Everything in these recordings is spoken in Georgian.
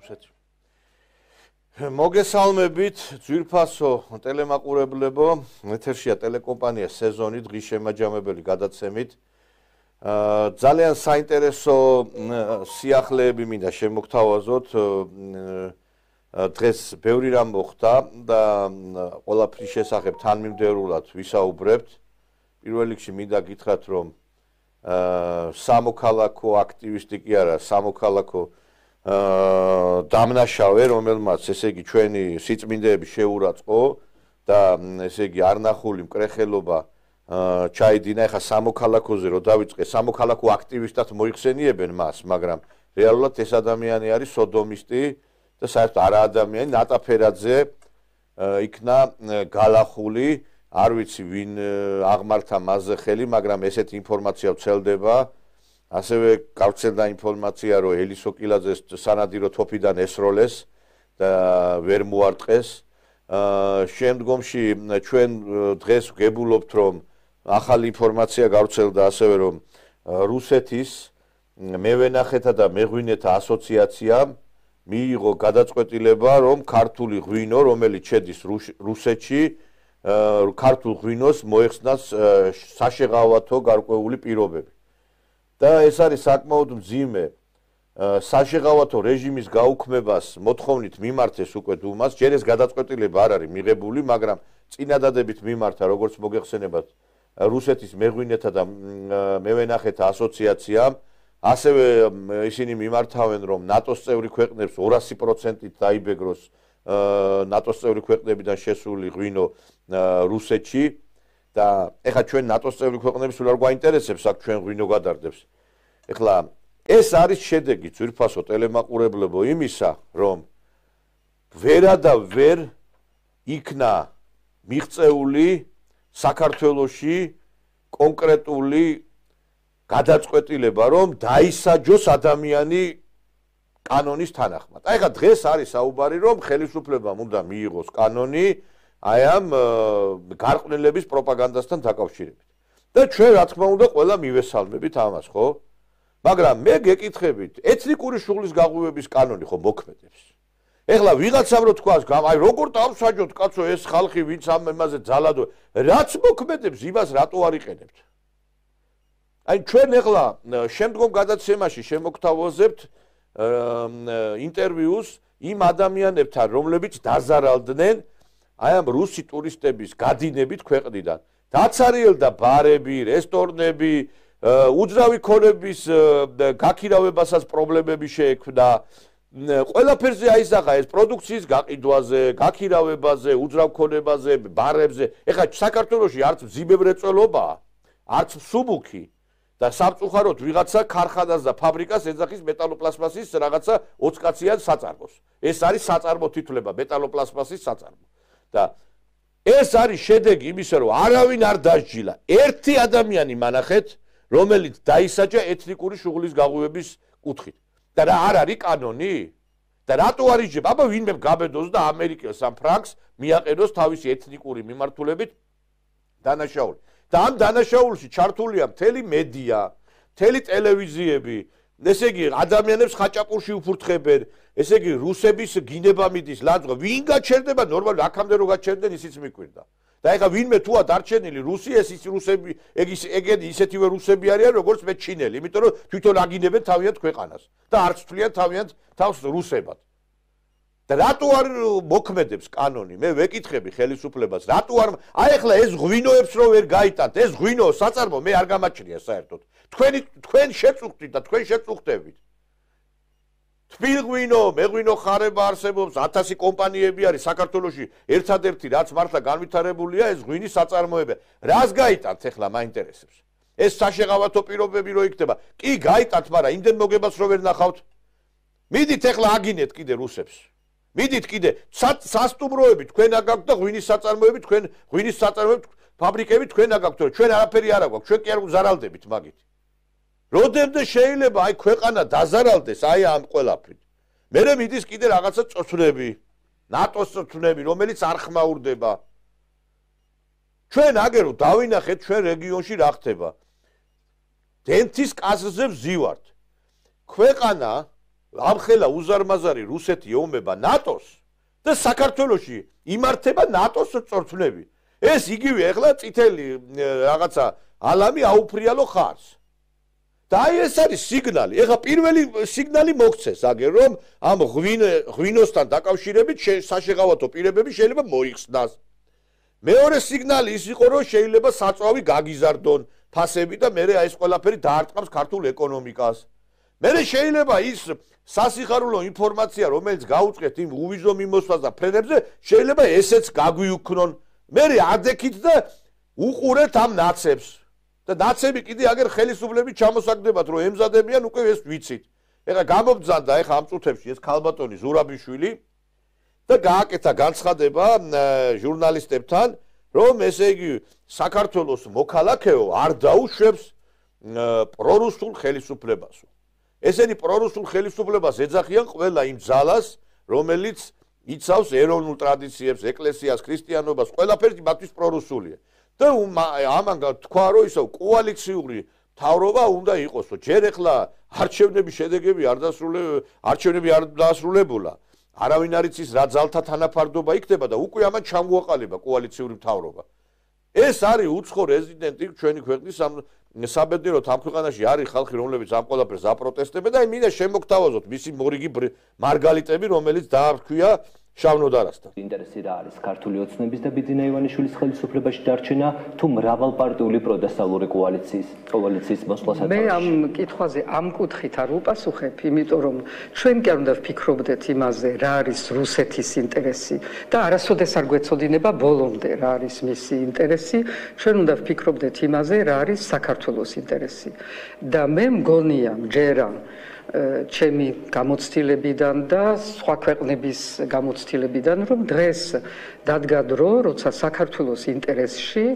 რუსეთი. მოგესალმებით, ძვირფასო ტელემაყურებლებო, ეთერშია ტელეკომპანია სეზონი დღის შემაჯამებელი გადაცემით. ძალიან საინტერესო სიახლეები მინდა შემოგთავაზოთ. დღეს ბევრი რამ მოხდა და ყველაფრის შესახებ თანმიმდევრულად ვისაუბრებთ. პირველ რიგში მინდა გითხრათ, რომ სამოქალაქო აქტივისტი კი არა, სამოქალაქო დამნაშავე, რომელმაც ესე იგი ჩვენი სიწმინდეები შეურაცხყო და ესე იგი არნახული მკრეხელობა ჩაიდინა. ეხა სამოქალაქოზე რო დავიწყე, სამოქალაქო აქტივისტად მოიხსენიებენ მას, მაგრამ რეალურად ეს ადამიანი არის სოდომისტი და საერთოდ არა ადამიანი, ნატაფერაძე იქნა გალახული, არ ვიცი ვინ აღმართა მასზე ხელი, მაგრამ ესეთი ინფორმაცია ვცელდება. ასევე გავრცელდა ინფორმაცია, რომ ელისო კილაძეს სანადირო თოფიდან ესროლეს და ვერ მოარტყეს. შემდგომში ჩვენ დღეს ვგებულობთ, რომ ახალი ინფორმაცია გავრცელდა ასევე, რომ რუსეთის მევენახეთა და მეღვინეთა ასოციაციამ მიიღო გადაწყვეტილება, რომ ქართული ღვინო, რომელიც შედის რუსეთში, ქართულ ღვინოს მოეხსნას საშეღავათო გარკვეული პირობები. და ეს არის საკმაოდ მძიმე საშეღავათო რეჟიმის გაუქმებას მოთხოვნით მიმართეს უკვე დუმას. ჯერ ეს გადაწყვეტილება არ არის მიღებული, მაგრამ წინადადებით მიმართა, როგორც მოგეხსენებათ, რუსეთის მეღვინეთა და მევენახეთა ასოციაციამ. ასევე ისინი მიმართავენ, რომ ნატოს წევრი ქვეყნებს 200%-ით დაიბეგროს ნატოს წევრი ქვეყნებიდან შესული ღვინო რუსეთში. და ეხლა ჩვენ ნატოს წევრი ქვეყნები სულ არ გვაინტერესებს, აქ ჩვენ ღვინო გადარდებს. ეხლა ეს არის შედეგი ძვირფასო ტელემაყურებლებო იმისა, რომ ვერა და ვერ იქნა მიღწეული საქართველოში კონკრეტული გადაწყვეტილება, რომ დაისაჯოს ადამიანი კანონის თანახმად. აი ეხლა დღეს არის საუბარი, რომ ხელისუფლებამ უნდა მიიღოს კანონი აი ამ გარყვნილების პროპაგანდასთან დაკავშირებით. და ჩვენ რა თქმა უნდა ყველა მივესალმებით ამას, ხო? მაგრამ მე გეკითხებით, ეთნიკური შუღლის გაღვივების კანონი ხო მოქმედებს? ეხლა ვიღაცამ რო თქვას, აი როგორ დავსაჯოთ კაცო ეს ხალხი, ვინც ამ ემაზე ძალადო, რაც მოქმედებს, იმას რატო არ იყენებთ? აი ჩვენ ეხლა შემდგომ გადაცემაში შემოგთავაზებთ ინტერვიუს იმ ადამიანებთან, რომლებიც დაზარალდნენ აი ამ რუსი ტურისტების გადინებით ქვეყნიდან. დაცარიელდა ბარები, რესტორნები, უძრავი ქონების გაქირავებასაც პრობლემები შეექმნა. ყველაფერზე აისახა ეს პროდუქციის გაყიდვაზე, გაქირავებაზე, უძრავ ქონებაზე, ბარებზე. ეხლა საქართველოში არც მძიმებრეწველობაა, არც მსუბუქი და სამწუხაროდ ვიღაცა ქარხანას და ფაბრიკას ეძახის მეტალოპლასმასის რაღაცა 20 კაციან საწარმოს. ეს არის საწარმო თითვლება, მეტალოპლასმასის საწარმო. და ეს არის შედეგი იმისა, რომ არავინ არ დასჯილა. ერთი ადამიანი მანახეთ, რომელიც დაისაჯა ეთნიკური შუღლის გაღვივების კუთხით. და რა არ არის კანონი? და რატო არ იჯება? აბა ვინმე გაბედოს და ამერიკელს ამ ფრანკს მიაყენოს თავისი ეთნიკური მიმართულებით დანაშაული. და ამ დანაშაულში ჩართულია მთელი მედია, მთელი ტელევიზიები, ესე იგი ადამიანებს ხაჭაპურში უფურთხებენ, ესე იგი რუსების გინება მიდის ლანძღვა, ვინ გაჩერდება ნორმალურად აქამდე რო გაჩერდნენ ისიც მიკვირდა. და ეხლა ვინმე თუა დარჩენილი რუსი, ეს რუსები, ეგენი ისეთივე რუსები არიან, როგორც მე ჩინელი, იმიტომ რომ თვითონ აგინებენ თავიანთ ქვეყანას და არც თვლიან თავიანთ თავს რუსებად. და რატო არ მოქმედებს კანონი? მე ვეკითხები ხელისუფლებას, რატო არ აი ეხლა ეს ღვინოებს რო ვერ გაიტანთ, ეს ღვინო საწარმო მე არ გამაჩნია საერთოდ. თქვენ შეწუხდით და თქვენ შეწუხდებით. თბილ ღვინო, მეღვინო ხარება არსებობს, 1000 კომპანიები არის საქართველოში, ერთადერთი რაც მართლა განვითარებულია ეს ღვინის საწარმოები. რას გაიტანთ ეხლა მაინტერესებს? ეს საშეღავათო პირობები რო იქნება, კი გაიტანთ, მაგრამ იმდენ მოგებას რო ვერ ნახავთ. მიდით ეხლა აგინეთ კიდე რუსებს. მიდით კიდე სასტუმროები თქვენ აგაქვთ და ღვინის საწარმოები თქვენ ღვინის საწარმოები ფაბრიკები თქვენ აგაქვთ, ჩვენ არაფერი არ აქვს, ჩვენ კი არ ვზარალდებით მაგით. როდემდე შეიძლება აი ქვეყანა დაზარალდეს აი ამ ყველაფრით. მერე მიდის კიდე რაღაცა წოცნები, ნატოს წოცნები, რომელიც არ ხმაურდება. ჩვენ აგერო დავინახეთ ჩვენ რეგიონში რა ხდება. დენთის კაზზე ვზივართ. ქვეყანა ამხელა უზარმაზარი რუსეთი ეომება ნატოს და საქართველოში იმართება ნატოს წორთნები. ეს იგივე ახლა წითელი რაღაცა ალამი აუფრიალო ხარს. და აი ეს არის სიგნალი. ეხლა პირველი სიგნალი მოგცეს აგერ რომ ამ ღვინოსთან დაკავშირებით საშეღავათო პირებები შეიძლება მოიხსნას. მეორე სიგნალი ის იყო რომ შეიძლება საწვავი გაგიზარდონ ფასები და მე ეს ყველაფერი დაარტყამს ქართულ ეკონომიკას. მე შეიძლება ის სასიხარულო ინფორმაცია რომელიც გაუწყვეთ იმ უვიზო მიმოსვლას და ფრენებზე შეიძლება ესეც გაგვიუქნონ. მე ადექით და უყურეთ ამ ნაცებს. და ნაცები კიდე აგერ ხელისუფლების ჩამოსაგდებათ რომ ემზადებიან უკვე ეს ვიცით. ეხლა გამობძანდა ეხლა ამ წუთებში ეს ქალბატონი ზურაბიშვილი და გააკეთა განცხადება ჟურნალისტებთან რომ ესე იგი საქართველოს მოქალაქეო არ დაუშვებს პრორუსულ ხელისუფლებას. ესენი პრორუსულ ხელისუფლებას ეძახიან ყველა იმ ძალას რომელიც იცავს ეროვნულ ტრადიციებს, ეკლესიას, ქრისტიანობას, ყველაფერი მათთვის პრორუსულია. და ამან თქვა რომ ისო კოალიციური მთავრობა უნდა იყოსო. ჯერ ახლა არჩევნების შედეგები არ დაასრულებულა. არავინ არ იცის რა ძალთა თანაფარდობა იქნება და უკვე ამან ჩამოაყალიბა კოალიციური მთავრობა. ეს არის უცხო რეზიდენტი ჩვენი ქვეყნის საბედნიეროდ ამ ქვეყანაში არის ხალხი რომლებიც ამ ყველაფერს აპროტესტებენ და მინდა შემოგთავაზოთ მისი მორიგი მარგალიტები რომელიც დაარქვია შავნოდარასთან. ინტერესი რა არის ქართული ოცნების და ბიძინა ივანიშვილის ხელისუფლებაში დარჩენა თუ მრავალპარტიული პროდესტალური კოალიციის მოსვლასაც? მე ამ კითხვაზე ამ კუთხით არ უპასუხებ, იმიტომ რომ ჩვენ კი არ უნდა ვფიქრობდეთ იმაზე, რა არის რუსეთის ინტერესი და არასოდეს არ გვეცოდინება ბოლომდე რა არის მისი ინტერესი, ჩვენ უნდა ვფიქრობდეთ იმაზე, რა არის საქართველოს ინტერესი. და მე მგონია, მჯერა ჩემი გამოცდილებიდან და სხვა ქვეყნების გამოცდილებიდან რომ დღეს დადგა დრო, როცა საქართველოს ინტერესში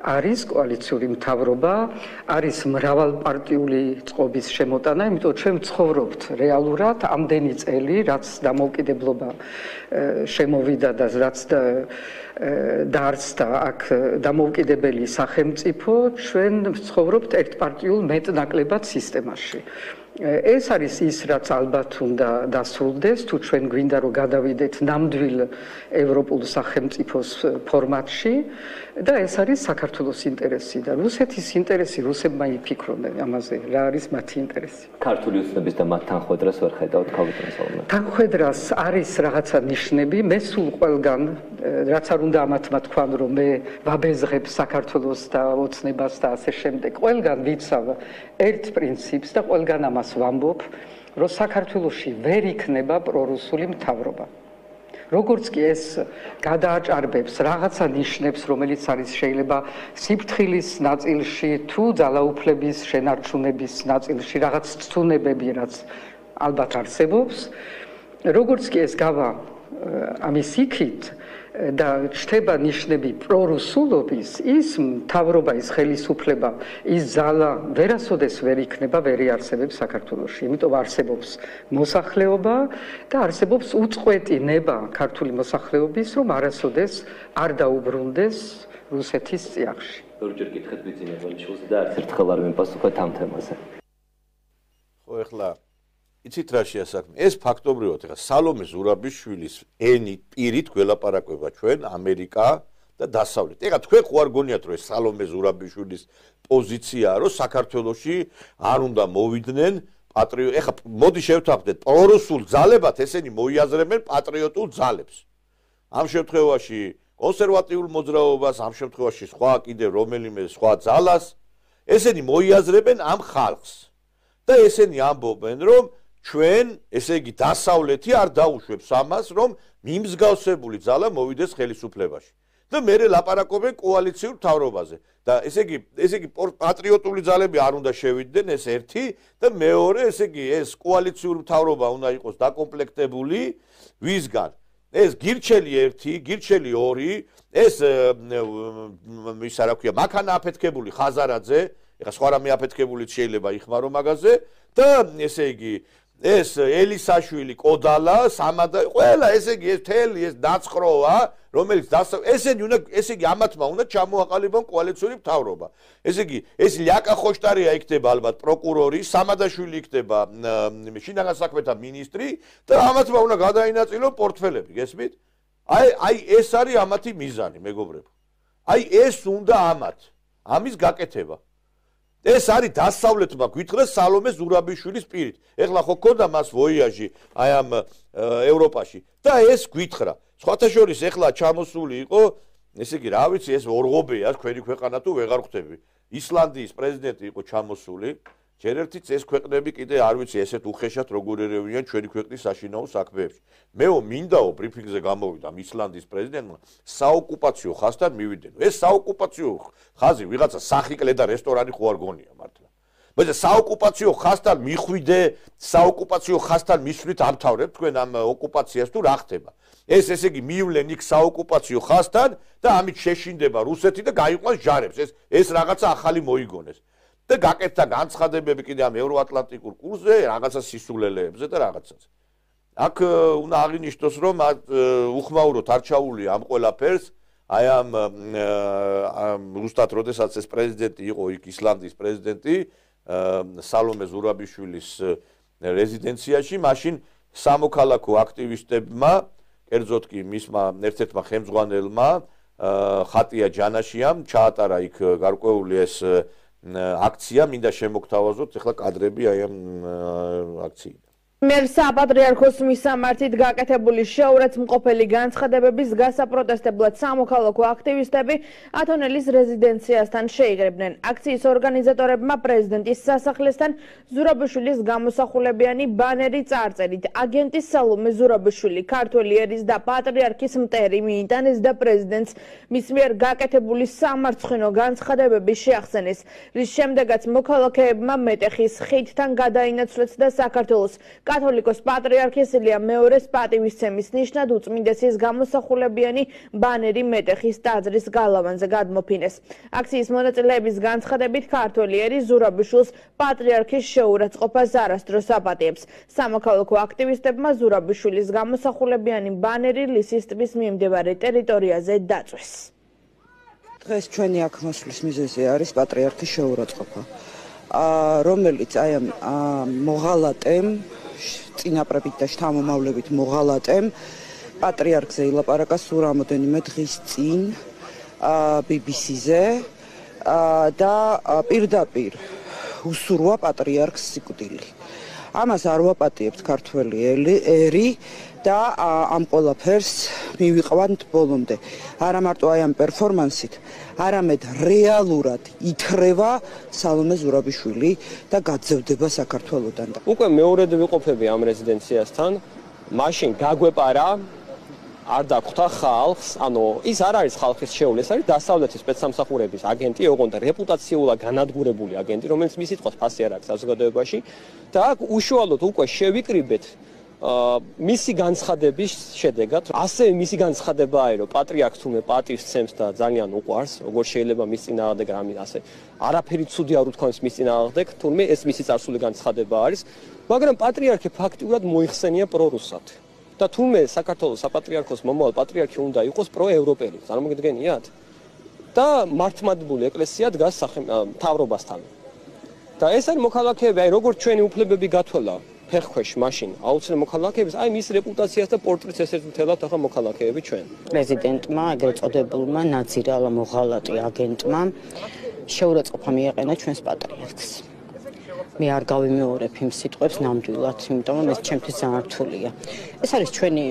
არის კოალიციური მთავრობა, არის მრავალპარტიული წყობის შემოტანა, იმიტომ ჩვენ ვცხოვრობთ რეალურად ამდენი წელი, რაც დამოუკიდებლობა შემოვიდა და რაც დაარსდა აქ დამოუკიდებელი სახელმწიფო, ჩვენ ვცხოვრობთ ერთპარტიულ მეტნაკლებად სისტემაში. ეს არის ის, რაც ალბათ უნდა დასრულდეს, თუ ჩვენ გვინდა რომ გადავიდეთ ნამდვილ ევროპულ სახელმწიფოს ფორმატში და ეს არის საქართველოს ინტერესი და რუსეთის ინტერესი, რუსებმა იფიქრონ ამაზე, რა არის მათი ინტერესი. ქართული ოცნების და მათ თანხმედრას ვერ ხედავთ ქალბატონო. თანხმედრას არის რაღაცა ნიშნები, მე სულ ყველგან, რაც არ უნდა ამათმა თქვან, რომ მე ვაბეზღებ საქართველოს და ოცნებას და ასე შემდეგ, ყველგან ვიცავ ერთ პრინციპს და ყველგან ამას ვამბობ, რომ საქართველოში ვერ იქნება პრორუსული მთავრობა. როგორც კი ეს გადააჭარბებს რაღაცა ნიშნებს, რომელიც არის შეიძლება სიფრთხილის ნაწილში თუ ძალაუფლების შენარჩუნების ნაწილში რაღაც ცვლილებები, რაც ალბათ არსებობს, როგორც კი ეს გავა ამის იქით და ჩნდება ნიშნები პრორუსულობის, ის მთავრობა, ის ხელისუფლება, ის ძალა ვერასოდეს ვერ იქნება, ვერ იარსებებს საქართველოში. იმიტომ არსებობს მოსახლეობა და არსებობს უწყვეტი ნება ქართული მოსახლეობის, რომ არასოდეს არ დაუბრუნდეს რუსეთის წიაღში. ორჯერ კითხეთ ბიძინა ივანიშვილს და არც ერთხელ არ მიპასუხეთ ამ თემაზე. ხო, ეხლა იცით რა შეასაქმე? ეს ფაქტობრივად ეხლა სალომე ზურაბიშვილის ენით პირით გველაპარაკება ჩვენ ამერიკა და დასავლეთ. ეხლა თქვენ ხო არ გონიათ რომ ეს სალომე ზურაბიშვილის პოზიციაა, რომ საქართველოში არ უნდა მოვიდნენ ეხლა მოდი შევთანხმდეთ პრორუსულ ძალებად ესენი მოიაზრებენ პატრიოტულ ძალებს. ამ შემთხვევაში კონსერვატიულ მოძრაობას, ამ შემთხვევაში სხვა კიდე რომელიმე სხვა ძალას ესენი მოიაზრებენ ამ ხალხს. და ესენი ამბობენ რომ ჩვენ, ესე იგი დასავლეთი არ დაუშვებს ამას, რომ მიმსგავსებული ძალა მოვიდეს ხელისუფლებაში. და მერე ლაპარაკობენ კოალიციურ მთავრობაზე. და ესე იგი პატრიოტული ძალები არ უნდა შევიდნენ, ეს ერთი და მეორე, ესე იგი ეს კოალიციური მთავრობა უნდა იყოს დაკომპლექტებული ვისგან? ეს გირჩელი 1, გირჩელი 2, ეს ისა რა ქვია, მაქანა აფეთქებული ხაზარაძე, ეხა სხვა რამე აფეთქებულიც შეიძლება იხმარო მაგაზე და ესე იგი ეს ელისაშვილი, კოდალა, სამადა, ყველა ესე იგი ეს თელი ეს დაცხროა, რომელიც ესენი უნდა ესე იგი ამათმა უნდა ჩამოაყალიბონ კოალიციური მთავრობა. ესე იგი ეს ლიაკა ხოშტარია იქნება ალბათ პროკურორი, სამადაშვილი იქნება შინაგან საქმეთა მინისტრი და ამათმა უნდა გადაინაწილონ პორტფელები, გესმით? აი ეს არის ამათი მიზანი, მეგობრებო. აი ეს უნდა ამის გაკეთება. ეს არის დასავლეთმა გვითხრეს სალომე ზურაბიშვილის პირით. ეხლა ხო ქონდა მას ვოიაჟი აი ამ ევროპაში და ეს გვითხრა. სხვათა შორის ეხლა ჩამოსული იყო, ესე იგი, რა ვიცი, ეს ორღობეა, თქვენი ქვეყანა თუ ვეღარ ხვდები. ისლანდიის პრეზიდენტი იყო ჩამოსული. ჯერ ერთიც ეს ქვეყნები კიდე არ ვიცი ესეთ უხეშად როგორ ერევიან ჩვენი ქვეყნის საშინაო საქმეებში. მეო მინდაო ბრიფინგზე გამოვიდა ისლანდიის პრეზიდენტმა საოკუპაციო ხაზთან მივიდნენ. ეს საოკუპაციო ხაზი ვიღაცა სახიკლე და რესტორანი ხო არ გონია მართლა. მაგრამ საოკუპაციო ხაზთან მიხვიდე, საოკუპაციო ხაზთან მისვლით ამთავრებ თქვენ ამ ოკუპაციას თუ რა ხდება. ეს ესე იგი მივლენ იქ საოკუპაციო ხაზთან და ამით შეშინდება რუსეთი და გაიყვანს ჯარებს. ეს რაღაცა ახალი მოიგონეს. და გაკეთდა განცხადებები კიდე ამ ევროატლანტიკურ კურსზე, რაღაცა სისულელეებზე და რაღაცას. აქ უნდა აღინიშნოს, რომ უხმაუროთ არ ჩაულია ამ ყველაფერს, აი ამ ზუსტად როდესაც ეს პრეზიდენტი იყო იქ ისლანდიის პრეზიდენტი, სალომე ზურაბიშვილის რეზიდენციაში, მაშინ სამოქალაქო აქტივისტებმა, კერძოდ კი მისმა ერთ-ერთმა ხელმძღვანელმა, ხატია ჯანაშიამ ჩაატარა იქ გარკვეული ეს აქცია, მინდა შემოგთავაზოთ ახლა კადრები აი ამ აქციიდან. მერსაპატრიარქოს მისამართით გაკეთებული შეურაცხმყოფელი განცხადებების გასაპროტესტებლად სამოქალაქო აქტივისტები ათონელის რეზიდენციასთან შეიკრიბნენ. აქციის ორგანიზატორებმა პრეზიდენტის სასახლესთან ზურაბიშვილის გამოსახულებიანი ბანერი წარწერით აგენტის სალომე ზურაბიშვილი, ქართველი ერის და პატრიარქის მტერი მიიტანეს და პრეზიდენტს მის მიერ გაკეთებული სამარცხვინო განცხადებები შეახსენეს, რის შემდეგაც მოქალაქეებმა მეტეხის ხიდთან გადაინაცვლეს და საქართველოს კათოლიკოს პატრიარქის ილია მეორეს პატივისცემის ნიშნად უწმინდესის გამოსახულებიანი ბანერი მეტეხის ტაძრის გალავანზე გადმოფინეს. აქციის მონაწილეების განცხადებით ქართველი ერი ზურაბიშვილს პატრიარქის შეურაცხყოფას არასდროს აპატიებს. სამოქალაქო აქტივისტებმა ზურაბიშვილის გამოსახულებიანი ბანერი ლისის ტბის მიმდებარე ტერიტორიაზე დაწვეს. დღეს ჩვენი აქ მოსვლის მიზეზი არის პატრიარქის შეურაცხყოფა, რომელიც აი ამ მოღალატემ წინაპრებით და შთამომავლებით მოღალატემ პატრიარქზე ილაპარაკა სულ რამოდენიმე დღის წინ BBC-ზე და პირდაპირ უსურვა პატრიარქს სიკვდილი. ამას არ ვაპატიებთ ქართველი ერი და ამ ყველაფერს მივიყვანთ ბოლომდე. არა მარტო აი ამ პერფორმანსით, არამედ რეალურად ითხრება სალომე ზურაბიშვილი და გაძევდება საქართველოდან. უკვე მეორედ ვიყოფები ამ რეზიდენციასთან, მაშინ გაგვეპარა არ დაგხვდა ხალხს, ანუ ის არ არის ხალხის შეეული, ეს არის დასავლეთის სპეცსამსახურების აგენტი, ოღონდ რეპუტაციულად განადგურებული აგენტი, რომელიც მის სიტყვას ფასი არ აქვს საზოგადოებაში და აქ უშუალოდ უკვე შევიკრიბეთ მისი განცხადების შედეგად, ასევე მისი განცხადებაა, რომ პატრიარქს თურმე პატივს ცემს და ძალიან უყვარს, როგორ შეიძლება მის წინააღმდეგ რამე ასე არაფერი ცუდი არ უთქვამს მის წინააღმდეგ, თურმე ეს მისი წარსული განცხადება არის, მაგრამ პატრიარქი ფაქტიურად მოიხსენია პრორუსად. და თურმე საქართველოს საპატრიარქოს მომავალ პატრიარქი უნდა იყოს პროევროპელი, წარმოგიდგენიათ? და მართლმადიდებელი ეკლესია დგას მთავრობასთან. და ეს არის მოქალაქეები, აი როგორც ჩვენი უფლებები გათვალა ფეხქვეშ მაშინ აუცილებლად მოქალაქეების, აი მის რეპუტაციას და პორტრეტს ესეც მთელად ახლა მოქალაქეები ჩვენ. პრეზიდენტმა, ეგრეთ წოდებულმა ნაძირალა მოღალატე აგენტმა შეურაცხყოფა მიაყენა ჩვენს პატრიარქს. მე არ გავიმეორებ იმ სიტყვებს ნამდვილად, იმიტომ რომ ეს ჩემთვის ძალიან რთულია. ეს არის ჩვენი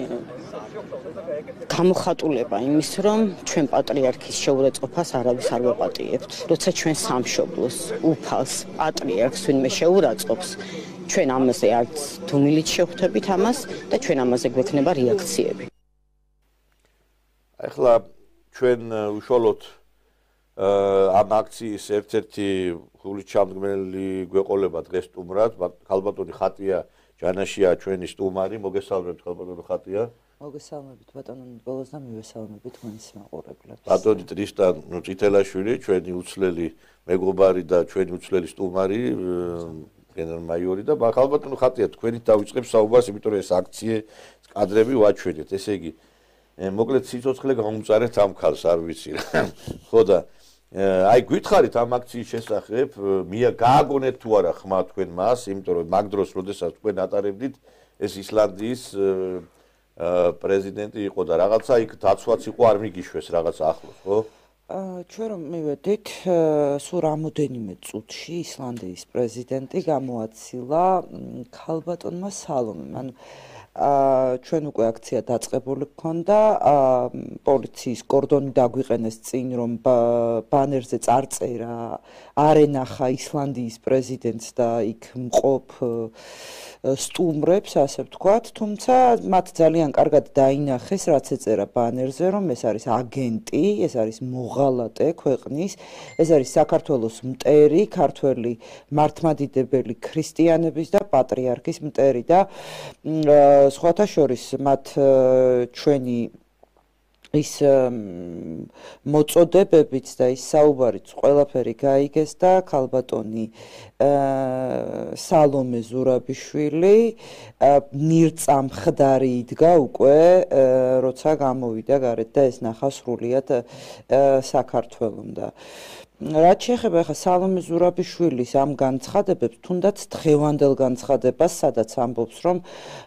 გამოხატულება იმის, რომ ჩვენ პატრიარქის შეურაცხყოფას არავის არ ვაპატიებთ. როცა ჩვენ სამშობლოს, უფალს, პატრიარქს ვინმე შეურაცხყოფს, ჩვენ ამაზე არც თუმილით შევხვდებით ამას და ჩვენ ამაზე გვექნება რეაქციები. ახლა ჩვენ უშუალოდ ამ აქციის ერთ-ერთი გულისჩამდგმელი გვეყოლება დღეს სტუმრად, ქალბატონი ხატია ჯანაშია ჩვენი სტუმარი, მოგესალმებით ქალბატონი ხატია. მოგესალმებით ბატონო ნიკოლოზ და მივესალმებით მონის მაყურებლებს. ბატონი ტრისტან წითელაშვილი, ჩვენი უცვლელი მეგობარი და ჩვენი უცვლელი სტუმარი, გენერალ-მაიორი და ალბათ ხატია თქვენით დავიწყებ საუბარს, იმიტომ რომ ეს აქციე კადრები ვაჩვენეთ. ესე იგი, მოკლედ სიცოცხლე გამომწარეთ ამ ქალს, არ ვიცი რა. ხო და აი გითხარით ამ აქციის შესახებ, გააგონეთ თუ არა ხმა თქვენ მას, იმიტომ რომ მაგ დროს, როდესაც თქვენ ატარებდით, ეს ისლანდიის პრეზიდენტი იყო და რაღაცა იქ დაცვაც იყო, არ მიგიშვეს რაღაცა ახლოს, ხო? ჩვენ რომ მივედით, სულ რამოდენიმე წუთში ისლანდიის პრეზიდენტი გამოაცილა ქალბატონმა სალომემ. ანუ ჩვენ უკვე აქცია დაწყებული გქონდა, პოლიციის კორდონი დაგვიყენეს წინ, რომ ბანერზე წარწერა არ ენახა ისლანდიის პრეზიდენტს და იქ მყოფ სტუმრებს, ასე ვთქვათ, თუმცა მათ ძალიან კარგად დაინახეს, რაც ეწერა ბანერზე, რომ ეს არის აგენტი, ეს არის მოღალატე ქვეყნის, ეს არის საქართველოს მტერი, ქართველი მართლმადიდებელი ქრისტიანების და პატრიარქის მტერი და სხვათა შორის მათ ჩვენი ის მოწოდებებიც და ის საუბარიც ყველაფერი გაიგეს და ქალბატონი სალომე ზურაბიშვილი მირწამხდარი იდგა უკვე როცა გამოვიდა გარეთ და ეს ნახა სრულიად საქართველოს და რაც შეეხება ახლა სალომე ზურაბიშვილის ამ განცხადებებს, თუნდაც დღევანდელ განცხადებას, სადაც ამბობს, რომ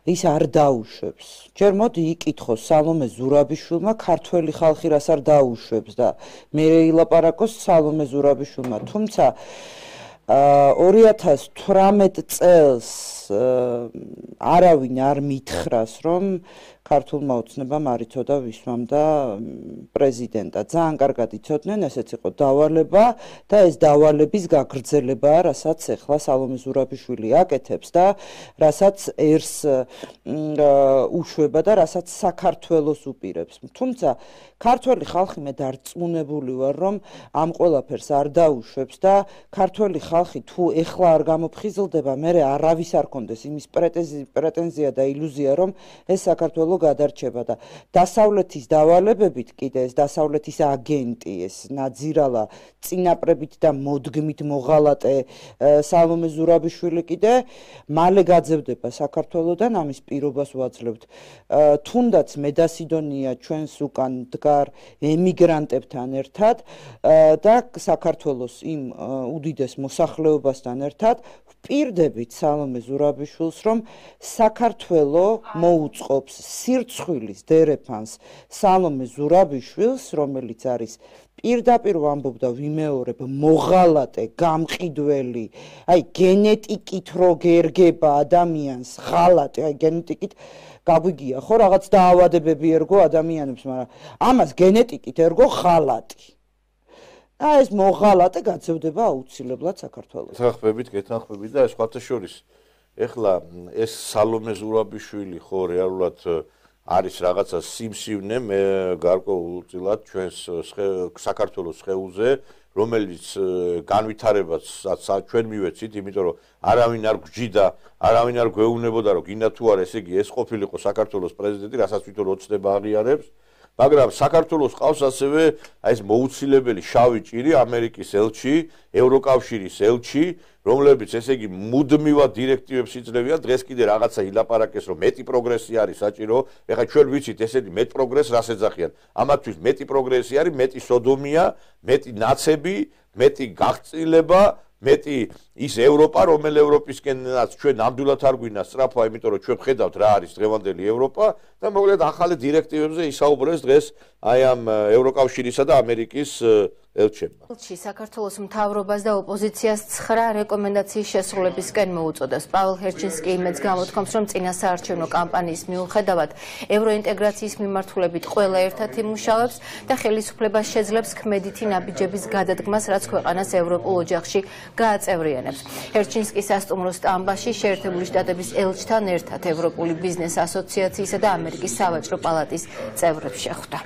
ის არ დაუშვებს. ჯერ მოდი იკითხოს სალომე ზურაბიშვილმა ქართველი ხალხი რას არ დაუშვებს და მე ილაპარაკოს სალომე ზურაბიშვილმა, თუმცა 2018 წელს არავინ არ მითხრას, რომ ქართულმა ოცნებამ არ იცოდა ვისვამდა პრეზიდენტად. ძალიან კარგად იცოდნენ, ესეც იყო დავალება და ეს დავალების გაგრძელებაა, რასაც ახლა სალომე ზურაბიშვილი აკეთებს და რასაც ერს უშვება და რასაც საქართველოს უპირებს. თუმცა ქართველი ხალხი მე დარწმუნებული ვარ, რომ ამ ყველაფერს არ დაუშვებს და ქართველი ხალხი თუ ეხლა არ გამოფხიზლდება, მერე არავის არ კონდეს იმის პრეტენზია და ილუზია, რომ ეს საქართველო გადარჩება და დასავლეთის დავალებებით კიდე ეს დასავლეთის აგენტი, ეს ნაძირალა წინაპრებით და მოდგმით მოღალატე სალომე ზურაბიშვილი კიდე მალე გაძევდება საქართველოდან, ამის პირობას ვაძლევთ. თუნდაც მედასიდონია ჩვენს უკან დგარ ემიგრანტებთან ერთად და საქართველოს იმ უდიდეს მოსახლეობასთან ერთად ვპირდებით სალომე ზურაბიშვილს, რომ საქართველო მოუწყობს სირცხვილის დერეფანს სალომე ზურაბიშვილს, რომელიც არის პირდაპირ ვამბობ და ვიმეორებ მოღალატე, გამყიდველი, აი გენეტიკით რო გერგება ადამიანს, ღალატი, აი გენეტიკით გაგვიგია ხო რაღაც დაავადებები ერგო ადამიანებს, მაგრამ ამას გენეტიკით ერგო ღალატი. ეს მოღალატე გაძევდება აუცილებლად საქართველოს. გეთანხმებით და სხვათა შორის ეხლა ეს სალომე ზურაბიშვილი ხო რეალურად არის რაღაცა სიმსივნე მე გარკვეულწილად ჩვენს საქართველოს სხეულზე, რომელიც განვითარებაც ჩვენ მივეცით, იმიტომ რომ არავინ არ გვჯიდა, არავინ არ გვეუბნებოდა, რომ გინდა თუ არა, ესე იგი ეს ყოფილიყო საქართველოს პრეზიდენტი, რასაც თვითონ ოცნება აღიარებს. მაგრამ საქართველოს ყავს ასევე აი ეს მოუცილებელი შავი ჭირი, ამერიკის ელჩი, ევროკავშირის ელჩი, რომლებიც ესე იგი მუდმივად დირექტივებს იძლევიან, დღეს კიდე რაღაცა ილაპარაკეს, რომ მეტი პროგრესი არის საჭირო. ეხლა ჩვენ ვიცით, ესეთი მეტ პროგრესს რას ეძახიან. ამათთვის მეტი პროგრესი არის, მეტი სოდომია, მეტი ნაცები, მეტი გაღწილება, მეტი ის ევროპა, რომელი ევროპისკენაც ჩვენ ნამდვილად არ გვინდა სწრაფა, იმიტომ რომ ჩვენ ვხედავთ რა არის დღევანდელი ევროპა და მოკლედ ახალი დირექტივებზე ისაუბრეს დღეს აი ამ ევროკავშირისა და ამერიკის ელჩებმა. საქართველოს მთავრობას და ოპოზიციას 9 რეკომენდაციის შესრულებისკენ მოუწოდებს. პაველს ჰერჩინსკი იმედს გამოთქვამს, რომ წინა საარჩევნო კამპანიის მიუხედავად ევროინტეგრაციის მიმართულებით ყველა ერთად იმუშავებს და ხელისუფლებას შეძლებს ქმედითი ნაბიჯების გადადგმას, რაც ქვეყანას ევროპულ ოჯახში გააწევრიანებს. ჰერჩინსკი სასტუმრო სტამბაში შეერთებული შტატების ელჩთან ერთად ევროპული ბიზნეს ასოციაციისა და ამერიკის სავაჭრო პალატის წევრებს შეხვდა.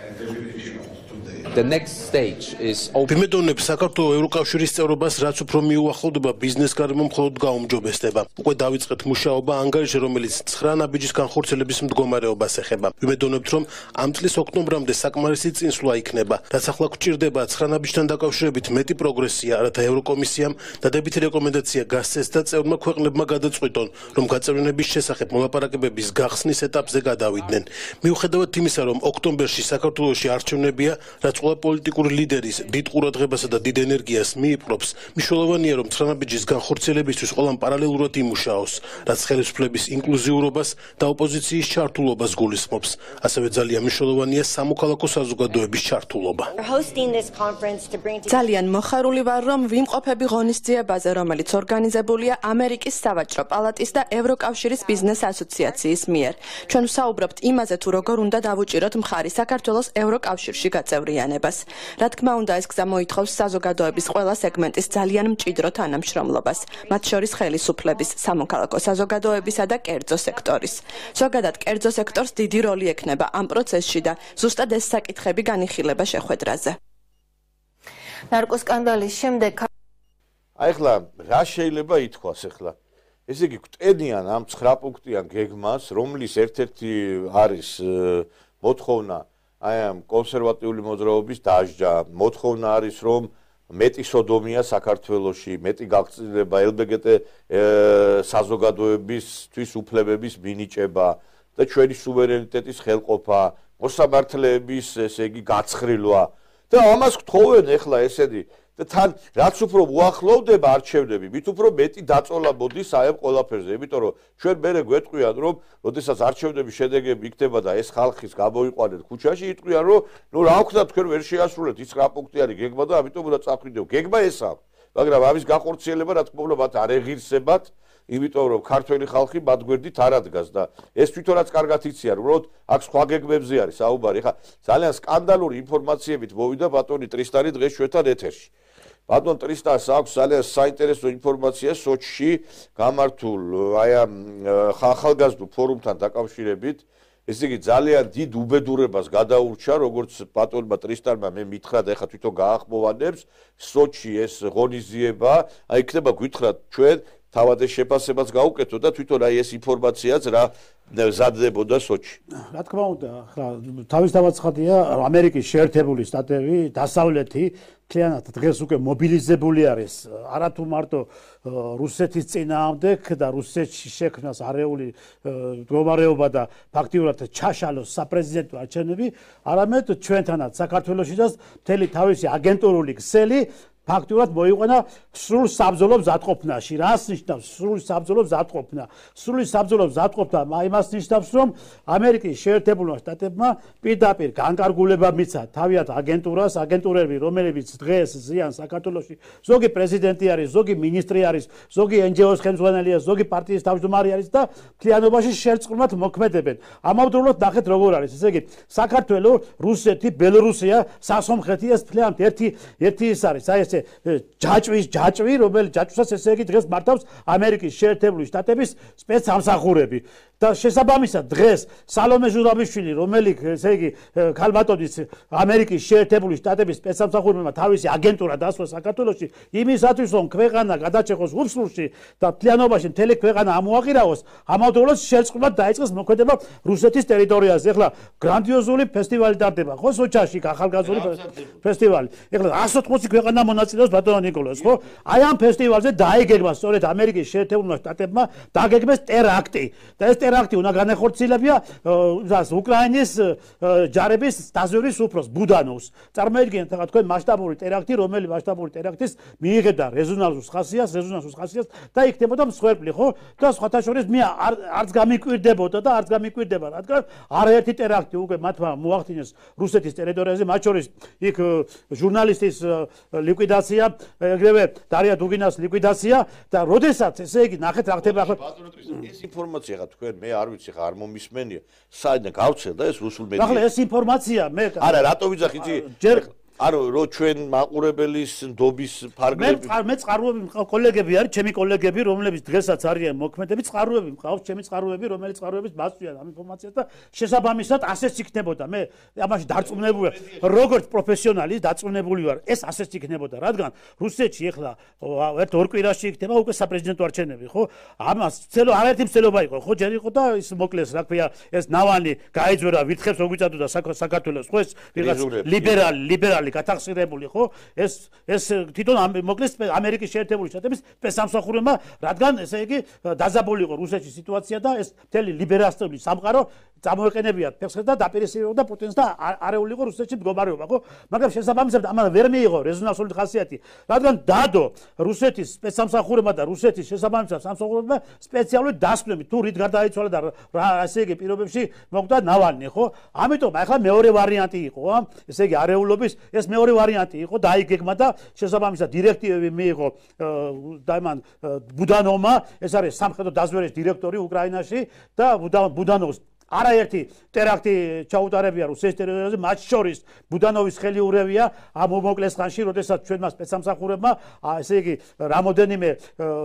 The next stage is ვიმედოვნებ საქართველოს ევროკავშირის წევრობას, რაც უფრო მიუახლოვდება ბიზნეს გარემო მხოლოდ გაუმჯობესდება. უკვე დავიწყეთ მუშაობა ანგარიში, რომელიც 9 ნაბიჯის განხორციელების მდგომარეობას ეხება. ვიმედოვნებთ, რომ ამ წლის ოქტომბრამდე საკმარისი წინსვლა იქნება, რაც ახლა გვჭირდება 9 ნაბიჯთან დაკავშირებით მეტი პროგრესია, რათა ევროკომისიამ დადებითი რეკომენდაცია გასცეს და წევრმა ქვეყნებმა გადაწყვიტონ, რომ გაწევრიანების შესახებ მოლაპარაკებების გახსნის ეტაპზე გადავიდნენ. მიუხედავად იმისა, რომ ოქტომბერში საქართველოში არჩევნებია, რაც ყველა პოლიტიკური ლიდერის დიდ ყურადღებასა და დიდ ენერგიას მიიპყრობს, მნიშვნელოვანია, რომ 9 ნაბიჯის განხორციელებისთვის ყველამ პარალელურად იმუშაოს, რაც ხელისუფლების ინკლუზიურობას და ოპოზიციის ჩართულობას გულისხმობს. ასევე ძალიან მნიშვნელოვანია სამოქალაქო საზოგადოების ჩართულობა. ძალიან მოხარული ვარ, რომ ვიმყოფები ღონისძიებაზე, რომელიც ორგანიზებულია ამერიკის სავაჭრო პალატის და ევროკავშირის ბიზნეს ასოციაციის მიერ. ჩვენ ვსაუბრობთ იმაზე, თუ როგორ უნდა დავუჭიროთ მხარი საქართველოს ევროკავშირში გაწევრიანებას. რა თქმა უნდა, ეს გზა მოითხოვს საზოგადოების ყველა სეგმენტის ძალიან მჭიდრო თანამშრომლობას, მათ შორის ხელისუფლების, სამოქალაქო საზოგადოებისა და კერძო სექტორის. ზოგადად, კერძო სექტორს დიდი როლი ექნება ამ პროცესში და ზუსტად ეს საკითხები განიხილება შეხვედრაზე. ნარკოსკანდალის შემდეგ ახლა რა შეიძლება ითქვას ახლა? ესე იგი გვტენიან ამ 9 პუნქტიან გეგმას, რომლის ერთ-ერთი არის მოთხოვნა აი ამ კონსერვატიული მოძრაობის დაждა. მოთხოვნა არის, რომ მეტი სოდომია საქართველოში, მეტი გაგრძელება LGBT საზოგადოებისთვის უფლებების მინიჭება და ჩვენი სუვერენიტეტის ხელყოფა, მოსამართლეების ესე იგი გაცხრილვა და ამას გთხოვენ ახლა ესენი და თან რაც უფრო უახლოვდება არჩევნები, მით უფრო მეტი დაწოლა მოდის აი ამ ყველაფერზე, იმიტომ რომ ჩვენ მერე გვეტყვიან, რომ როდესაც არჩევნების შედეგები იქნება და ეს ხალხის გამოიყვანეთ ქუჩაში, იტყვიან, რომ ნუ რა ვქნათ, თქვენ ვერ შეასრულეთ ის 9 პუნქტიანი გეგმა და ამიტომ უნდა წახვიდეო. გეგმა ეს აქვს, მაგრამ ამის განხორციელება რა თქმა უნდა მათ არ ეღირსებათ, იმიტომ რომ ქართველი ხალხი მათ გვერდით არ ადგას და ეს თვითონაც კარგად იციან, უბრალოდ აქ სხვა გეგმებზე არის საუბარი. ხა ძალიან სკანდალური ინფორმაციებით მოვიდა ბატონი ტრისტანი დღეს ჩვენთან ეთერში. ბატონ ტრისტანს აქვს ძალიან საინტერესო ინფორმაცია სოჩში გამართულ აი ამ ახალგაზრდულ ფორუმთან დაკავშირებით. ესე იგი ძალიან დიდ უბედურებას გადაურჩა, როგორც ბატონმა ტრისტანმა მე მითხრა და ეხლა თვითონ გაახმოვანებს სოჩში ეს ღონისძიება, აი იქნება გითხრათ ჩვენ თავად ეს შეფასებას გაუკეთო და თვითონ აი ეს ინფორმაციაც რა ზადდებოდა სოჩში. რა თქმა უნდა, ახლა თავისთავად ცხადია, ამერიკის შეერთებული შტატები, დასავლეთი მთლიანად დღეს უკვე მობილიზებული არის, არათუ მარტო რუსეთის წინააღმდეგ და რუსეთში შექმნას არეული მდგომარეობა და ფაქტიურად ჩაშალოს საპრეზიდენტო არჩევნები, არამედ ჩვენთანაც საქართველოშიც მთელი თავისი აგენტურული ქსელი ფაქტურად მოიყვანა სრულ საბრძოლო მზადყოფნაში. რას ნიშნავს სრულ საბრძოლო მზადყოფნა? სრული საბრძოლო მზადყოფნა იმას ნიშნავს, რომ ამერიკის შეერთებულმა შტატებმა პირდაპირ განკარგულება მიცა თავიანთ აგენტურას, აგენტურები, რომლებიც დღეს ზიან საქართველოში, ზოგი პრეზიდენტი არის, ზოგი მინისტრი არის, ზოგი NGO-ს ხელმძღვანელია, ზოგი პარტიის თავმჯდომარე არის და მთლიანობაში შერწყმულად მოქმედებენ. ამავდროულად ნახეთ როგორ არის. ესე იგი, საქართველო, რუსეთი, ბელორუსია, სასომხეთი ეს მთლიანად ერთი ის არის. აი ეს ჯაჭვი, რომელიც ჯაჭვსაც ესე იგი დღეს მართავს ამერიკის შეერთებული შტატების სპეცსამსახურები. და შესაბამისად დღეს სალომე ჟურაბიშვილი, რომელიც ესე იგი ქალბატონის ამერიკის შეერთებული შტატების სპეცსამსახურებმა თავისი აგენტურა დასვა საქართველოში, იმისათვის რომ ქვეყანა გადაჭეხოს უსულში და მთლიანობაში მთელი ქვეყანა ამოაღირაოს, ამავდროულად შერწყმულად დაიწყეს მოქმედება რუსეთის ტერიტორიაზე. ეხლა გრანდიოზული ფესტივალი ტარდება, ხო, სოჩაში ახალგაზრდული ფესტივალი. ეხლა 180 ქვეყანა მონაწილეობს ბატონო ნიკოლოზ, ხო? აი ამ ფესტივალზე დაიგეგმა სწორედ ამერიკის შეერთებულმა შტატებმა დაგეგმეს ტერაქტი და ეს ტერაქტი უნდა განეხორციელებია უკრაინის ჯარების დაზვერვის უფროს ბუდანოვს. წარმოიდგინეთ ახლა თქვენ მასშტაბური ტერაქტი, რომელი მასშტაბური ტერაქტის მიიღებდა რეზონანსულ ხასიათს და იქნებოდა მსხვერპლი, ხო? და სხვათა შორის მე არც გამიკვირდებოდა და არც გამიკვირდება, რადგან არაერთი ტერაქტი უკვე მათმა მოახდინეს რუსეთის ტერიტორიაზე, მათ შორის იქ ჟურნალისტის ლიკვიდაცია, ეგრევე დარია დუგინას ლიკვიდაცია და როდესაც ესე იგი ნახეთ რა ხდება ახლა ბატონო ტრისტანი ეს ინფორმაცია ხა თქვენ მე არ ვიცი ხა არ მომისმენია საიდან გავცელდა ეს რუსულ მედიაზე ახლა ეს ინფორმაცია მე არა რატო ვიძახი იცი ანუ რო ჩვენ მაყურებელის ნდობის ფარგლები მე წყაროები მყავს კოლეგები არის ჩემი კოლეგები რომლებიც დღესაც არიან მოქმედები წყაროები მყავს ჩემი წყაროები რომელიც წყაროების მასწვდიან ამ ინფორმაციას და შესაბამისად ასეც იქნებოდა მე ამაში დარწმუნებული ვარ როგორც პროფესიონალი დარწმუნებული ვარ ეს ასეც იქნებოდა რადგან რუსეთში ეხლა ერთ-ორ კვირაში იქნება უკვე საპრეზიდენტო არჩევნები ხო ამას არაერთი მცდელობა იყო ხო ჯერ იყო და ის მოკლეს რა ქვია ეს ნავანი გაიძვერა ვითხებს რო გვიწადოდა საქართველოს ხო ეს ვიღაც ლიბერალი გათახსირებული ხო ეს თვითონ მოკლეს ამერიკის შეერთებული შტატების სპეცსამსახურებმა რადგან ესე იგი დაზაბული იყო რუსეთში სიტუაცია და ეს მთელი ლიბერალისტური სამყარო წამოეყენებიათ ფეხს და დაპირისპირებდა პუტინს და არეული იყო რუსეთში მდგომარეობა ხო მაგრამ შესაბამისად ამან ვერ მიიღო რეზონანსული ხასიათი რადგან დადო რუსეთის სპეცსამსახურებმა და რუსეთის შესაბამისად სამსახურებმა სპეციალური დასკვნები თუ რით გარდაიცვალა და რა ესე იგი პირობებში მოკვდა ნავანი ხო ამიტომ ახლა მეორე ვარიანტი იყო ესე იგი არეულობის ეს მეორე ვარიანტი იყო დაიგეგმა და შესაბამისად დირექტივები მიიღო და მან ბუდანოვმა ეს არის სამხედრო დაზვერვის დირექტორი უკრაინაში და ბუდანოვს არაერთი ტერაქტი ჩაუტარებია რუსეთის ტერიტორიაზე მათ შორის ბუდანოვის ხელი ურევია ამ მოკლეს ხანში როდესაც ჩვენმა სპეცსამსახურებმა ესე იგი რამოდენიმე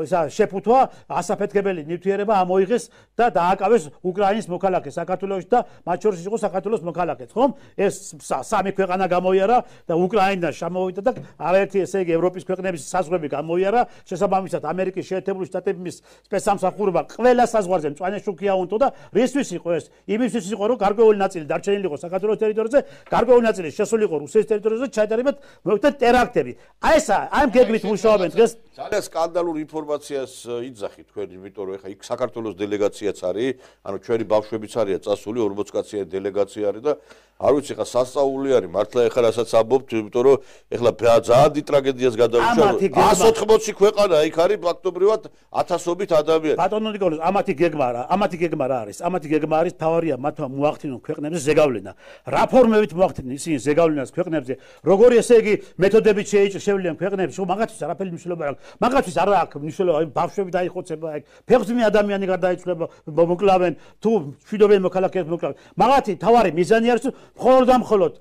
ისა შეფუთვა ასაფეთქებელი ნივთიერება ამოიღეს და დააკავეს უკრაინის მოქალაქეს საქართველოში და მათ შორის იყო საქართველოს მოქალაქეც ხომ ეს სამი ქვეყანა გამოიარა და უკრაინა შემოვიდა და არაერთი ესე იგი ევროპის ქვეყნების საზღვრები გამოიარა შესაბამისად ამერიკის შეერთებული შტატების სპეცსამსახურება ყველა საზღვარზე მწვანე შუქია უნდო და რისთვის იყო ეს იმისთვის იყო რომ გარკვეული ნაწილი დარჩენილი იყო საქართველოს ტერიტორიაზე, გარკვეული ნაწილი შესული იყო რუსეთის ტერიტორიაზე, ჩაიტარებათ მოხდა ტერაქტები. აი ეს ამ გეგმით მუშაობენ დღეს. ძალიან სკანდალურ ინფორმაციას იძახი თქვენ, იმიტომ რომ ეხა იქ საქართველოს დელეგაციაც არის, ანუ ჩვენი ბავშვებიც არიან წასული 40 კაციანი დელეგაცია არის და არ ვიცი ხა სასწაული არის მართლა ეხლა რასაც ამბობთ, იმიტომ რომ ეხლა ძალიან დიდ ტრაგედიას გადავიშალოთ. 180 ქვეყანა იქ არის ფაქტობრივად ათასობით ადამიანი. ბატონო ნიკოლოზ, ამათი გეგმა რა არის? ამათი გეგმა არის თავარია მათმა მოახდინონ ქვეყნებზე ზეგავლენა. რა ფორმებით მოახდინონ ისინი ზეგავლენას ქვეყნებზე? როგორი ესე იგი მეთოდებით შეიჭრნენ ქვეყნებში? მაგათთვის არაფერი მნიშვნელობა არ აქვს. მაგათთვის არ აქვს მნიშვნელობა, ბავშვები დაიხოცება ეგ. ფეხმძიმე ადამიანი გარდაიცვალება, მოკლავენ თუ მშვიდობიან მოქალაქეებს მოკლავენ. მაგათი თავარი მიზანი არის მხოლოდ და მხოლოდ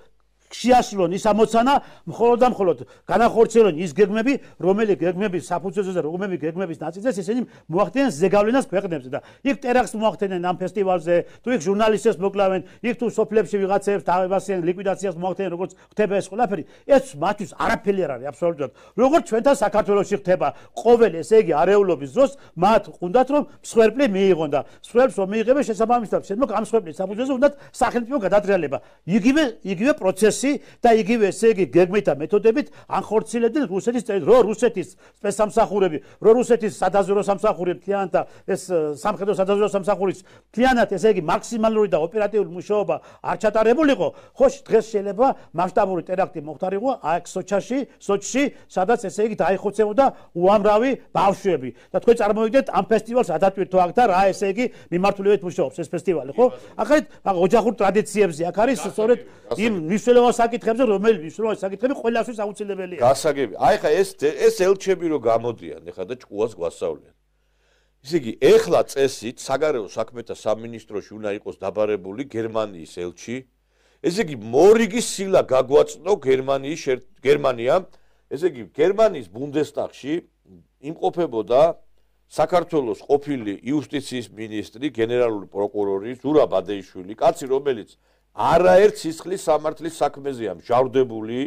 შეასრულონ ის ამოცანა, მხოლოდ და მხოლოდ განახორციელონ ის გეგმები, რომელი გეგმების საფუძველზე და რომელი გეგმების ნაწილზე ისინი მოახდინენ ზეგავლენას ქვეყნებზე და იქ ტერაქტს მოახდინენ ამ ფესტივალზე, თუ იქ ჟურნალისტებს მოკლავენ, იქ თუ სოფლებში ვიღაცებს თავებასიან ლიკვიდაციას მოახდინენ, როგორც ხდება ეს ყველაფერი, ეს მათთვის არაფერი არ არის აბსოლუტურად. როგორც ჩვენთან საქართველოში ხდება ყოველ ესე იგი არეულობის დროს, მათ უნდათ რომ მსხვერპლი მიიღონ და მსხვერპლს რომ მიიღებენ შესაბამისად, შემდგომ ამ მსხვერპლის საფუძველზე უნდათ სახელმწიფო გადატრიალება. იგივე პროცესი და იგივე ესე იგი გეგმით და მეთოდებით ანხორციელებდნენ რუსეთის სპეცსამსახურები, რუსეთის სადაზვერვო სამსახური მთლიანად და ეს სამხედრო სადაზვერვო სამსახურის მთლიანად ესე იგი მაქსიმალური და ოპერატიული მუშაობა არ ჩატარებულიყო, ხო დღეს შეიძლება მასშტაბური ტერაქტი მოხდარიყო აქ სოჩში, სადაც ესე იგი დაიხოცებოდა უამრავი ბავშვები და თქვენ წარმოვიდგინეთ ამ ფესტივალს ადატვირთო აქ და რა ესე იგი მიმართულებით მუშაობს ეს ფესტივალი, ხო? ახლა ოჯახურ ტრადიციებზე აქ არის სწორედ იმ მნიშვნელოვან საკითხებზე, რომელიც მნიშვნელოვანი საკითხები ყველასთვის აუცილებელია. გასაგები. აი ხა ეს ელჩები რო გამოდიან, ეხლა და ჭკუას გვასწავლიან. ისე იგი, ეხლა წესით საგარეო საქმეთა სამინისტროში უნდა იყოს დაბარებული გერმანიის ელჩი. ესე იგი, მორიგი სილა გაგვაწნო გერმანიამ. ესე იგი, გერმანიის ბუნდესტაგში იმყოფებოდა საქართველოს ყოფილი იუსტიციის მინისტრი, გენერალური პროკურორი ზურაბ ბადეიშვილი, კაცი რომელიც არაერთ სისხლის სამართლის საქმეზეა მჟავრდებული,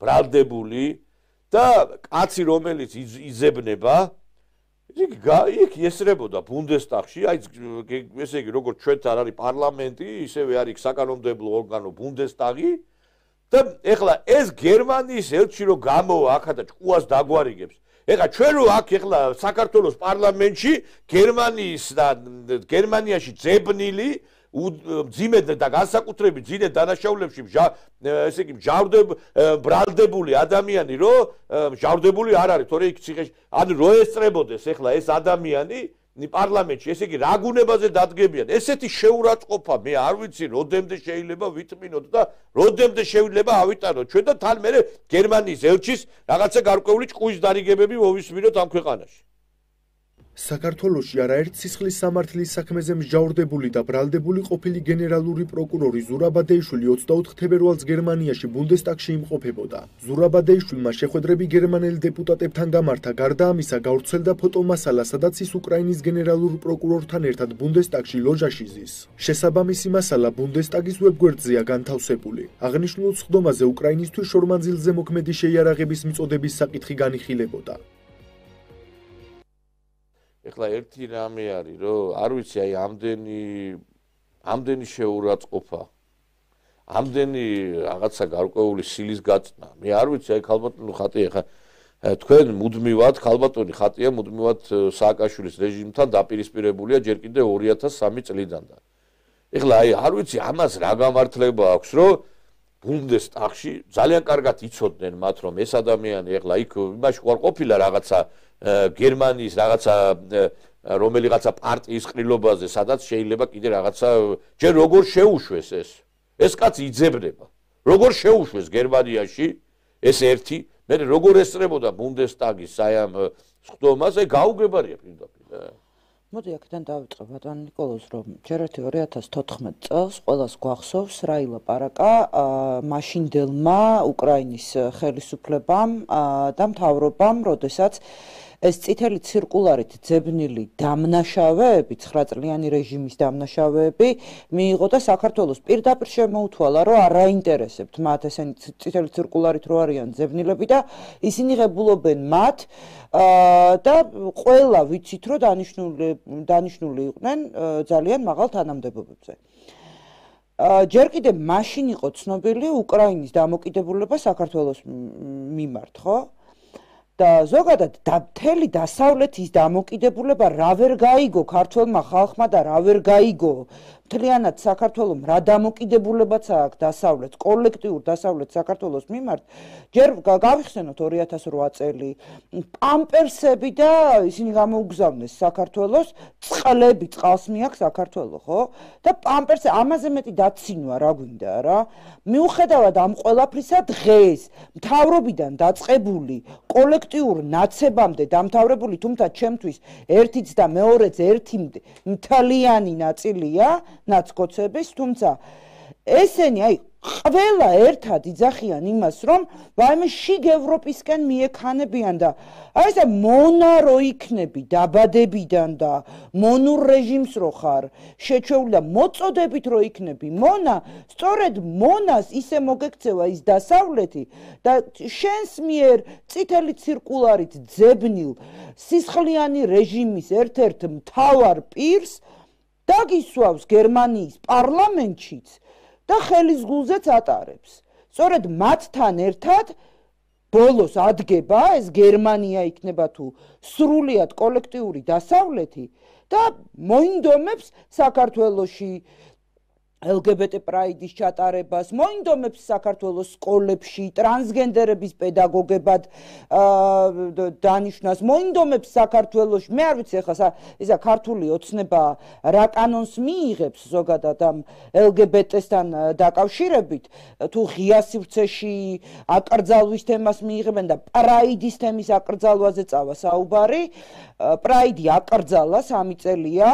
ბრალდებული და კაცი რომელიც იზებნება იქ ესრებოდა ბუნდესტაგში, აი ესე იგი როგორც ჩვენთან არის პარლამენტი, ისევე არის საკანონმდებლო ორგანო ბუნდესტაგი და ეხლა ეს გერმანიის ელჩი რო გამოვა აქა და ჭკუას დაგვარიგებს. ეხლა ჩვენ რო აქ ეხლა საქართველოს პარლამენტში გერმანიაში ძებნილი ძიმე და განსაკუთრებით ძინე დანაშაულებში ესე იგი ბრალდებული ადამიანი რო მჟავრდებული არ არის, თორე იქ ციხეში ანუ რო ესწრებოდეს ეხლა ეს ადამიანი პარლამენტში, ესე იგი რა გუნებაზე დადგებიან. ესეთი შეურაცხყოფა მე არ ვიცი როდემდე შეიძლება ვითმინოთ და როდემდე შეიძლება ავიტანოთ ჩვენ და თან მე გერმანიის ელჩის რაღაცა გარკვეული ჭკუის დარიგებები მოვისმინოთ ამ ქვეყანაში. საქართველოში არაერთ სისხლის სამართლის საქმეზე მსჯავრდებული და ბრალდებული ყოფილი გენერალური პროკურორი ზურაბადეიშვილი 24 თებერვალს გერმანიაში ბუნდესტაგში იმყოფებოდა. ზურაბადეიშვილმა შეხვედრები გერმანელ დეპუტატებთან გამართა, გარდა ამისა გავრცელდა ფოტომასალა, სადაც ის უკრაინის გენერალურ პროკურორთან ერთად ბუნდესტაგში ლოჟაში ზის. შესაბამისი მასალა ბუნდესტაგის ვებგვერდზეა განთავსებული. აღნიშნულ სხდომაზე უკრაინისთვის შორმანძილზე მოქმედი შეიარაღების მიწოდების საკითხი განიხილებოდა. ეხლა ერთი რამე არის, რომ არ ვიცი, აი ამდენი შეურაცხყოფა, ამდენი რაღაცა გარკვეული სილის გაწნა. მე არ ვიცი, აი ქალბატონი ხატი ეხლა თქვენ მუდმივად ქალბატონი ხატია მუდმივად სააკაშვილის რეჟიმთან დაპირისპირებულია ჯერ კიდევ 2003 წლიდან და. ეხლა აი არ ვიცი, ამას რა გამართლება აქვს, რომ ბუნდესტაგში ძალიან კარგად იცოდნენ მათ, რომ ეს ადამიანი ეხლა იქ იმაში ყარ ყოფილა რაღაცა გერმანიის რაღაცა რომელიღაცა პარტიის ყრილობაზე, სადაც შეიძლება კიდე რაღაცა ჯერ როგორ შეუშვეს ეს კაცი იძებნება. როგორ შეუშვეს გერმანიაში ეს ერთი, მე როგორ ესწრებოდა ბუნდესტაგის აი ამ სხდომაზე გაუგებარია პირდაპირ. მოდი აქედან დავიწყე ბატონ ნიკოლოზ, რომ ჯერ 2014 წელს ყველას გვახსოვს რა ილაპარაკა მაშინდელმა უკრაინის ხელისუფლებამ და მთავრობამ, როდესაც ეს წითელი ცირკულარით ძებნილი დამნაშავეები, 9 წლიანი რეჟიმის დამნაშავეები მიიღო და საქართველოს პირდაპირ შემოუთვალა, რომ არ აინტერესებთ მათ ესენი წითელი ცირკულარით რო არიან ძებნილები და ისინი ღებულობენ მათ და ყველა ვიცით, რომ დანიშნული იყვნენ ძალიან მაღალ თანამდებობებზე. ჯერ კიდევ მაშინ იყო ცნობილი უკრაინის დამოკიდებულება საქართველოს მიმართ, ხო? და ზოგადად მთელი დასავლეთის დამოკიდებულება რა ვერ გაიგო ქართველმა ხალხმა და რა ვერ გაიგო მთლიანად საქართველომ რა დამოკიდებულებაც აქვს დასავლეთ, კოლექტიურ დასავლეთ საქართველოს მიმართ, ჯერ გავიხსენოთ 2008 წელი, პამპერსები და ისინი გამოუგზავნეს საქართველოს, წყლები, წყალს მიაქვს საქართველო, ხო? და პამპერსი ამაზე მეტი დაცინვა რა გვინდა რა? მიუხედავად ამ ყველაფრისა დღეს მთავრობიდან დაწყებული კოლექტიურ ნაცებამდე დამთავრებული, თუმცა ჩემთვის ერთიც და მეორეც ერთი მთლიანი ნაწილია ნაცკოცების, თუმცა ესენი აი ყველა ერთად იძახიან იმას, რომ ვაიმე შიგ ევროპისკენ მიექანებიან და აი ეს მონა რო იქნები დაბადებიდან და მონურ რეჟიმს რო ხარ შეჩეული და მოწოდებით რო იქნები მონა, სწორედ მონას ისე მოგექცევა ის დასავლეთი და შენს მიერ წითელი ცირკულარით ძებნილ სისხლიანი რეჟიმის ერთ-ერთ მთავარ პირს დაგისვავს გერმანიის პარლამენტშიც და ხელის გულზეც ატარებს. სწორედ მათთან ერთად ბოლოს ადგება ეს გერმანია იქნება თუ სრულიად კოლექტიური დასავლეთი და მოინდომებს საქართველოში LGBT პრაიდის ჩატარებას, მოინდომებს საქართველოს სკოლებში ტრანსგენდერების პედაგოგებად დანიშნას, მოინდომებს საქართველოში, მე არ ვიცი ახლა ისა ქართული ოცნება რა კანონს მიიღებს ზოგადად ამ LGBT-სთან დაკავშირებით, თუ ღია სივრცეში აკრძალვის თემას მიიღებენ და პრაიდის თემის აკრძალვაზე წავა საუბარი, პრაიდი აკრძალა 3 წელია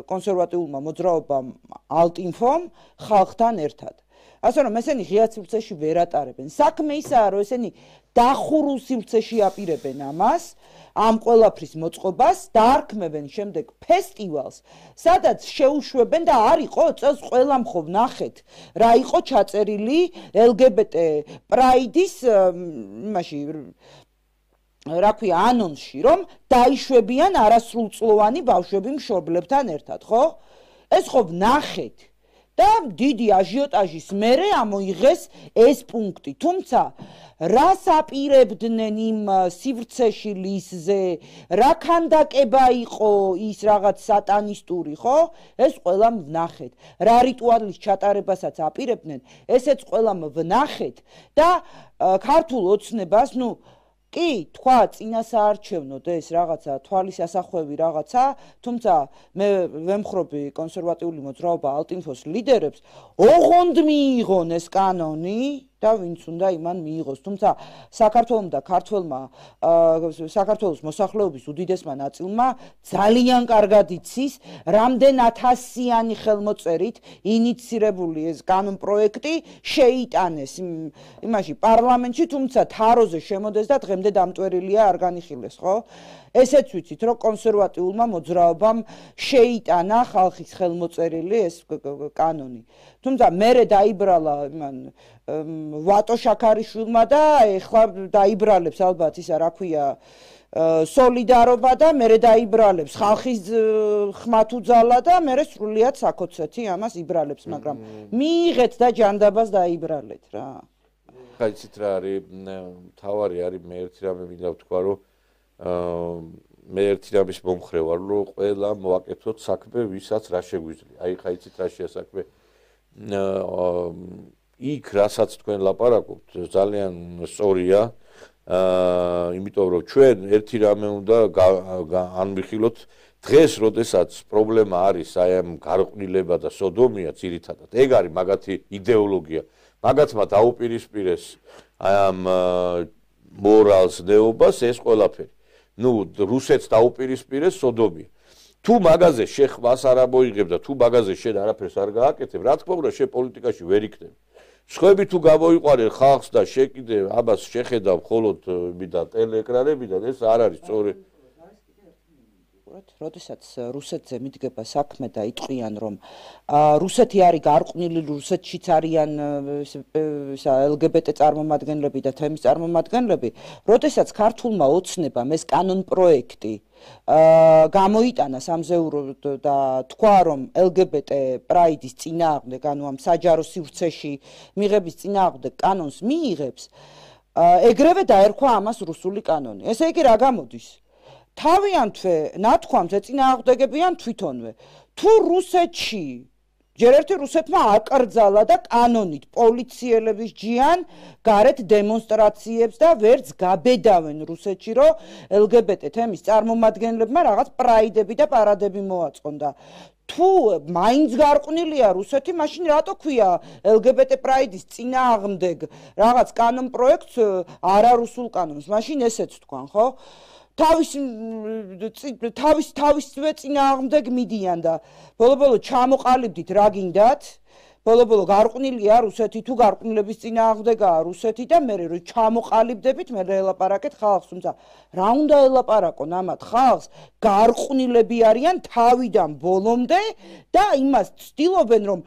კონსერვატიულმა მოძრაობამ ალტინფომ ხალხთან ერთად. ასე რომ ესენი ღია სივრცეში ვერ ატარებენ. საქმე ისაა, რომ ესენი დახურულ სივრცეში აპირებენ ამას, ამ ყველაფრის მოწყობას და არქმევენ შემდეგ ფესტივალს, სადაც შეუშვებენ და არ იყო წელს ყველა მხოლოდ ნახეთ, რა იყო ჩაწერილი LGBT პრაიდის იმაში რა ქვია ანონსში, რომ დაიშვებიან არასრულწლოვანი ბავშვები მშობლებთან ერთად, ხო? ეს ხო ნახეთ და დიდი აჟიოტაჟის მერე ამოიღეს ეს პუნქტი. თუმცა რას აპირებდნენ იმ სივრცეში ლისზე, რა ქანდაკება იყო ის რაღაც სატანისტური, ხო? ეს ყველამ ვნახეთ. რა რიტუალის ჩატარებასაც აპირებდნენ, ესეც ყველამ ვნახეთ და ქართულ ოცნებას, კი, თქვა წინასაარჩევნოდ ეს რაღაცა თვალის ასახვევი რაღაცა, თუმცა მე ვემხრობი კონსერვატიული მოძრაობა ალტინფოს ლიდერებს, ოღონდ მიიღონ ეს კანონი და ვინც უნდა იმან მიიღოს. თუმცა საქართველოს და ქართველმა საქართველოს მოსახლეობის უდიდესმა ნაწილმა ძალიან კარგად იცის, რამდენ ათასიანი ხელმოწერით ინიცირებული ეს კანონპროექტი შეიტანეს იმაში პარლამენტში, თუმცა თაროზე შემოდეს და დღემდე დამტვერილია არ განიხილეს, ხო? ესეც ვიცით, რომ კონსერვატიულმა მოძრაობამ შეიტანა ხალხის ხელმოწერილი ეს კანონი. თუმცა მერე დაიბრალა იმან ვატო შაქარიშვილმა და ეხლა დაიბრალებს ალბათ ისა რა ქვია სოლიდარობა და მერე დაიბრალებს ხალხის ხმათუძალა და მერე სრულიად საქოცეთი ამას იბრალებს, მაგრამ მიიღეთ და ჯანდაბას დაიბრალეთ რა. ხა იცით რა არის თავარი არის მე ერთი რამე მინდა ვთქვა რომ მე ერთი რამის მომხრე ვარ რომ ყველა მოაკეთოთ საქმე ვისაც რა შეგვიძლია. აი ხა იცით რა შეასაქმე იქ რასაც თქვენ ლაპარაკობთ ძალიან სწორია. იმიტომ რომ ჩვენ ერთი რამე უნდა ანმიხილოთ დღეს როდესაც პრობლემა არის აი ამ გარყვნილება და სოდომია ძირითადად ეგ არის მაგათი იდეოლოგია მაგათმა დაუპირისპირეს აი ამ მორალს ნეობას ეს ყველაფერი ნუ რუსეთს დაუპირისპირეს სოდომია თუ მაგაზე შეხვას არ ამოიღებ და თუ მაგაზე შენ არაფერს არ გააკეთებ რა თქმა უნდა შენ პოლიტიკაში ვერ იქნები სხვები თუ გამოიყვანენ ხალხს და შეკიდე ამას შეხედავ მხოლოდ მიდა ტელეეკრანებიდან ეს არ არის სწორი როდესაც რუსეთზე მიდგება საქმე და იტყვიან რომ რუსეთი არის გარყვნილი რუსეთშიც არიან LGBT წარმომადგენლები და თემის წარმომადგენლები როდესაც ქართულმა ოცნებამ ეს კანონპროექტი გამოიტანა სამზეურო და თქვა რომ LGBT პრაიდის წინააღმდეგ ანუ ამ საჯარო სივრცეში მიღების წინააღმდეგ კანონს მიიღებს ეგრევე დაერქვა ამას რუსული კანონი ესე იგი რა გამოდის თავიანთვე ნათქვამს ეწინააღმდეგებიან თვითონვე თუ რუსეთში ჯერ ერთი რუსეთმა აკრძალა და კანონით პოლიციელების ჯიან გარეთ დემონსტრაციებს და ვერც გაბედავენ რუსეთში რომ LGBT თემის წარმომადგენლებმა რაღაც პრაიდები და პარადები მოაწყონ და თუ მაინც გარყვნილია რუსეთი მაშინ რატო ქვია LGBT პრაიდის წინააღმდეგ რაღაც კანონპროექტს არარუსულ კანონს მაშინ ესეც თქვან ხო თავისვე წინააღმდეგ მიდიან და ბოლო-ბოლო ჩამოყალიბდით რა გინდათ ბოლო-ბოლო გარყვნილია რუსეთი თუ გარყვნილების წინააღმდეგაა რუსეთი და მე რო ჩამოყალიბდებით მე ელაპარაკეთ ხალხს თუმცა რა უნდა ელაპარაკონ ამათ ხალხს გარყვნილები არიან თავიდან ბოლომდე და იმას ცდილობენ რომ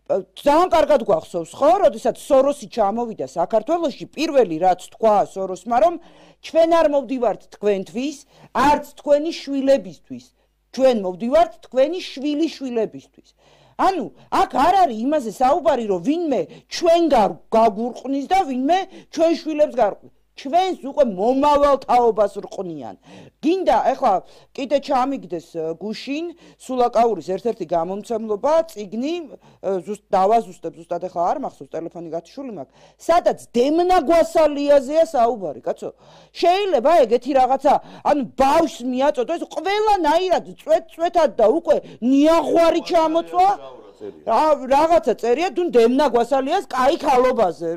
ძალიან კარგად გვახსოვს ხო როდესაც სოროსი ჩამოვიდა საქართველოში პირველი რაც თქვა სოროსმა რომ ჩვენ არ მოვდივართ თქვენთვის არც თქვენი შვილებისთვის ჩვენ მოვდივართ თქვენი შვილიშვილებისთვის ანუ აქ არ არის იმაზე საუბარი რომ ვინმე ჩვენ გაგურყნის და ვინმე ჩვენ შვილებს გარყვნს ჩვენს უკვე მომავალ თაობას რყნიან. გინდა ეხლა კიდე ჩამიგდეს გუშინ სულაკაურის ერთ-ერთი გამომცემლობა წიგნი დავაზუსტებ ზუსტად ეხლა არ მახსოვს ტელეფონი გათიშული მაქვს. სადაც დემნა გვასალიაზეა საუბარი, კაცო. შეიძლება ეგეთი რაღაცა, ანუ ბავშვს მიაწოდო ეს ყველანაირად წვეთად და უკვე ნიაღვარი ჩამოწვა. რაღაცა წერია თუ დემნა გვასალიას კაი ხალობაზე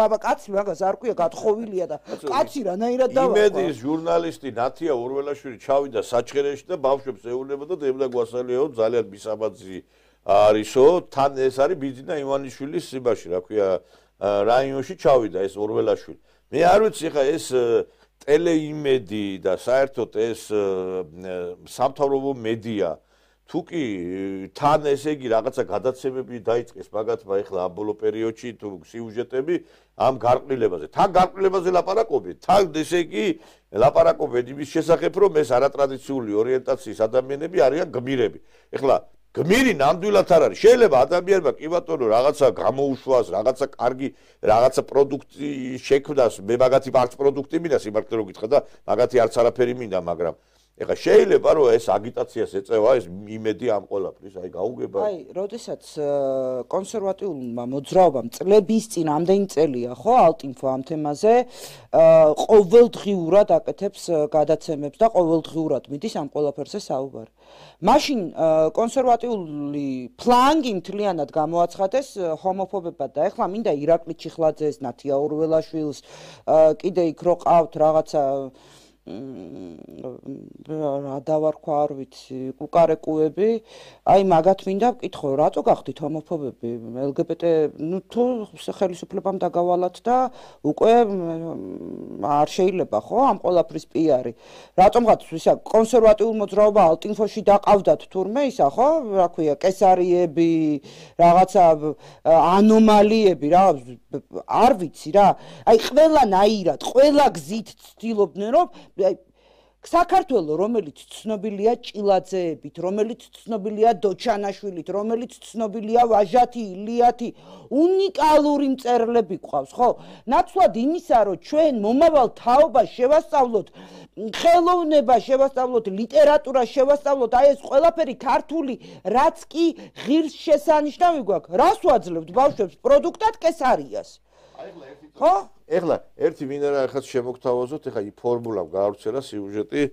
აბა კაცი მაგას არ ქვია გათხოვილია და კაცი რანაირად დავა იმედის ჟურნალისტი ნათია ორველაშვილი ჩავიდა საჩხერეში და ბავშვებს ეუბნება და დემნა გვასალიაო ძალიან მისაბაძი არისო თან ეს არის ბიძინა ივანიშვილის სიბაში რა ქვია რაიონში ჩავიდა ეს ორველაშვილი მე არ ვიცი ხა ეს ტელეიმედი და საერთოდ ეს სამთავრობო მედია თუკი თან ესე იგი რაღაცა გადაცემები დაიწყეს მაგათმა ეხლა ამ ბოლო პერიოდში თუ სიუჟეტები ამ გარყვნილებაზე თან გარყვნილებაზე ლაპარაკობენ თან ესე იგი ლაპარაკობენ იმის შესახებ რომ ეს არატრადიციული ორიენტაციის ადამიანები არიან გმირები ეხლა გმირი ნამდვილად არ არის შეიძლება ადამიანმა კი ბატონო რაღაცა გამოუშვას რაღაცა კარგი რაღაცა პროდუქტი შექმნას მე მაგათი არც პროდუქტი მინდა სიმართლე რომ გითხრა და მაგათი არც არაფერი მინდა მაგრამ ეხლა შეიძლება რომ ეს აგიტაციას ეწევა ეს იმედი ამ ყველაფრის, აი გაუგება. აი, როდესაც კონსერვატიულმა მოძრაობამ წლების წინ ამდენი წელია, ხო, ალტინფო ამ თემაზე ყოველდღიურად აკეთებს გადაცემებს და ყოველდღიურად მიდის ამ ყველაფერზე საუბარი. მაშინ კონსერვატიული ფლანგი მთლიანად გამოაცხადეს ჰომოფობებად და ეხლა მინდა ირაკლი ჩიხლაძეს, ნათია ორველაშვილს, კიდე იქ რო ყავთ რაღაცა რა დავარქვა არ ვიცი კუკარეკუები აი მაგათ მინდა ვკითხო რატო გახდით ჰომოფობები LGBT ნუ თუ ხელისუფლებამ დაგავალათ და უკვე არ შეიძლება ხო ამ ყველაფრის პიარი რატომღაც ისა კონსერვატიულ მოძრაობა ალტინფოში დაყავდათ თურმე ისა ხო რა ქვია კესარიები რაღაცა ანომალიები რა არ ვიცი რა აი ყველანაირად ყველა გზით ცდილობდნენ რომ საქართველოს რომელიც ცნობილია ჭილაძეებით, რომელიც ცნობილია დოჩანაშვილით, რომელიც ცნობილია ვაჟათი, ილიათი, უნიკალური მწერლები გვყავს, ხო? ნაცვლად იმისა, რომ ჩვენ მომავალ თაობას შევასწავლოთ, ხელოვნება შევასწავლოთ, ლიტერატურა შევასწავლოთ, აი ეს ყველაფერი ქართული, რაც კი ღირსშესანიშნავი გვაქვს, რას ვაძლევთ ბავშვებს პროდუქტად კესარიას? ხო? ეხლა ერთი მინერა ახაც შემოგთავაზოთ, ეხლა ფორმულა გაავრცელა სიუჟეტი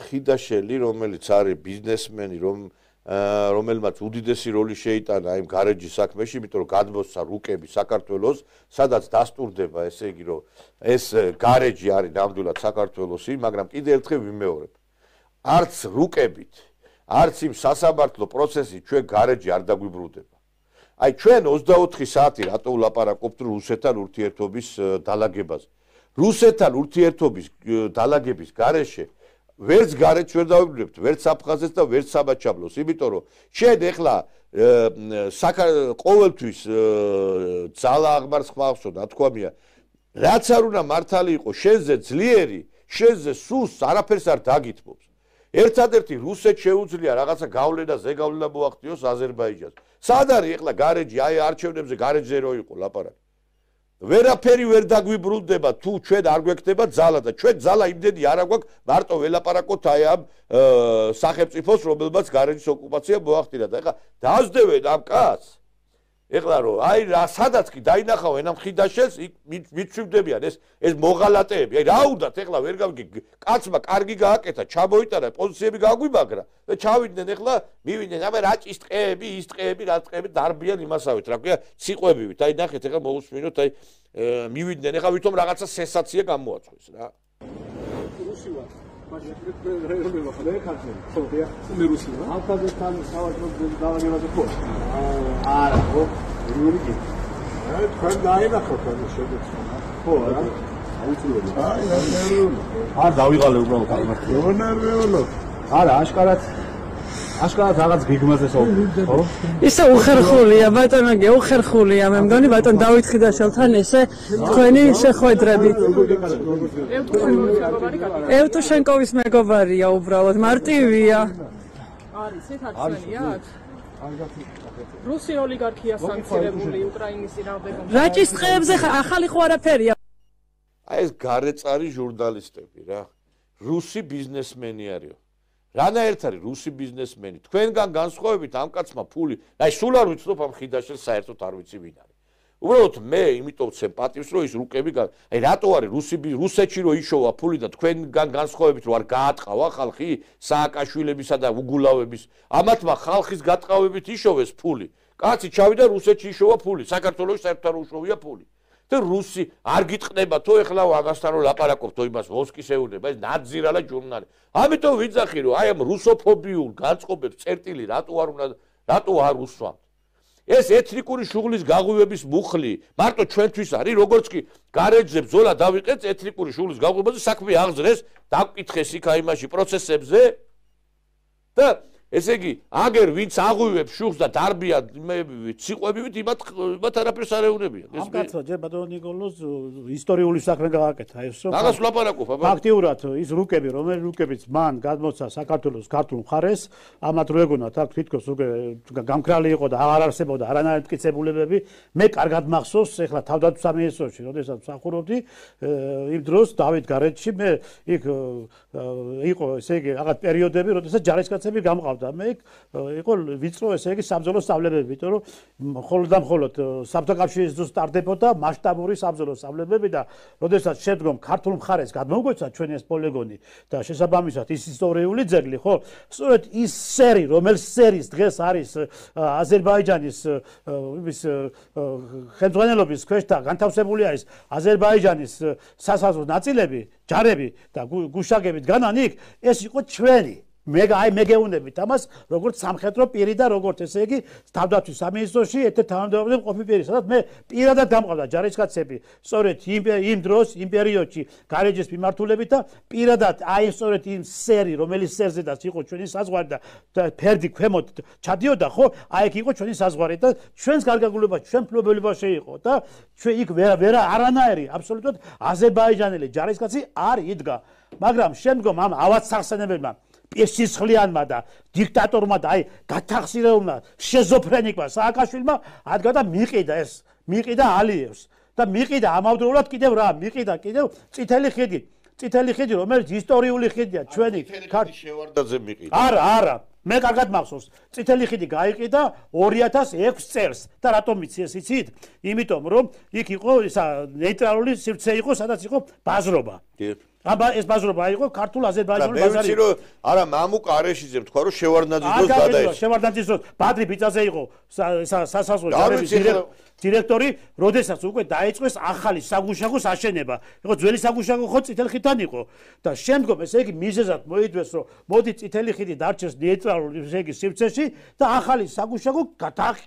ხიდაშელი, რომელიც არის ბიზნესმენი, რომელმაც უდიდესი როლი შეიტანა იმ გარეჯის საქმეში, იმიტომ რომ გადმოსცა რუკები საქართველოს, სადაც დასტურდება, ესე იგი, რომ ეს გარეჯი არის ნამდვილად საქართველოსი, მაგრამ კიდე ერთხელ ვიმეორებ. არც რუკებით, არც იმ სასამართლო პროცესით ჩვენ გარეჯი არ დაგვიბრუნდება. აი ჩვენ 24 საათი რატო ვლაპარაკობთ რუსეთთან ურთიერთობის დალაგებაზე. რუსეთთან ურთიერთობის დალაგების გარეშე ვერც გარეჯს ვერ დავიბრუნებთ, ვერც აფხაზეთს და ვერც საბაჩაბლოს, იმიტომ რომ შენ ეხლა ყოველთვის ძალა აღმარს ხმავსო, ნათქვამია, რაც არ უნდა მართალი იყოს, შენზე ძლიერი, შენზე სუსტ არაფერს არ დაგითმობს. ერთადერთი რუსეთს შეუძლია რაღაცა გავლენა, ზეგავლენა მოახდინოს აზერბაიჯანს. სად არის ეხლა გარეჯი, აი არჩევნებზე გარეჯზე რო იყო ლაპარაკი. ვერაფერი ვერ დაგვიბრუნდება თუ ჩვენ არ გვექნება ძალა და ჩვენ ძალა იმდენი არ აგვაქვს მარტო ველაპარაკოთ აი ამ სახელმწიფოს რომელმაც გარეჯის ოკუპაცია მოახდინა და ეხლა დაასდევენ ამ კაცს ეხლა რომ აი რა სადაც კი დაინახავენ ამ ხიდაშელს მიცვივდებიან ეს მოღალატეები აი რა უნდათ ეხლა ვერ გავიგე კაცმა კარგი გააკეთა ჩამოიტანა პოზიციები გაგვიმაგრა და ჩავიდნენ ეხლა მივიდნენ აბა რაჭის ტყეები ის ტყეები რა ტყეები დარბიან იმასავით რა ქვია ციყვებივით აი ნახეთ ეხლა მოусმინოთ აი მივიდნენ ეხლა ვითომ რაღაცა სენსაცია გამოაწვეს რა რუსი ვარ მაგრამ რეალურად ხარ ხალხი ხო დია მე რუსი ვარ აფხაზეთთან სავაჭრო დავალებაზე ხო არა ხო რიურიგი აი თქვენ დაინახოთ ამ შეგეცონა ხო არა აუცილებლად აი ნერვიულო არ დავიღალე უბრალოდ ამ ნერვიულო არა აშკარად რაღაც გიგმაზე საუბრობ ხო ისე უხერხულია ბატონო უხერხულია მე მგონი ბატონ დავით ხიდაშელთან ესე თქვენი შეხვედრები ევტუშენკოვის მეგობარია უბრალოდ მარტივია არის ეს აქცია რუსი ოლიგარქია სანქცირებული უკრაინის წინააღმდეგ რაჭის ტყეებზე ახალი ხო არაფერია აი ეს გარეწარი ჟურნალისტები რა რუსი ბიზნესმენი არისო რანაირად არის რუსი ბიზნესმენი თქვენგან განსხვავებით ამ კაცმა ფული აი სულ არ ვიცნობ ამ ხიდაშელს საერთოდ არ ვიცი ვინ არის უბრალოდ მე იმიტომ ვცემ პატივს რომ ის რუკები აი რატო არის რუსეთში რომ იშოვა ფული და თქვენგან განსხვავებით რომ არ გაატყავა ხალხი სააკაშვილებისა და უგულავების ამათმა ხალხის გატყავებით იშოვეს ფული კაცი ჩავიდა რუსეთში იშოვა ფული საქართველოს საერთოდ არ უშოვია ფული და რუსი არ გიტყნება თუ ეხლა ამასთან რომ ლაპარაკობთ თუ იმას მოსკის ეუბნება ეს ნაძირალა ჟურნალი ამიტომ ვიძახი რომ აი ამ რუსოფობიურ განწყობებს წერტილი რატო არ უსვამთ ეს ეთნიკური შუღლის გაღვივების მუხლი მარტო ჩვენთვის არის როგორც კი გარეჯზე ბრძოლა დავიყეთ ეთნიკური შუღლის გაღვივებაზე საქმე აღძრეს დაგკითხეს იქ აი მასში პროცესებზე და ესე იგი, აგერ ვინც აღვივებს შუხს და დარბია ციყვებივით, იმათ არაფერს არ ეუნებიან. ამ კაცო, ჯერ ბატონო ნიკოლოზ ისტორიული საქმე გააკეთა ეს რომ მაგას ვლაპარაკობ, აბა. ფაქტიურად ის რუკები, რომელი რუკებიც მან გადმოცა საქართველოს ქართულ მხარეს, ამათ რო ეგონათ აქ თვითქოს უკვე გამქრალი იყო და აღარ არსებობდა არანაირი მტკიცებულებები. მე კარგად მახსოვს, ეხლა თავდაცვის სამინისტროში, როდესაც ვსახურობდი, იმ დროს დავით გარეთში მე იქ იყო ესე იგი რაღაც პერიოდები, როდესაც ჯარისკაცები გამყავდა. მე იყო ვიწრო ესე იგი საბრძოლო სწავლებები, იმიტომ რომ მხოლოდ და მხოლოდ საბჭოთა კავშირის დროს სტარდებოდა მასშტაბური საბრძოლო სწავლებები და როდესაც შედგომ ქართულ მხარეს გადმოგვეცა ჩვენი ეს პოლიგონი და შესაბამისად ის ისტორიული ძეგლი, ხო? სწორედ ის სერი, რომელიც სერის დღეს არის აზერბაიჯანის იმის ხელმძღვანელობის ქვეშ და განთავსებული არის აზერბაიჯანის სასაზღვრო ნაწილები, ჯარები და გუშაგებით განან იქ, ეს იყო ჩვენი მე გეუნებით ამას როგორც სამხედრო პირი და როგორც ესე იგი თავდაცვის სამინისტროში ერთ-ერთ თანამდებობაზე მყოფი პირი, სადაც მე პირადად გამყავდა ჯარისკაცები სწორედ იმ დროს იმ პერიოდში გარეჯის მიმართულებით და პირადად აი სწორედ იმ სერი, რომელიც სერზედაც იყო ჩვენი საზღვარი და ფერდი ქვემოთ ჩადიოდა, ხო? აი იქ იყო ჩვენი საზღვარი და ჩვენს გარდაგულებაში, ჩვენ ფლობელებაში იყო და ჩვენ იქ ვერა არანაირი აბსოლუტურად აზერბაიჯანელი ჯარისკაცი არ იდგა, მაგრამ შემდგომ ამ ავადსახსენებელმა სისხლიანმა და დიქტატორმა და აი გათახსირებულმა შეზოფრენიკმა სააკაშვილმა ადგა და მიყიდა ალიევს და მიყიდა ამავდროულად კიდევ რა მიყიდა კიდევ წითელი ხიდი რომელიც ისტორიული ხიდია ჩვენი შევარდაძე მიყიდა არა მე კარგად მახსოვს წითელი ხიდი გაიყიდა 2006 წელს და რატომ იცით იცით იმიტომ რომ იქ იყო ისა ნეიტრალური სივრცე იყო სადაც იყო ბაზრობა აბა ეს ბაზრობა იყო ქართულ აზერბაიჯანულ ბაზარი. მე ვიცი რომ არა მამუკა არეშიძე თქვა რომ შევარდნაძის დროს გადაეცა. შევარდნაძის დროს ბადრი ბიწაზე იყო სასაზღვრო ჯარების დირექტორი, როდესაც უკვე დაიწყეს ახალი საგუშაგოს აშენება. იყო ძველი საგუშაგო ხო წითელი ხიდთან იყო და შემდგომ ესე იგი მიზეზად მოიდვეს რომ მოდი წითელი ხიდი დარჩეს ნეიტრალური ესე იგი სივრცეში და ახალი საგუშაგო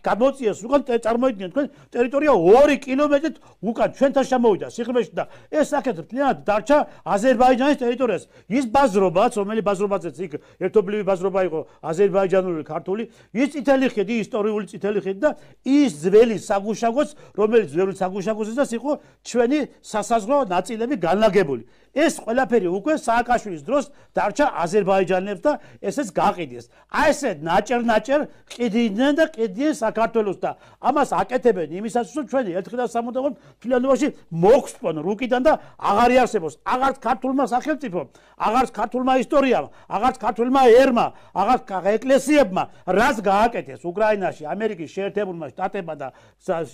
გამოწიეს უკან წარმოიდგინეთ თქვენ ტერიტორია 2 კილომეტრით უკან ჩვენთან შემოვიდა სიღრმეში და ეს საკეთებ მთლიანად დარჩა აზერბაიჯანის ტერიტორიას. ის ბაზრობაც, რომელიც ბაზრობაზეც იქ ერთობლივი ბაზრობა იყო აზერბაიჯანული ქართული, ის წითელი ხიდი, ისტორიული წითელი ხიდი და ის ძველი საგუშაგოც, რომელიც ძველი საგუშაგოზეც იყო ჩვენი სასაზღვრო ნაწილები განლაგებული. ეს ყველაფერი უკვე სააკაშვილის დროს დარჩა აზერბაიჯანელებს და ესეც გაყიდეს. აი ესე ნაჭერ ყიდნენ და ყიდიან საქართველოს და ამას აკეთებენ იმისათვის რომ ჩვენი ერთხელ სამუდამოდ თლიანობაში მოგსპონ რუკიდან და აღარ იარსებოს აღარც ქართულმა სახელმწიფომ, აღარც ქართულმა ისტორიამ, აღარც ქართულმა ერმა, აღარც ეკლესიებმა რას გააკეთეს უკრაინაში ამერიკის შეერთებულმა შტატებმა და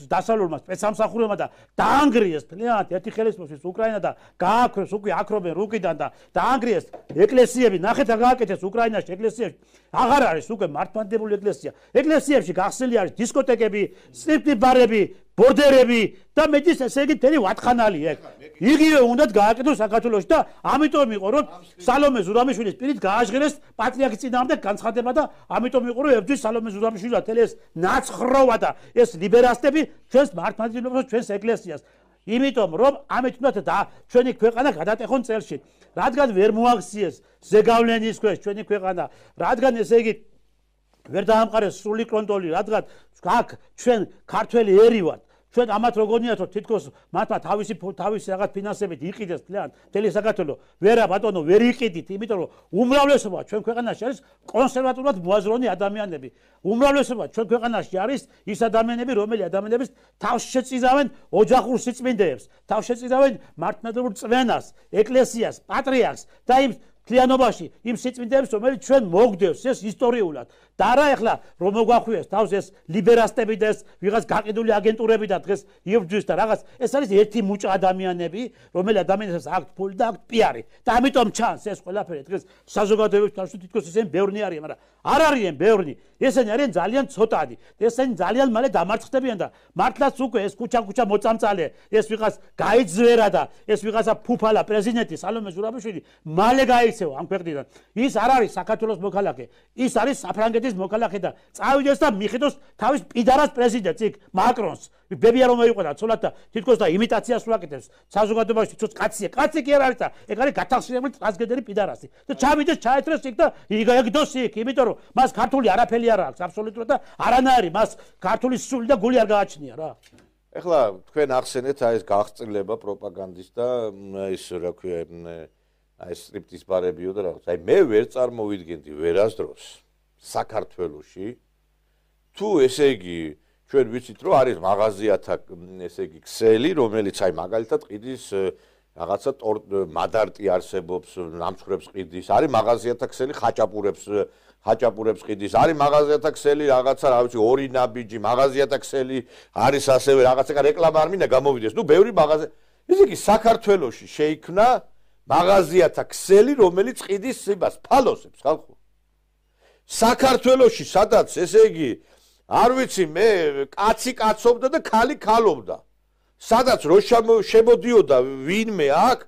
დასავლურმა სპეცსამსახურებმა და დაანგრიეს თლიანად ერთი ხელისუფლების უკრაინა და გააქვეს უკვე აკრობენ რუკიდან და დაანგრიეს ეკლესიები, ნახეთ რა გააკეთეს უკრაინაში ეკლესიებში. აღარ არის უკვე მართლმადიდებელი ეკლესია. ეკლესიებში გახსნილი არის დისკოტეკები, სტრიპტი ბარები, ბორდერები და მეც ესე იგი თელი ვათხანალი ეგ. იგივე უნდათ გააკეთოს საქართველოში და ამიტომ იყო რომ სალომე ზურამიშვილის პირით გააჟღერეს პატრიარქის წინააღმდეგ განცხადება და ამიტომ იყო რომ ებრძვის სალომე ზურამიშვილს და თელი ეს ნაცხროვა და ეს ლიბერასტები ჩვენს მართლმადიდებლობას ჩვენს ეკლესიას. იმიტომ რომ ამით უნდა და ჩვენი ქვეყანა გადატეხონ წელში. რადგან ვერ მოაღწიეს ზეგავლენის ქვეშ ჩვენი ქვეყანა, რადგან ესე იგი ვერ დაამყარეს სრული კონტროლი, რადგან აქ ჩვენ ქართველი ერი ვართ. ჩვენ ამათ როგორ რომ თითქოს მათმა თავისი რაღაც ფინანსებით იყიდეს მთელი საქართველო. ვერა ბატონო ვერ იყიდით, იმიტომ რომ უმრავლესობა ჩვენ ქვეყანაში არის კონსერვატიულად მოაზროვნე ადამიანები. უმრავლესობა ჩვენ ქვეყანაში არის ის ადამიანები, რომელი ადამიანების თავს შეწირავენ ოჯახურ სიწმინდეებს, თავს შეწირავენ მართლმადიდებლურ წვენას, ეკლესიას, პატრიარქს და იმ მთლიანობაში იმ სიწმინდეებს, რომელიც ჩვენ მოგდევს ეს ისტორიულად. და არა ეხლა რომ მოგვახვიეს თავს ეს ლიბერასტები და ეს ვიღაც გაყიდული აგენტურები და დღეს იბრძვის და რაღაც ეს არის ერთი მუჭა ადამიანები, რომელი ადამიანებს აქვთ ფული და აქვთ პიარი. და ამიტომ ჩანს ეს ყველაფერი დღეს საზოგადოებაში თავს თითქოს ესენი ბევრნი არიან, მაგრამ არ არიან ბევრნი. ესენი არიან ძალიან ცოტადი. ესენი ძალიან მალე დამარცხდებიან და მართლაც უკვე ეს ქუჩა მოწამწალე, ეს ვიღაც გაიძვერა და ეს ვიღაცა ფუფალა პრეზიდენტი სალომე ზურაბიშვილი მალე გაიქცა გაიქცევა ამ ქვეყნიდან. ის არ არის საქართველოს მოქალაქე, ის არის საფრანგეთის მოქალაქე და წავიდეს და მიხედოს თავის პიდარას პრეზიდენტს იქ მაკრონს. ბებია რომ მოიყვანა ცოლად და თითქოს და იმიტაციას უაკეთებს საზოგადოებაში თვითონ კაცია. კაცი კი არ არის და ეგ არის გათახსენებული ტრანსგენდერი პიდარასი. და ჩავიდეს ჩაეთრეს იქ და იგდოს იქ, იმიტომ რომ მას ქართული არაფერი არ აქვს აბსოლუტურად და არანაირი მას ქართული სული და გული არ გააჩნია რა. ეხლა თქვენ ახსენეთ აი ეს გაღწილება პროპაგანდის და ის რა ქვია აი სტრიპტის ბარებიო და რაღაც. აი მე ვერ წარმოვიდგენდი ვერასდროს საქართველოში თუ ესე იგი ჩვენ ვიცით რომ არის მაღაზიათა ესე იგი ქსელი რომელიც აი მაგალითად ყიდის რაღაცა მადარტი არსებობს ნამცხრებს ყიდის არის მაღაზიათა ქსელი ხაჭაპურებს ყიდის არის მაღაზიათა ქსელი რაღაცა რა ვიცი ორი ნაბიჯი მაღაზიათა ქსელი არის ასევე რაღაცა რეკლამა არ მინდა გამოვიდეს ნუ ბევრი მაღაზია ესე იგი საქართველოში შეიქმნა მაღაზიათა ქსელი რომელიც ყიდის იმას ფალოსებს ხალხო საქართველოში სადაც ესე იგი არ ვიცი მე კაცი კაცობდა და ქალი ქალობდა სადაც რო შემოდიოდა ვინმე აქ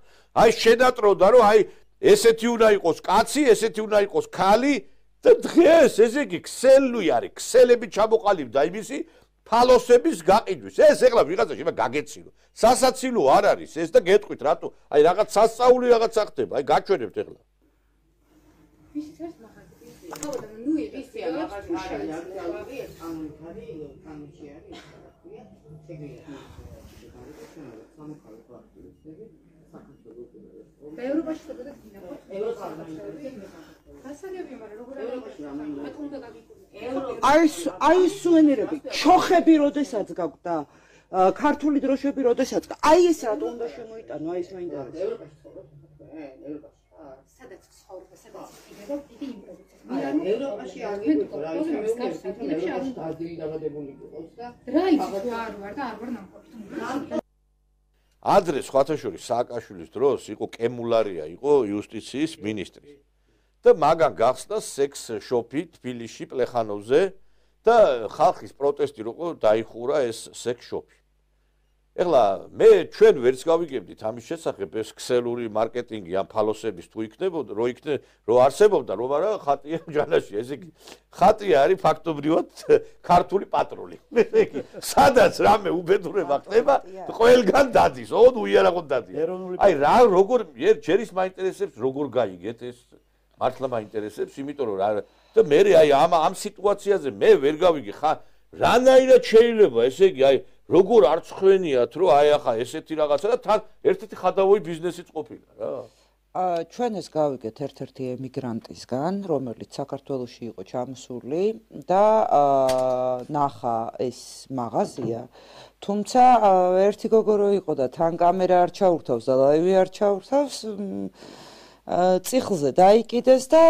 აი შედატროდა რომ აი ესეთი უნდა იყოს კაცი ესეთი უნდა იყოს ქალი და დღეს ესე იგი ქსელი არის ქსელები ჩამოყალიბდა იმისი ფალოსების გაყიდვის ეს ეხლა ვიღაცა შეიძლება გაგეცილო სასაცილო არ არის ეს და გეტყვით რატო აი რაღაც სასწაული რაღაცა ხდება აი გაჩვენებთ ეხლა ისიც არის მაგალითად ნუ ისია რაღაც არის კანონში არის ევროპაში და აი სუენირები ჩოხები როდესაც გაგვდა ქართული დროშები როდესაც აი ეს რატო უნდა შემოიტანო აი ეს მაინტერესებს სადაც ცხოვრება სადაც იქნება დიდი იმპროვიზაცია ევროპაში არ გიყო რა ის არის დაბადებული იყოს და რა იცით რა არ ვარ და არ ვარ ნამყოფი ადრე სხვათა შორის სააკაშვილის დროს იყო კემულარია იყო იუსტიციის მინისტრი და მაგან გახსნა სექს შოპი თბილისში პლეხანოვზე და ხალხის პროტესტი როყო დაიხურა ეს სექს შოპი ეხლა მე ჩვენ ვერც გავიგებდით ამის შესახებ ეს ქსელური მარკეტინგი ამ ფალოსების თუ იქნებოდა რო არსებობდა რომ არა ხატია ჯანაში ესე იგი ხატია არის ფაქტობრივად ქართული პატრული ესე იგი სადაც რამე უბედურება ხდება ყველგან დადის ოდუ იარაღოდ დადის აი რა როგორ ჯერ ის მაინტერესებს როგორ გაიგეთ ეს მართლა მაინტერესებს იმიტომ რომ რა და მე აი ამ სიტუაციაზე მე ვერ გავიგე ხა რანაირად შეიძლება ესე იგი აი როგორ არ ცხვენიათ რომ აი ახლა ესეთი რაღაცა და თან ერთ-ერთი ხადავოი ბიზნესიც ყოფილა რა ჩვენ ეს გავიგეთ ერთ-ერთი ემიგრანტისგან რომელიც საქართველოში იყო ჩამოსული და ნახა ეს მაღაზია თუმცა ერთი გოგორო იყო და თან კამერა არ ჩაურთავს და ლაივი არ ჩაურთავს წიხლზე დაიკიდეს და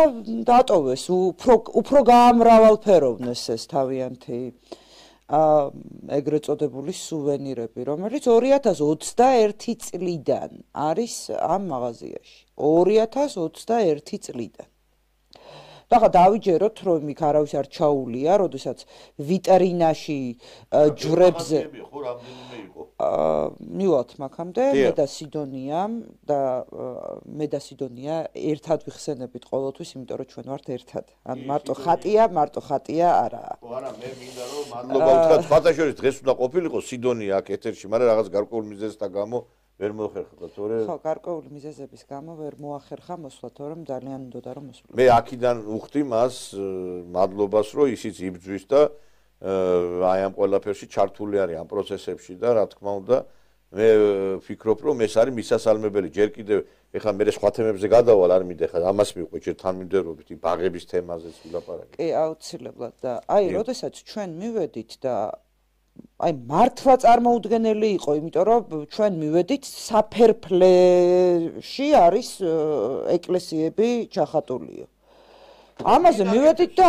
დატოვეს უფრო გაამრავალფეროვნეს ეს თავიანთი ეგრეთ წოდებული სუვენირები, რომელიც 2021 წლიდან არის ამ მაღაზიაში. 2021 წლიდან. და ხა დავიჯეროთ, რომ იქ არავის არ ჩაულია, როდესაც ვიტრინაში ჯვრებზე ხო რამდენიმე იყო. მივალთ მაგამდე, მე და სიდონია და მე და სიდონია ერთად ვიხსენებით ყოველთვის, იმიტომ რომ ჩვენ ვართ ერთად. ან მარტო ხატია არაა. ხო არა, მე მინდა რომ მადლობა ვთქვა, სხვათაშორის დღეს უნდა ყოფილიყო სიდონია აქ ეთერში, მაგრამ რაღაც გარკვეულ მიზეზთა გამო ვერ მოახერხა, თორე ხო, გარკვეული მიზეზების გამო ვერ მოახერხა მოსვლა, თორემ ძალიან უნდოდა რომ მოსულიყო. მე აქედან ვუხდი მას მადლობას, რომ ისიც იბძვის და აი ამ ყველაფერში ჩართული არის ამ პროცესებში და რა თქმა უნდა მე ვფიქრობ რომ ეს არის მისასალმებელი ჯერ კიდევ ეხლა მე სხვა თემებზე გადავალ არ მინდა ეხლა ამას მივყვე ჯერ თანმიმდევრობით ბაღების თემაზეც ვილაპარაკე კი აუცილებლად და აი როდესაც ჩვენ მივედით და აი მართლა წარმოუდგენელი იყო იმიტომ რომ ჩვენ მივედით საფერფლეში არის ეკლესიები ჩახატულიო ამაზე მივედით და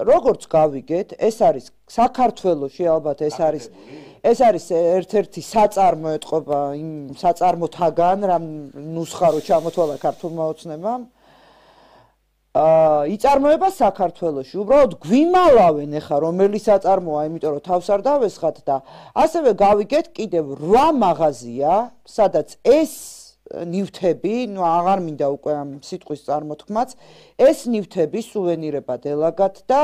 როგორც გავიგეთ, ეს არის საქართველოში ალბათ ეს არის ერთ-ერთი საწარმო ეთყობა იმ საწარმოთაგან, რამ ნუსხა რო ჩამოთვალა ქართულმა ოცნებამ. იწარმოება საქართველოში. უბრალოდ გვიმალავენ ეხა რომელი საწარმოა, იმიტომ რომ თავს არ დავესხათ და ასევე გავიგეთ კიდევ 8 მაღაზია, სადაც ეს ნივთები, ნუ აღარ მინდა უკვე ამ სიტყვის წარმოთქმაც, ეს ნივთები სუვენირებად ელაგათ და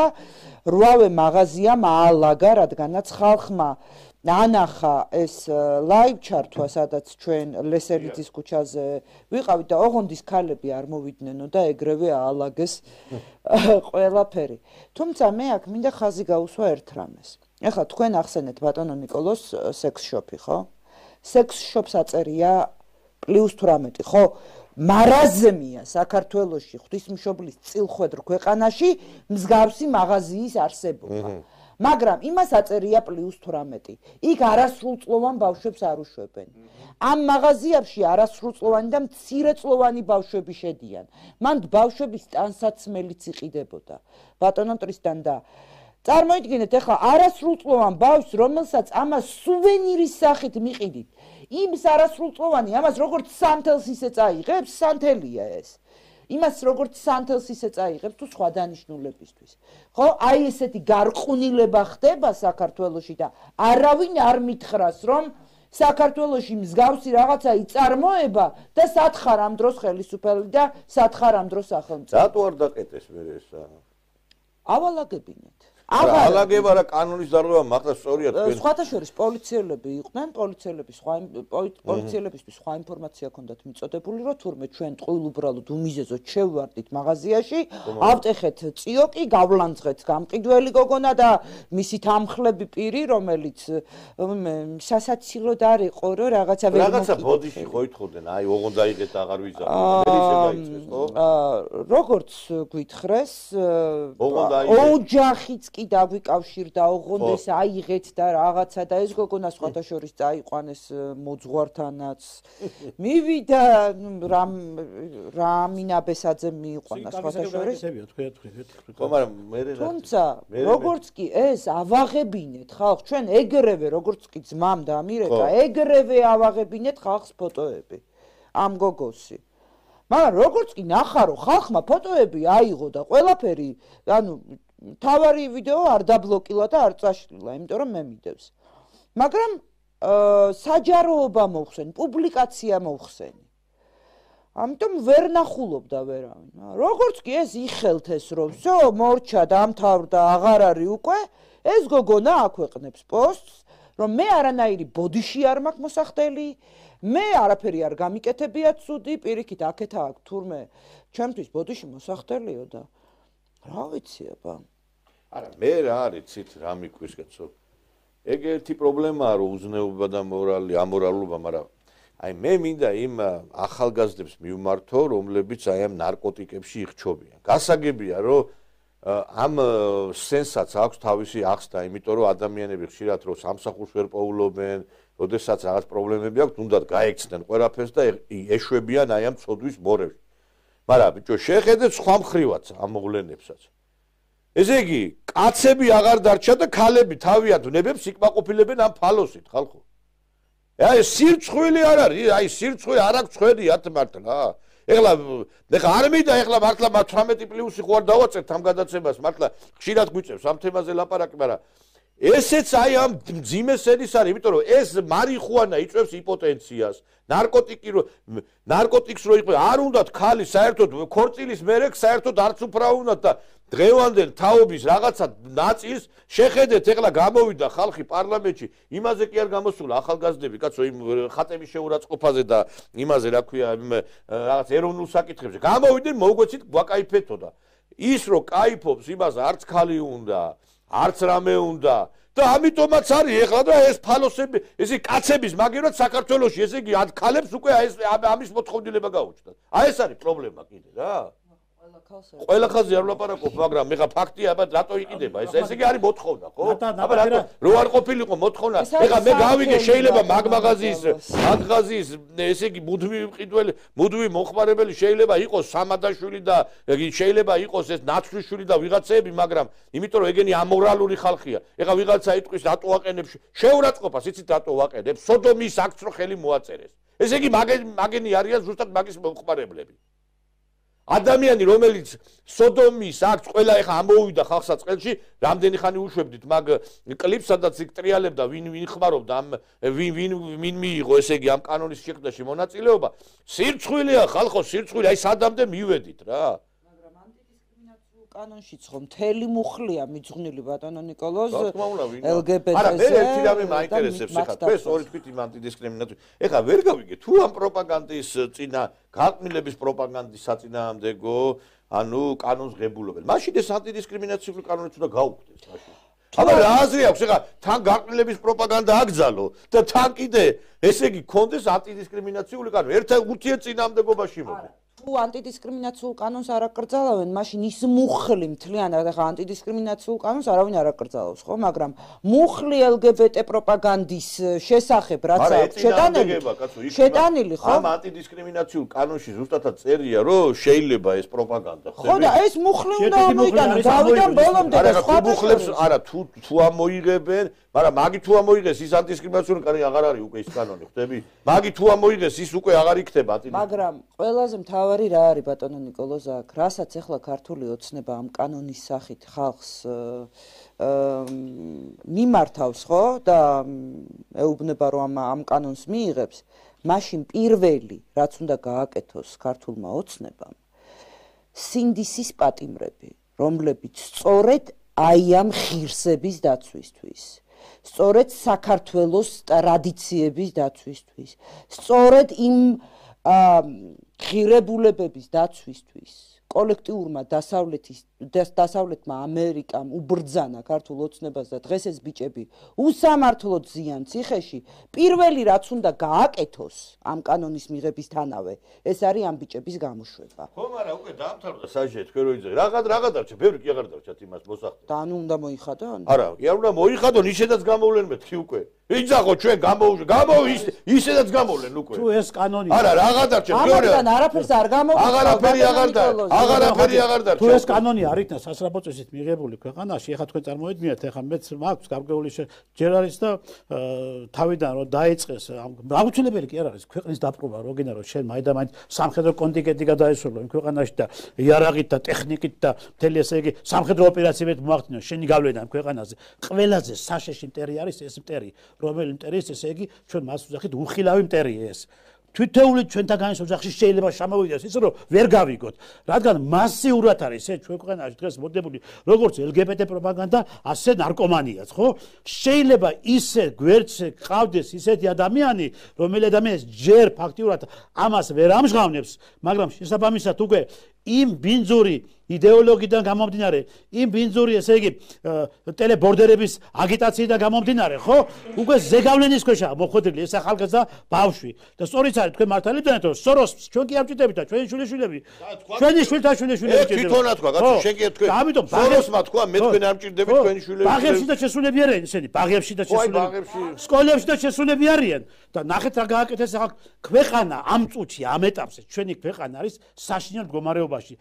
8-ვე მაღაზიამ აალაგა, რადგანაც ხალხმა ანახა ეს ლაივ ჩართვა, სადაც ჩვენ ლესელიძის ქუჩაზე ვიყავით და ოღონდის ქალები არ მოვიდნენ და ეგრევე აალაგეს ყველაფერი. თუმცა მე აქ მინდა ხაზი გაუსვა ერთ რამეს. ეხლა თქვენ ახსენეთ ბატონო ნიკოლოს სექს შოპი, ხო? სექს შოპს აწერია +18, ხო? მარაზმია საქართველოში ღვთისმშობლის წილხვედრ ქვეყანაში მსგავსი მაღაზიის არსებობა. მაგრამ იმას აწერია +18. იქ არასრულწლოვან ბავშვებს არ უშვებენ. ამ მაღაზიებში არასრულწლოვანი და მცირეწლოვანი ბავშვები შედიან. მან ბავშვების ტანსაცმელიც იყიდებოდა. ბატონო ტრისტან და წარმოიდგინეთ ახლა არასრულწლოვან ბავშვს, რომელსაც ამას სუვენირის სახით მიყიდით. იმს არასრულწლოვანი, ამას როგორც სანთელს ისე წაიღებს, სანთელია ეს. იმას როგორც სანთელს ისე წაიღებს თუ სხვა დანიშნულებისთვის. ხო, აი ესეთი გარყვნილება ხდება საქართველოში და არავინ არ მითხრას, რომ საქართველოში მსგავსი რაღაცა იწარმოება და სათხარ ამ დროს ხელისუფლება და სათხარ ამ დროს სახელმწიფო. რატო არ დაკეტეს მე ესა? ავალაგებინეთ. ალაგება რა კანონის დარღვევა მაგას სწორია თქვენ. სხვათა შორის პოლიციელები იყვნენ, პოლიციელებისთვის სხვა ინფორმაცია ჰქონდათ მიწოდებული, რომ თურმე ჩვენ ტყუილუბრალოდ უმიზეზოდ შევვარდით მაღაზიაში, ავტეხეთ ციოკი, გავლანძღეთ გამყიდველი გოგონა და მისი თამხლები პირი, რომელიც სასაცილოდ არ იყო, რომ რაღაცა ვერ რაღაცა ბოდიში ხო ითხოვდნენ, აი ოღონდ დაიღეთ აღარ ვიზარდეთ. მე ისე დაიწყეს, ხო? როგორც გითხრეს, ოჯახიც კი დაგვიკავშირდა, ოღონდ ეს აიღეთ და რაღაცა და ეს გოგონა სხვათა შორის წაიყვანეს მოძღვართანაც. მივიდა რამინა ბესაძე მიიყვანა სხვათა შორის. ხო, მაგრამ მე თუმცა როგორც კი ეს ავაღებინეთ ხალხ, ჩვენ ეგრევე როგორც კი ძმამ დამირეკა, ეგრევე ავაღებინეთ ხალხს ფოტოები ამ გოგოსი. მაგრამ როგორც კი ნახარო ხალხმა ფოტოები აიღო და ყველაფერი, ანუ თავარი ვიდეო არ დაბლოკილა და არ წაშლილა, იმიტომ რომ მე მიდევს. მაგრამ საჯაროობა მოხსენ, პუბლიკაცია მოხსენი. ამიტომ ვერ ნახულობდა ვერავინ. როგორც კი ეს იხელთ ეს რომ всё, მორჩა დამთავრდა, აღარ არის უკვე, ეს გოგონა აქვეყნებს პოსტს, რომ მე არანაირი ბოდიში არ მაქვს მოსახდელი, მე არაფერი არ გამიკეთებია ცუდი, პირიქით აქეთა აქ თურმე ჩემთვის ბოდიში მოსახდელიო და რა ვიცი აბა. არა, მე რა არის ცით რა მიკვის კაცო. ეგ ერთი პრობლემაა რომ უზნეობა და მორალი, ამორალობა, მაგრამ აი მე მინდა იმ ახალგაზრდებს მივმართო, რომლებიც აი ამ ნარკოტიკებში იხჩობიან. გასაგებია რომ ამ სენსაც აქვს თავისი ახსნა, იმიტომ რომ ადამიანები ხშირად რომ სამსახურს ვერ პოულობენ, როდესაც რაღაც პრობლემები აქვს, თუნდაც გაექცნენ ყველაფერს და ეშვებიან აი ამ ცოდვის მორევში. მაგრამ ბიჭო, შეხედეთ სხვა მხრივაც ამ მოვლენებსაც. ესე იგი, კაცები აღარ დარჩა და ქალები თავიანთ ნებებს იკმაყოფილებენ ამ ფალოსით, ხალხო. აი სირცხვილი არ არის, აი სირცხვი არ აქვს ხვედიათ მართლა. ეხლა არ მინდა ეხლა მართლა 18+ ხო არ დავაწერთ ამ გადაცემას, მართლა ხშირად გვიწევს ამ თემაზე ლაპარაკი, მაგრამ ესეც აი ამ მძიმე სენის არის, იმიტომ რომ ეს მარიხუანა იწვევს იმპოტენციას, ნარკოტიკს რო იყო, არ უნდათ ქალი საერთოდ ქორწილის მერე საერთოდ არც უფრა უნდათ და დღევანდელ თაობის რაღაცა ნაწილს შეხედეთ, ეხლა გამოვიდა ხალხი პარლამენტში, იმაზე კი არ გამოსულა ახალგაზრდები, კაცო, იმ ხატების შეურაცხყოფაზე და იმაზე, რა ქვია, რაღაც ეროვნულ საკითხებზე. გამოვიდნენ, მოგვეცით, გვაკაიფეთო და ის რო კაიფობს, იმას არც ქალი უნდა, არც რამე უნდა და ამიტომაც არის ეხლა და ეს ფალოსები, ესე კაცების მაგერად საქართველოში, ესე იგი ამ ქალებს უკვე ამის მოთხოვნილება გაუჩნდათ. აი ეს არის პრობლემა კიდე რა. ყველა ხალხი არ ვლაპარაკობ, მაგრამ ეხლა ფაქტია, აბა რატო იყიდება ეს? ესე იგი არის მოთხოვნა, ხო? აბა რატო რო არ ყოფილიყო მოთხოვნა? ეხლა მე გავიგე, შეიძლება მაგმაღაზიის, ესე იგი მუდმივი მყიდველი, მუდმივი მომხმარებელი შეიძლება იყოს სამადაშვილი და შეიძლება იყოს ეს ნაცვლიშვილი და ვიღაცები, მაგრამ იმიტომ რომ ეგენი ამორალური ხალხია. ეხლა ვიღაცა იტყვის რატო აყენებს შეურაცხყოფას, იცით რატო ვაყენებ? სოდომის აქცრო ხელი მოაწერეს. ესე იგი მაგენი არიან ზუსტად მაგის მომხმარებლები. ადამიანი რომელიც სოდომის აქ ყველა ეხა ამოვიდა ხალხსა წელში რამდენი ხანი უშვებდით მაგ კლიპს სადაც იქ ტრიალებდა ვინ ხმარობდა ამ ვინ მიიღო ესე იგი ამ კანონის შექმნაში მონაწილეობა სირცხვილია ხალხო სირცხვილი აი სადამდე მივედით რა კანონშიც ხომ მთელი მუხლია მიძღვნილი ბატონო ნიკოლოზ LGBT-ზე. არა, მე ერთი რამე მაინტერესებს ეხლა თქვენს ორი თქვით იმ ანტიდისკრიმინაციის. ეხლა ვერ გავიგე თუ ამ პროპაგანდის წინა გაყმილების პროპაგანდის საწინააღმდეგო, ანუ კანონს ღებულობენ. მაშინ ეს ანტიდისკრიმინაციული კანონიც უნდა გაუქმდეს მაშინ. აბა რა აზრი აქვს ეხლა თან გაყმილების პროპაგანდა აკრძალო და თან კიდე ესე იგი კონდეს ანტიდისკრიმინაციული კანონი. ერთ ურთიერთწინააღმდეგობაში მოდი. თუ ანტიდისკრიმინაციულ კანონს არ აკრძალავენ, მაშინ ის მუხლი მთლიანად ახლა ანტიდისკრიმინაციულ კანონს არავინ არ აკრძალავს, ხო? მაგრამ მუხლი LGBT პროპაგანდის შესახებ რაც აქვს შეტანილი, ხო? ამ ანტიდისკრიმინაციულ კანონში ზუსტად წერია, რომ შეიძლება ეს პროპაგანდა, ხო და ეს მუხლი უნდა მოიტანოს დავიდან ბოლომდე და სხვა მუხლებს არა თუ ამოიღებენ, მაგრამ მაგი თუ ამოიღეს ის ანტიდისკრიმინაციული კანონი აღარ არის უკვე ის კანონი, ხვდები? მაგი თუ ამოიღეს ის უკვე აღარ იქნება ანტიდისკრიმინაციული. მაგრამ ყველაზე მთავარი რა არის ბატონო ნიკოლოზ აქ, რასაც ახლა ქართული ოცნება ამ კანონის სახით ხალხს მიმართავს, ხო? და ეუბნება რომ ამ კანონს მიიღებს, მაშინ პირველი რაც უნდა გააკეთოს ქართულმა ოცნებამ, სინდისის პატიმრები, რომლებიც სწორედ აი ამ ღირსების დაცვისთვის სწორედ საქართველოს ტრადიციების დაცვისთვის, სწორედ იმ ღირებულებების დაცვისთვის, კოლექტიურმა დასავლეთმა ამერიკამ უბრძანა ქართულ ოცნებას და დღეს ეს ბიჭები უსამართლოდ ზიან ციხეში, პირველი რაც უნდა გააკეთოს ამ კანონის მიღებისთანავე, ეს არის ამ ბიჭების გამოშვება. ხო, მაგრამ უკვე დაამთავრდა საჯე, თქვენ რო იცით, რაღაცა დარჩა, ბევრი კი აღარ დარჩათ იმას მოსახდე. და ანუ უნდა მოიხადონ? არა, კი არ უნდა მოიხადონ, ისედაც გამოვლენ მეთქი უკვე. იძახო ჩვენ ისედაც გამოვლენ უკვე. თუ ეს კანონი არა, რაღა დარჩა, ამან არაფერს არ გამოვლენ. აღარაფერი აღარ დარჩა. თუ ეს კანონი არ იქნა სასწრაფო წესით მიღებული ქვეყანაში, ეხლა თქვენ წარმოიდგინეთ, ეხლა მეც მაქვს გარკვეული ჯერ არის და თავიდან რომ დაიწყეს, აუცილებელი კი არ არის ქვეყნის დაპყრობა, როგენა რომ შენ მაინდამაინც სამხედრო კონტინგენტი გადაესრულო იმ ქვეყანაში და იარაღით და ტექნიკით და მთელი ესე იგი სამხედრო ოპერაციებით მოახდინო შენი გავლენა იმ ქვეყანაზე. ყველაზე საშეში მტერი არის ეს მტერი, რომელი მტერი ესე იგი ჩვენ მას ვუძახით უხილავი მტერია ეს. თითოეული ჩვენთაგანის ოჯახში შეიძლება შემოვიდეს ისე რომ ვერ გავიგოთ, რადგან მასიურად არის ეს ჩვენ ქვეყანაში დღეს მოდებული როგორც LGBT პროპაგანდა, ასე ნარკომანიაც, ხო? შეიძლება ისე გვერდზე ყავდეს ისეთი ადამიანი, რომელი ადამიანი ჯერ ფაქტიურად ამას ვერ ამჟღავნებს, მაგრამ შესაბამისად უკვე იმ ბინძური იდეოლოგიიდან გამომდინარე, იმ ბინძური ესე იგი ტელებორდერების აგიტაციიდან გამომდინარე, ხო? უკვე ზეგავლენის ქვეშა მოხვედრილი ეს ახალგაზრდა ბავშვი. და სწორიც არის თქვენ მართალებდანეთ, რომ სოროს ჩვენ კი ამჭირდებით და ჩვენი შვილიშვილები, ჩვენი შვილთა შვილიშვილები ჭირდება. თვითონა თქვა, კაცო, შენ კი თქვენ. ამიტომ სოროსმა თქვა, მე თქვენ ამჭირდებით ჩვენი შვილები. ბაღებში და შესულები არიან ესენი, ბაღებში და შესულები. სკოლებში და შესულები არიან და ნახეთ რა გააკეთეს ახლა ქვეყანა ამ წუთში, ამ ეტაპზე ჩვენი ქვეყანა არის საშინელ მდგომარეობაში.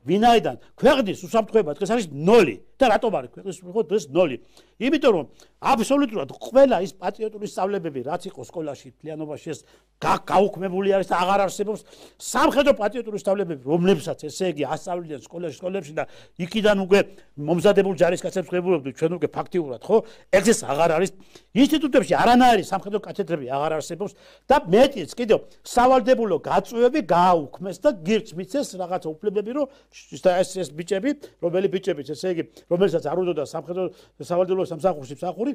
ვინაიდან ქვეყნის უსაფრთხოება დღეს არის 0 და რატომ არის ქვეყნის უსაფრთხოება დღეს 0? იმიტომ რომ აბსოლუტურად ყველა ის პატრიოტული სწავლებები რაც იყო სკოლაში მთლიანობაში ეს გაუქმებული არის და აღარ არსებობს სამხედრო პატრიოტული სწავლებები რომლებსაც ესე იგი ასწავლიან სკოლებში და იქიდან უკვე მომზადებულ ჯარისკაცებს ხვდებოდნენ ჩვენ უკვე ფაქტიურად ხო ეს აღარ არის ინსტიტუტებში არანაირი სამხედრო კათედრები აღარ არსებობს და მეტიც კიდევ სავალდებულო გაწვევები გააუქმეს და გირჩ მიცეს რაღაცა უფლებები რომ ეს ბიჭები რომელი ბიჭებიც ესე იგი რომელსაც არ უნდოდა სამხედრო სავალდებულო სამსახურში მსახური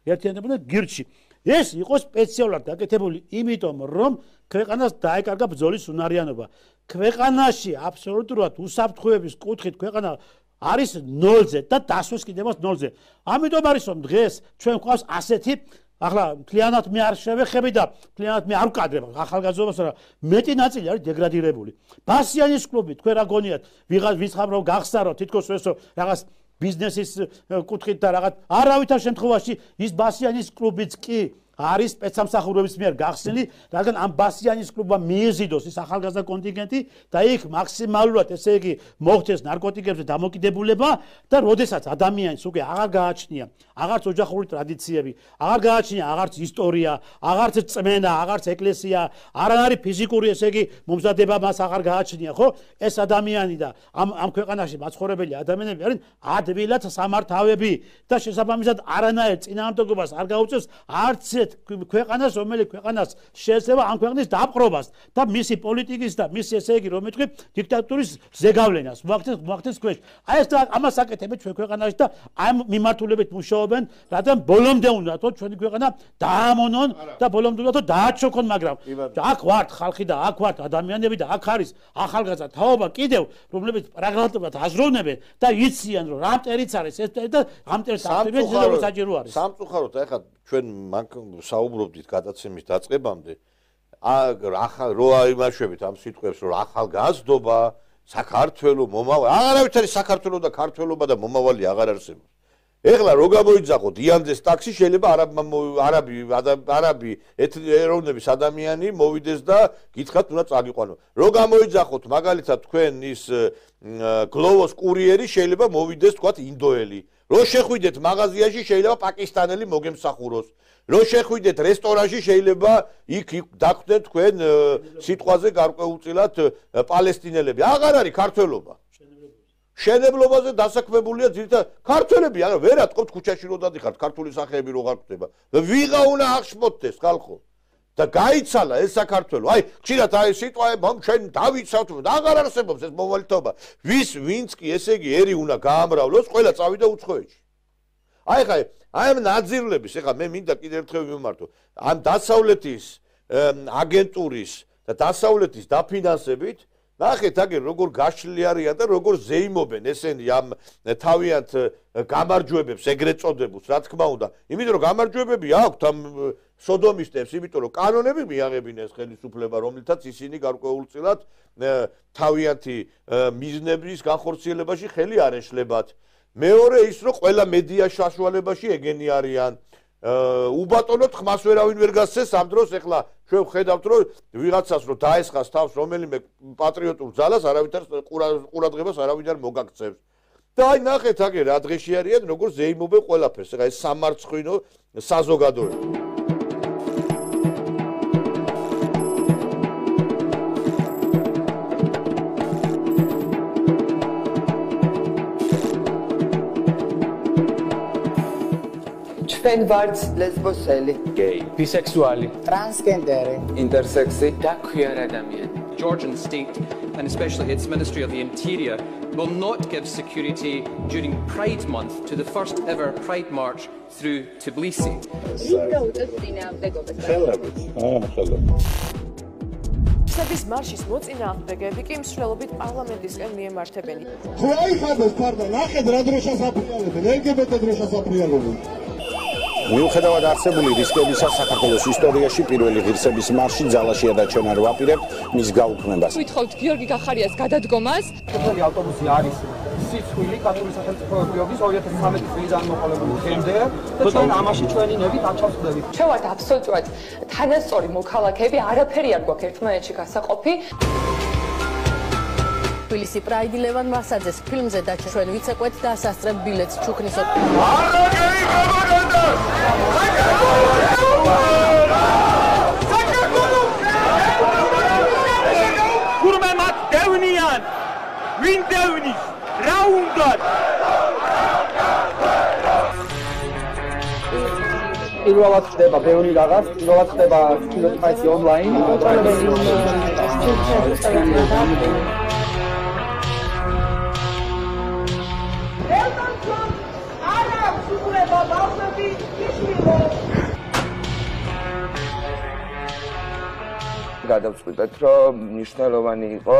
ერთიანდებოდნენ გირჩი. ეს იყო სპეციალურად გაკეთებული იმიტომ რომ ქვეყანას დაეკარგა ბრძოლის უნარიანობა. ქვეყანაში აბსოლუტურად უსაფრთხოების კუთხით ქვეყანა არის 0-ზე და დასვეს კიდევაც 0-ზე. ამიტომ არის რომ დღეს ჩვენ გვყავს ასეთი ახლა მთლიანად მე არ შევეხები და მთლიანად მე არ ვკადრებ ახალგაზრდობას რა მეტი ნაწილი არის დეგრადირებული. ბასიანის კლუბი თქვენ რა გონიათ ვიღაც ვიცხამრო გახსარო თითქოს ესო რაღაც ბიზნესის კუთხით და რაღაც არავითარ შემთხვევაში ის ბასიანის კლუბიც კი არის სპეცსამსახურების მიერ გახსნილი, რადგან ამ ბასიანის კლუბმა მიეზიდოს ის ახალგაზრდა კონტინგენტი და იქ მაქსიმალურად ესე იგი მოხდეს ნარკოტიკებზე დამოკიდებულება და როდესაც ადამიანს უკვე აღარ გააჩნია აღარც ოჯახური ტრადიციები, აღარ გააჩნია აღარც ისტორია, აღარც წმენა, აღარც ეკლესია, არ არის ფიზიკური ესე იგი მომზადება მას აღარ გააჩნია, ხო? ეს ადამიანი და ამ ქვეყანაში მაცხოვრებელი ადამიანები არიან ადვილად სამართავები და შესაბამისად არანაირ წინააღმდეგობას არ გაუწევს არც ქვეყანას, რომელიც ქვეყანას შეეცდება ამ ქვეყნის დაპყრობას და მისი პოლიტიკის და მისი ესე იგი რომ მეთქვი დიქტატურის ზეგავლენას მოახდენს ქვეშ. აი ეს ამას აკეთებენ ჩვენ ქვეყანაში და ამ მიმართულებით მუშაობენ, რადგან ბოლომდე უნდა თო ჩვენი ქვეყანა დაამონონ და ბოლომდე უნდა თო დააჩოქონ, მაგრამ აქ ვართ ხალხი და აქ ვართ ადამიანები და აქ არის ახალგაზრდა თაობა კიდევ, რომლებიც პრაგმატულად აზროვნებენ და იციან რომ რა მტერიც არის ეს და ამ მტერს აქტივებს ზედაურ საჭირო არის. სამწუხაროდ ეხლა ჩვენ საუბრობდით გადაცემის დაწყებამდე ახალ რო აიმაშვებით ამ სიტყვებს რომ ახალგაზრდობა საქართველოს მომავალი აღარავით არის საქართველოს და ქართველობა და მომავალი აღარ არსებობს. ეხლა რო გამოიძახოთ იანდეს ტაქსი შეიძლება არაბი ეროვნების ადამიანი მოვიდეს და გითხრათ უნდა წაგიყვანო. რო გამოიძახოთ მაგალითად თქვენ ის გლოვოს კურიერი შეიძლება მოვიდეს თქვათ ინდოელი. რო შეხვიდეთ მაღაზიაში შეიძლება პაკისტანელი მოგემსახუროს. რო შეხვიდეთ რესტორანში შეიძლება იქ დაგხვდეთ თქვენ სიტყვაზე გარკვეულწილად პალესტინელები. აღარ არის ქართველობა. შენებლობაზე დასაქმებულია ძირითადად ქართველები, არა ვერ ატყობთ ქუჩაში რო დადიხართ, ქართული სახეები რო არ გვხვდება. ვიღა უნდა აღშფოთდეს ხალხო. და გაიცალა ეს საქართველო. აი, ხშირად აი სიტყვები ჩვენ დავიცავთ, აღარ არსებობს ეს მომავალთობა. ვინც კი ესე იგი ერი უნდა გაამრავლოს, ყველა წავიდა უცხოეთში. აი ხა ამ ნაძირლების, ეხლა მე მინდა კიდევ ერთხელ ვიმართო. ამ დასავლეთის აგენტურის და დასავლეთის დაფინანსებით ნახეთ აგერ როგორ გაშლილი არიან და როგორ ზეიმობენ ესენი ამ თავიანთ გამარჯვებებს ეგრეთ წოდებულს, რა თქმა უნდა. იმიტომ რომ გამარჯვებები აქვთ ამ სოდომისტებს, იმიტომ რომ კანონები მიაღებინეს ხელისუფლება, რომლითაც ისინი გარკვეულწილად თავიანთი მიზნების განხორციელებაში ხელი არ ეშლებათ. მეორე ის რომ ყველა მედია საშუალებაში ეგენი არიან. უბატონოდ ხმას ვერავინ ვერ გასცეს ამ დროს ეხლა ჩვენ ვხედავთ რომ ვიღაცას რომ დაესხას თავს რომელიმე პატრიოტულ ძალას არავითარ ყურადღებას არავინ არ მოგაქცევს. და აი ნახეთ აგერ რა დღეში არიან როგორ ზეიმობენ ყველაფერს. ეხლა ეს სამარცხვინო საზოგადოება. ჩვენ ვართ ლესბოსელი, gay, bisexuali, transgenderi, intersexi და queer ადამიანი. Georgian state, and especially its Ministry of the Interior, will not give security during Pride Month to the first ever Pride March through Tbilisi. სების მარშის მოწინააღმდეგეები კი მსვლელობით პარლამენტისკენ მიემართებენ. ხო აი ხარდას ფარდა, ნახეთ რა დროშას აფრიალებენ, LGBT დროშას აფრიალებენ. მიუხედავად არსებული რისკებისა, საქართველოს ისტორიაში პირველი ღირსების მარში ძალაში ადაჩვენა რო აპირებთ მის გაუქმებას. ვითხოვთ გიორგი გახარიას გადადგომას. ეს ავტობუსი არის სიცხვილი კათოლიკური სახელმწიფოების 2013 წლის განმოყოლებული დღემდე და ჩვენ ამაში ჩვენი ნებით აჩავსდებით. ჩვენ ვართ აბსოლუტურად თანასწორი მოქალაქეები, არაფერი არ გვაქვს ერთმანეთში გასაყოფი. თბილისი პრაიდი ლევან მასაძეს ფილმზე დაჩა ჩვენ ვიცეკვეთ და სასწრებ ბილეთს ჩუქნის გურმე მათ დევნიან ვინ დევნის რა უნდა პირველად ხდება ბევრი რაღაც, პირველად ხდება კინოსფაისი ონლაინ. გადავწყვიტეთ, რომ მნიშვნელოვანი იყო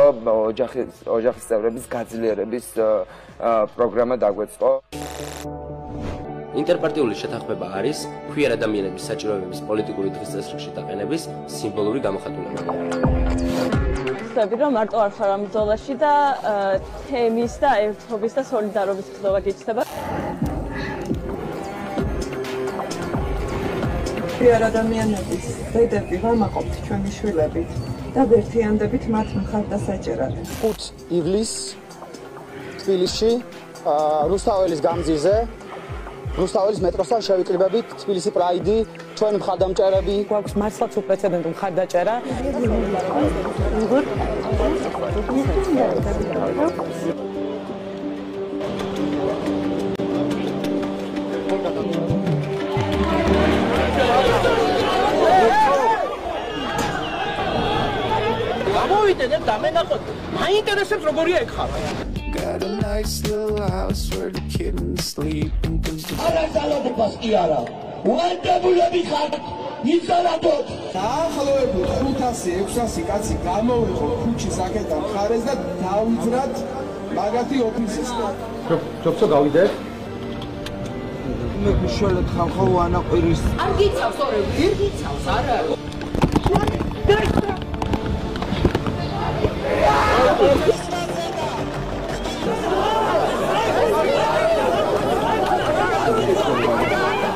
ოჯახის წევრების გაძლიერების პროგრამა დაგვეწყო. ინტერპარტიული შეთანხმება არის queer ადამიანების საჭიროებების პოლიტიკური დღის წესრიგში დაყენების სიმბოლური გამოხატულება. ვთქვი, რომ მარტო არ ხარ ამ ბრძოლაში და თემის და ერთობის და სოლიდარობის გრძნობა გიჩნდება. ღიარ ადამიანების ბედები ვამაყობთ ჩვენი შვილებით და ვერთიანდებით მათ მხარდასაჭერად. 5 ივლისს თბილისში რუსთაველის გამზირზე რუსთაველის მეტროსთან შევიკრიბებით თბილისი პრაიდი, ჩვენი მხარდამჭერები. გვაქვს მართლაც უპრეცედენტო მხარდაჭერა. გამოვიდეთ და მენახოთ, მაინტერესებს როგორია ეგ ხარ. Got a nice little house where the kittens sleep and არა ძალადობას კი არა. უანდებულები ხარ. იზარადოთ. დაახლოებით 500-600 კაცი გამოვიყო ქუჩის აქედან მხარეს და დავიძრათ მაგათი ოფისისკენ. ჯობსო გავიდეთ. მე გიშველეთ ხალხო ანაყირის. არ გიცავს ორი, გიცავს არა.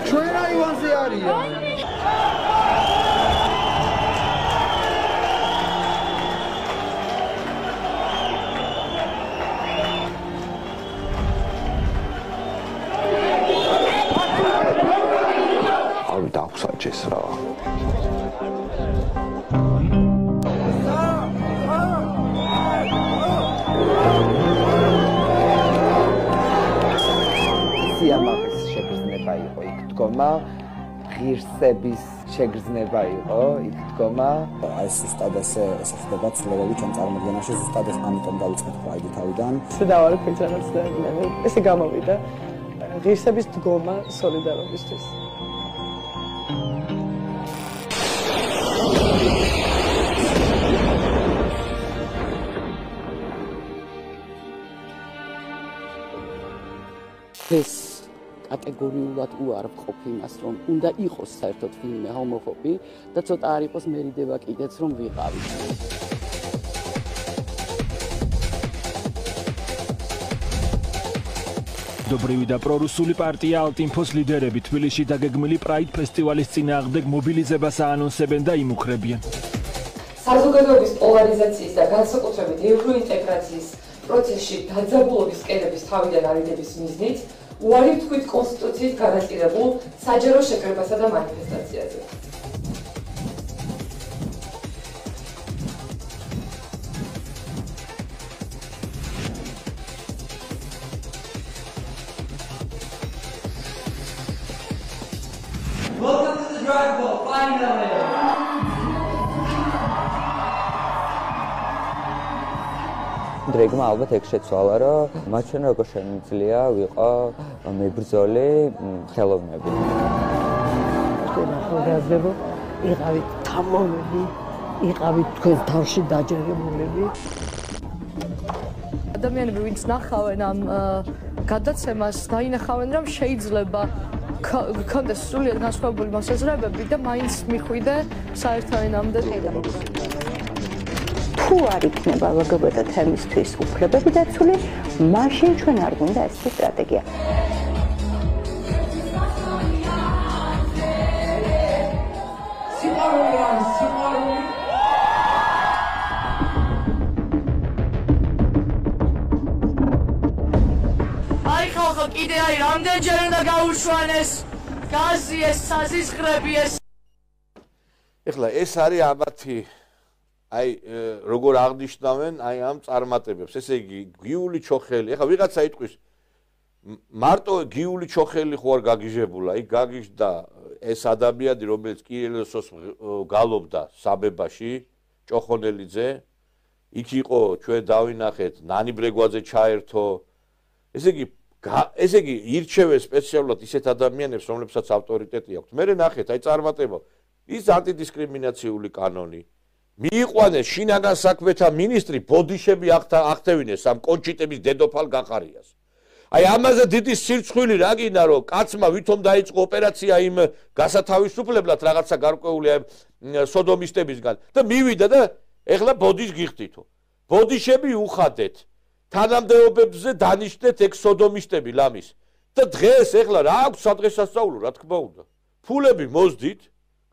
ჩვენ აივანზე არიან. ავი დაგვსაჭეს რა. სიამაყის შეგრძნება იყო იქ დგომა, ღირსების შეგრძნება იყო იქ დგომა. აი ზუსტად ესე ხდება ცვლილებები ჩვენ წარმოადგენაში, ზუსტად ამიტომ დავიწყეთ პრაიდი თავიდან. შედავარი ფიჭანებს და ესე გამოვიდა ღირსების დგომა სოლიდარობისთვის. ეს კატეგორიულად უარ ვყოფ იმას, რომ უნდა იყოს საერთოდ ვინმე ჰომოფობი და ცოტა არ იყოს მერიდება კიდეც რომ ვიყავი. dobრივი და პრორუსული პარტია ალტინფოს ლიდერები თბილისში დაგეგმილი პრაიდ ფესტივალის წინააღმდეგ მობილიზებას აანონსებენ და იმუქრებიან. საზოგადოების პოლარიზაციის და განსაკუთრებით ევროინტეგრაციის პროცესში დაძაბულობის კედების თავიდან არიდების მიზნით უარი ვთქვით კონსტიტუციით განაწილებულ საჯარო შეკრებასა და მანიფესტაციაზე. Welcome to the Drive Ball, finally! დრეგმა ალბათ ეგ შეცვალა, რომ მათ ჩვენ როგორ შემიძლია ვიყო მებრძოლი ხელოვნები. ჩვენ ახალგაზრდებო იყავით თამოვნები, იყავით თქვენს თავში დაჯერებულები. ადამიანები ვინც ნახავენ ამ გადაცემას, დაინახავენ რომ შეიძლება გქონდეს სრულიად განსხვავებული მოსაზრებები და მაინც მიხვიდე საერთო ენამდე. თუ არ იქნება LGBT თემისთვის უფლებები დაცული, მაშინ ჩვენ არ გვინდა ესეთი სტრატეგია. აი ხალხო, კიდე აი რამდენჯერ უნდა გაუშვანეს გაზი ეს საზისხრები ეს. ეხლა ეს არის ამათი აი როგორ აღნიშნავენ აი ამ წარმატებებს. ესე იგი გიული ჩოხელი. ეხლა ვიღაცა იტყვის მარტო გიული ჩოხელი ხო არ გაგიჟებულა. იქ გაგიჟდა ეს ადამიანი, რომელიც კირილოსოს გალობდა საბებაში, ჭოხონელიძე. იქ იყო ჩვენ დავინახეთ ნანი ბრეგვაძე ჩაერთო. ესე იგი ირჩევენ სპეციალურად ისეთ ადამიანებს, რომლებსაც ავტორიტეტი აქვთ. მე ნახეთ აი წარმატება. ის ანტიდისკრიმინაციული კანონი. მიიყვანეს შინაგან საქმეთა მინისტრი ბოდიშები აღთევინეს ამ კონჩიტების დედოფალ გახარიას. აი ამაზე დიდი სირცხვილი რა გინდა რომ კაცმა ვითომ დაიწყო ოპერაცია იმ გასათავისუფლებლად რაღაცა გარკვეული სოდომისტებისგან და მივიდა და ეხლა ბოდიშს გიხდითო. ბოდიშები უხადეთ. თანამდებობებზე დანიშნეთ ეგ სოდომისტები ლამის. და დღეს ეხლა რა აქვს სადღესასწაულო რა თქმა უნდა. ფულები მოძდით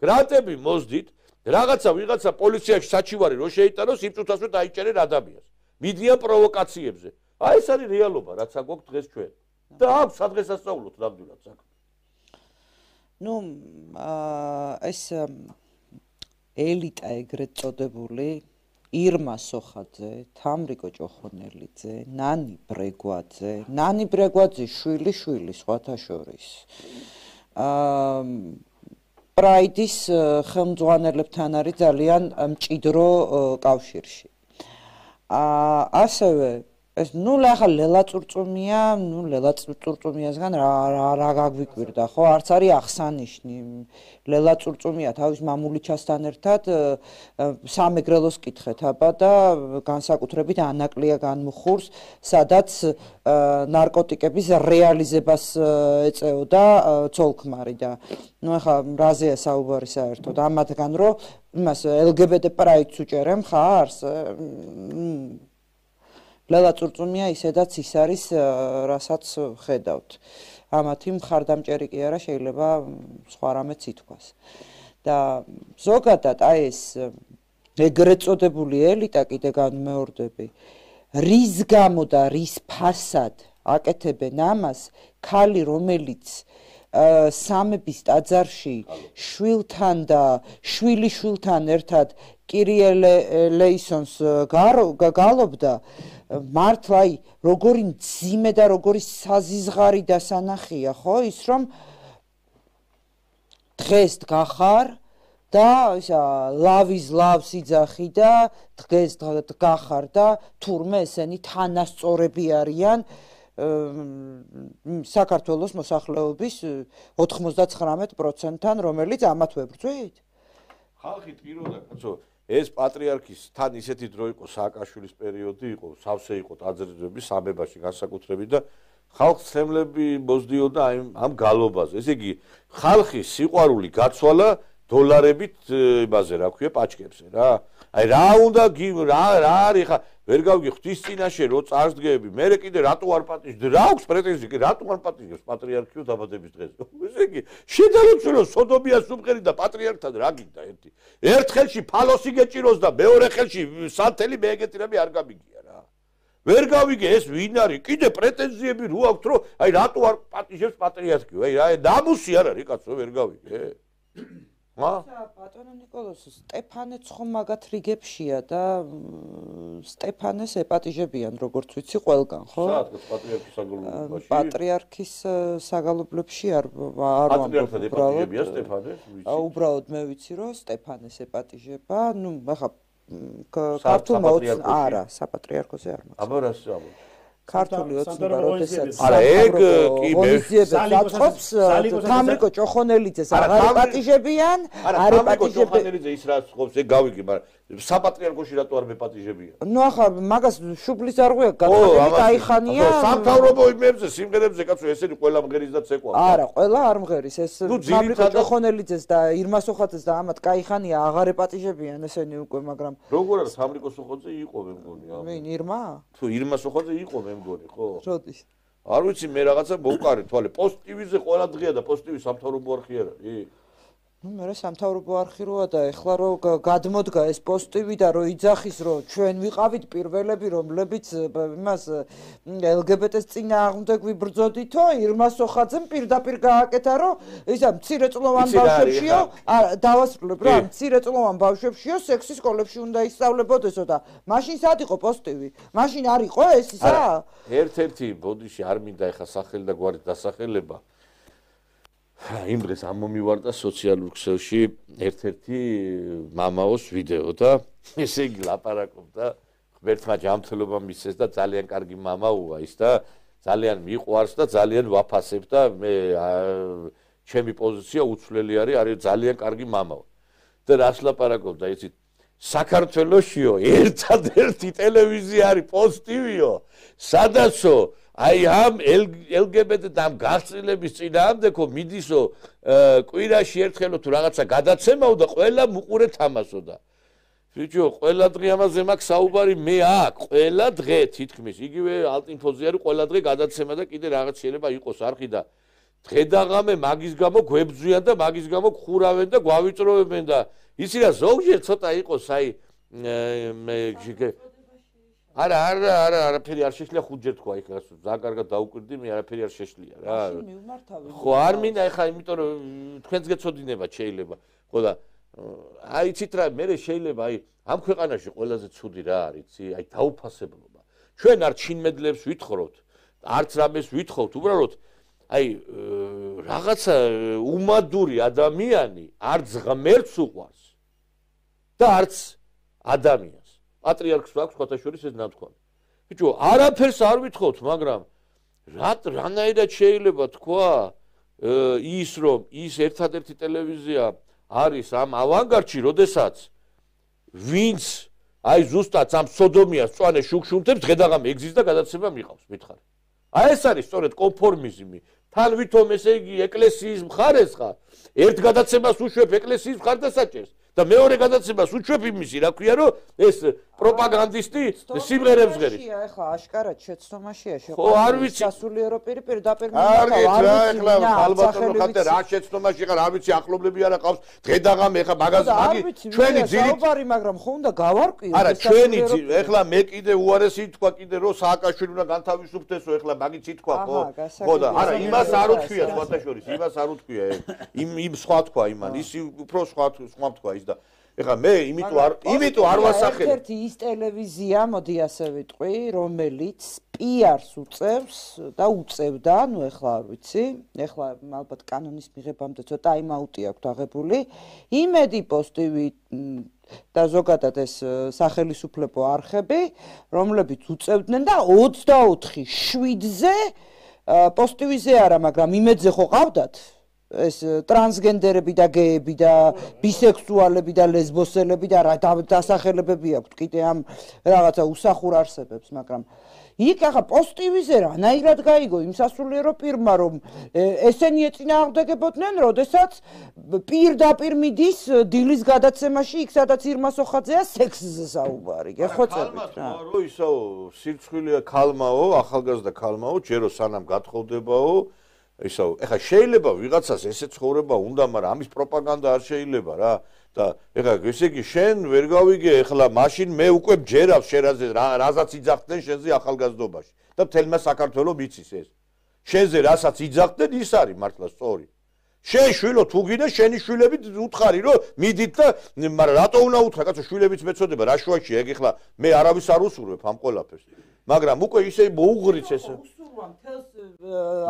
გრანტები მოსდით, ვიღაცა პოლიციაში საჩივარი რო შეიტანოს, იმ წუთასვე დაიჭერენ ადამიანს. მიდიან პროვოკაციებზე. აი ეს არის რეალობა, რაც აგვაქვს დღეს ჩვენ. და აქვს სადღესასწაულოთ ნამდვილად საქმე. ნუ ეს ელიტა ეგრეთ წოდებული ირმა სოხაძე, თამრიკო ჭოხონელიძე, ნანი ბრეგვაძის შვილი სხვათა შორის. პრაიდის ხელმძღვანელებთან არის ძალიან მჭიდრო კავშირში. ასევე ეს ახლა ლელაწურწუმიასგან რა გაგვიკვირდა ხო? არც არის აღსანიშნი. ლელაწურწუმია თავის მამულიჩასთან ერთად სამეგრელოს კითხეთ აბა და განსაკუთრებით ანაკლია განმუხურს, სადაც ნარკოტიკების რეალიზებას ეწეოდა ცოლქმარი და ახლა რაზეა საუბარი საერთოდ ამათგან რომ იმას LGBT პრაიდს უჭერენ ხარს? ლელაწურწუმია ისედაც ის არის, რასაც ხედავთ. ამათი მხარდამჭერი კი არა, შეიძლება სხვა რამეც ითქვას. და ზოგადად აი ეს ეგრეთ წოდებული ელიტა კიდე განმეორდები, რის გამო და რის ფასად აკეთებენ ამას, ქალი რომელიც სამების ტაძარში შვილთან და შვილიშვილთან ერთად კირიე ლეისონს გალობდა მართლა აი როგორი მძიმე და როგორი საზიზღარი დასანახია ხო ის რომ დღეს გახარ და ისა ლავის ლავს იძახი და დღეს გახარ და თურმე ესენი თანასწორები არიან საქართველოს მოსახლეობის 99%-თან რომელიც ამათ ვებრძვით ხალხი ტიროდა კაცო ეს პატრიარქის თან ისეთი დრო იყო სააკაშვილის პერიოდი იყო სავსე იყო ტაძრები სამებაში განსაკუთრებით და ხალხს ცემლები მოსდიოდა ამ გალობაზე ესე იგი ხალხის სიყვარული გაცვალა დოლარებით იმაზე რა ქვია პაჩკებზე რა აი რა უნდა რა არის ხა ვერ გავიგე ღვთის წინაშე რო წარსდგები მე კიდე რატო არ პატიჟდი რა აქვს პრეტენზია კი რატო არ პატიჟებს პატრიარქიო დაბადების დღეს ესე იგი შედარებულო სოდომიას სუმყერი და პატრიარქთან რა გინდა ერთ ხელში ფალოსი გეჭიროს და მეორე ხელში სანთელი მეეგეთირები არ გამიგია რა ვერ გავიგე ეს ვინ არის კიდე პრეტენზიები რო აქვს რომ აი რატო არ პატიჟებს პატრიარქიო აი რა დამუსი არ არის კაცო ვერ გავიგე ბატონო ნიკოლოზ სტეფანეც ხომ მაგათ რიგებშია და სტეფანეს ეპატიჟებიან როგორც ვიცი ყველგან ხო? საათქოს პატრიარქის საგალობლებში? პატრიარქის საგალობლებში არ პატრიარქად ეპატიჟებია სტეფანეს? უბრალოდ მე ვიცი რომ სტეფანეს ეპატიჟება, ნუ ახლა ქართულმა არა, საპატრიარქოზე არ მაქვს. აბა რას ამბობ? ქართული ოცნება როდესაც არა ეგ კი მე საწყობს თამრიკო ჭოხონელიძეს არ ეპატიჟებიან არ ეპატიჟებიან ის რაც ხობს ეგ გავიგე მაგრამ საპატრიარქოში რატო არ მეპატიჟებიან ნუ ახლა მაგას შუბლის არღვია გადაგები დაიხანია სამთავრობო იმებზე სიმღერებზე კაცო ესენი ყველა მღერის და ცეკვა არა ყველა არ მღერის ეს თამრიკო ჭოხონელიძეს და ირმა სოხაძეს და ამათ კაიხანია აღარ ეპატიჟებიან ესენი უკვე მაგრამ როგორ არის თამრიკო სოხაძე იყო მე მგონი ვინ ირმა თუ ირმა სოხაძე იყო მე მგონი ხო როდის არ ვიცი მე რაღაცა მოვყარი თვალე პოსტივიზე ყველა დღეა და პოსტივი სამთავრობო არხი არ არის ნუ მე სამთავრობო არხი როა და ეხლა რო გადმოდგა ეს პოსტივი და რო იძახის რომ ჩვენ ვიყავით პირველები რომლებიც იმას LGBT-ს წინააღმდეგ ვიბრძოდითო ირმა სოხაძემ პირდაპირ გააკეთა რომ ისა მცირეწლოვან ბავშვებშიო დავასრულებ რა მცირეწლოვან ბავშვებშიო სექსი სკოლებში უნდა ისწავლებოდესო და მაშინ სად იყო პოსტივი მაშინ არ იყო ეს ისა ერთ-ერთი ბოდიში არ მინდა ეხა სახელი და გვარი დასახელება იმ დღეს ამომივარდა სოციალურ ქსელში ერთ-ერთი მამაოს ვიდეო და ესე იგი ლაპარაკობდა ღმერთმა ჯანმრთელობა მისცეს და ძალიან კარგი მამაოა ის და ძალიან მიყვარს და ძალიან ვაფასებ და მე ჩემი პოზიცია უცვლელი არის ძალიან კარგი მამაო და რას ლაპარაკობდა იცით საქართველოსიო ერთადერთი ტელევიზია არის პოსტივიო სადაცო აი ამ LGBT და ამ გასწრილების წინააღმდეგო მიდისო კვირაში ერთხელო თუ რაღაცა გადაცემაო და ყველა მუყურე თამასოდა. ბიჭო, ყველა დღე ამაზე მაქვს საუბარი მე აქ, ყველა დღე თითქმის იგივე ალტინფოზე არის ყველა დღე გადაცემა და კიდე რაღაც შეიძლება იყოს არხი და დღედაღამე მაგის გამო გვებძვიან და მაგის გამო ხურავენ და გვავიწროვებენ და იცი რა ზოგჯერ ცოტა იყოს აი არაფერი არ შეშლია ხუთჯერ თქვა იქ ძალიან კარგად დაუკვირდი მე არაფერი არ შეშლია რა ხო არ მინდა ეხა იმიტომ რომ თქვენც გეცოდინებათ შეიძლება ხო და აი იცით რა მე შეიძლება აი ამ ქვეყანაში ყველაზე ცუდი რა არის იცი აი დაუფასებლობა ჩვენ არ ჩინმედლებს ვითხრობთ არც რამეს ვითხოვთ უბრალოდ აი რაღაცა უმადური ადამიანი არც ღმერთს უყვარს და არც ადამიანს პატრიარქს აქვს ხოთაშორის ეს ნათქვამი ბიჭო არაფერს არ ვითხოვთ მაგრამ რანაირად შეიძლება თქვა ის რომ ის ერთადერთი ტელევიზია არის ამ ავანგარდში როდესაც ვინც აი ზუსტად ამ სოდომიას წვანე შუქშუნთებს დღედაღამე ეგზის და გადაცემა მიყავს მითხარი აი ეს არის სწორედ კონფორმიზმი თან ვითომ ესე იგი ეკლესიის მხარეს ხარ ერთ გადაცემას უშვებ ეკლესიის მხარდასაჭერს და მეორე გადაცემას უშვებ იმისი რა ქვია რომ ეს პროპაგანდისტი სიმღერებს ღერის ეხლა აშკარად შეცდომაშია ხო არ ვიცი სასულიერო პირდაპირ არ ეხლა ალბათო ხატე რა შეცდომაში ხარ არ ვიცი ახლობლები არა ყავს დღედაღამე ეხლა მაგაზ მაგი ჩვენი ძირითადი მაგრამ ხო უნდა გავარკვიოთ არა ჩვენი ეხლა მე კიდე უარესი თქვა კიდე რომ სააკაშვილი უნდა განთავისუფლდესო ეხლა მაგიც ითქვა ხო და არა იმას არ უთქვია სხვათა შორის იმას არ უთქვია იმ სხვა თქვა იმან ის უფრო სხვა თქვა ის და ეხლა მე იმიტომ არ ვასახელებ ერთ-ერთი ის ტელევიზია მოდი ასე ვიტყვი რომელიც პიარს უწევს და უწევდა ნუ ეხლა არ ვიცი ეხლა ალბათ კანონის მიღებამდე ცოტა აიმაუტი აქვს აღებული იმედი პოსტივი და ზოგადად ეს სახელისუფლებო არხები რომლებიც უწევდნენ და 24/7-ზე პოსტივიზე არა მაგრამ იმედზე ხო ყავდათ ეს ტრანსგენდერები და გეები და ბისექსუალები და ლესბოსელები და რა დასახელებები აქვთ კიდე ამ რაღაცა უსახურ არსებებს მაგრამ იქ ახლა პოსტივიზე რანაირად გაიგო იმ სასულიერო პირმა რომ ესენი ეწინააღმდეგებოდნენ როდესაც პირდაპირ მიდის დილის გადაცემაში იქ სადაც ირმას ოხაძეა სექსზე საუბარი გეხვეწებით რა რო ისო სირცხვილია ქალმაო ახალგაზრდა ქალმაო ჯერო სანამ გათხოვდებაო ისო ეხა შეიძლება ვიღაცას ესე ცხოვრება უნდა მაგრამ ამის პროპაგანდა არ შეიძლება რა და ეხა ესე იგი შენ ვერ გავიგე ეხლა მაშინ მე უკვე ჯერავს შენაზე რაზაც იძახდნენ შენზე ახალგაზრდობაში და მთელმა საქართველოს მიცის ეს შენზე რასაც იძახდნენ ის არის მართლა სწორი შენ შვილო თუ გინდა შენი შვილებით უთხარი რომ მიდით და მაგრამ რატო უნდა უთხრა კაცო შვილებიც მეწოდება რა შუაშია ეგ ეხლა მე არავის არ უსურვებ ამ ყველაფერს მაგრამ უკვე ისე მოუღრიც ეს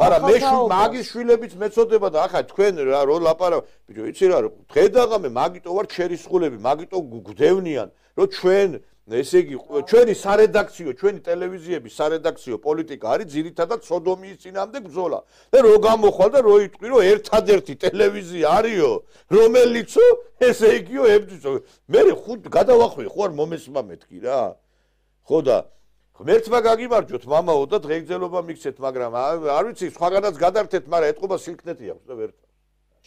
მაგრამ მე მაგის შვილებიც მეწოდება და ახლა თქვენ რო ლაპარაკ ბიჭო იცი რა დღედაღამე მაგიტო ვარ ჩერისხულები მაგიტო გვდევნიან რომ ჩვენ ესე იგი ჩვენი სარედაქციო ჩვენი ტელევიზიების სარედაქციო პოლიტიკა არის ძირითადად სოდომიის წინამდე ბრძოლა და რო გამოხვალ და რო იტყვი რომ ერთადერთი ტელევიზია არისო რომელიც ესე იგიო ებრძვისო მე ხუთ გადავახვი ხო არ მომესმა მეთქი რა ხო და ღმერთმა გაგიმარჯოთ მამაო და დღეგრძელობა მიქცეთ მაგრამ არ ვიცი სხვაგანაც გადართეთ მაგრამ ეთყობა სილქნეთი აქვს და ვერ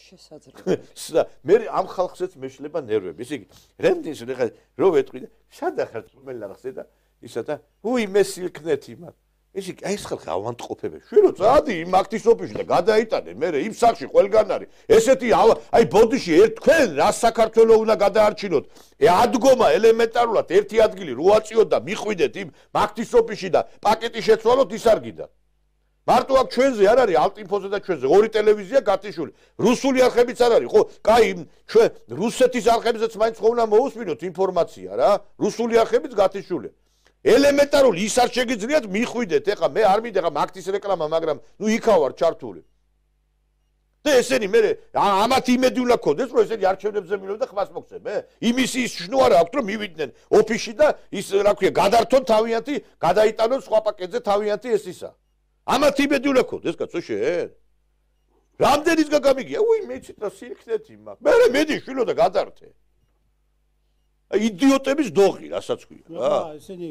შესაძლოა მე ამ ხალხსაც მეშლება ნერვები ისე იგი რემდის ხა რო ვეთყვი და სადახარ რომელაღზე და ისა და უი მე სილქნეთი მაგ ისე აი ეს ხალხი ავანტყოფებია შვილო წადი იმ აქტისოფიში და გადაიტანე მე იმ სახში ყველგან არის ესეთი აი ბოდიში თქვენ რა საქართველოს უნდა გადაარჩინოთ ადგომა ელემენტარულად ერთი ადგილი რო აწიოთ და მიხვიდეთ იმ აქტისოფიში და პაკეტი შეცვალოთ ის არ გიდა მარტო აქ ჩვენზე არ არის ალტინფოზე და ჩვენზე ორი ტელევიზია გათიშული რუსული არხებიც არ არის ხო კაი ჩვენ რუსეთის არხებზეც მაინც ხო უნდა მოусმინოთ ინფორმაცია რა რუსული არხებიც გათიშული ელემენტარული ის არ შეგიძლიათ მიხვიდეთ ეხლა მე არ მინდა ეხლა მაგთის რეკლამა მაგრამ ნუ იქა ვარ ჩართული და ესენი მე ამათ იმედი უნდა ქონდეს რომ ესენი არჩევნებზე მილონ და ხმას მოგცემ იმის ის შნო არა აქვს რომ მივიდნენ ოფისში და ის რა ქვია გადართონ თავიანთი გადაიტანონ სხვა პაკეტზე თავიანთი ეს ისა ამათ იმედი უნდა ქონდეს კაცო შენ რამდენისგან გამიგია უი მეც და სირქნეთი მაგ მე მედი შვილო და გადართე იდიოტების დოღი, რასაც ქვია რა. ესენი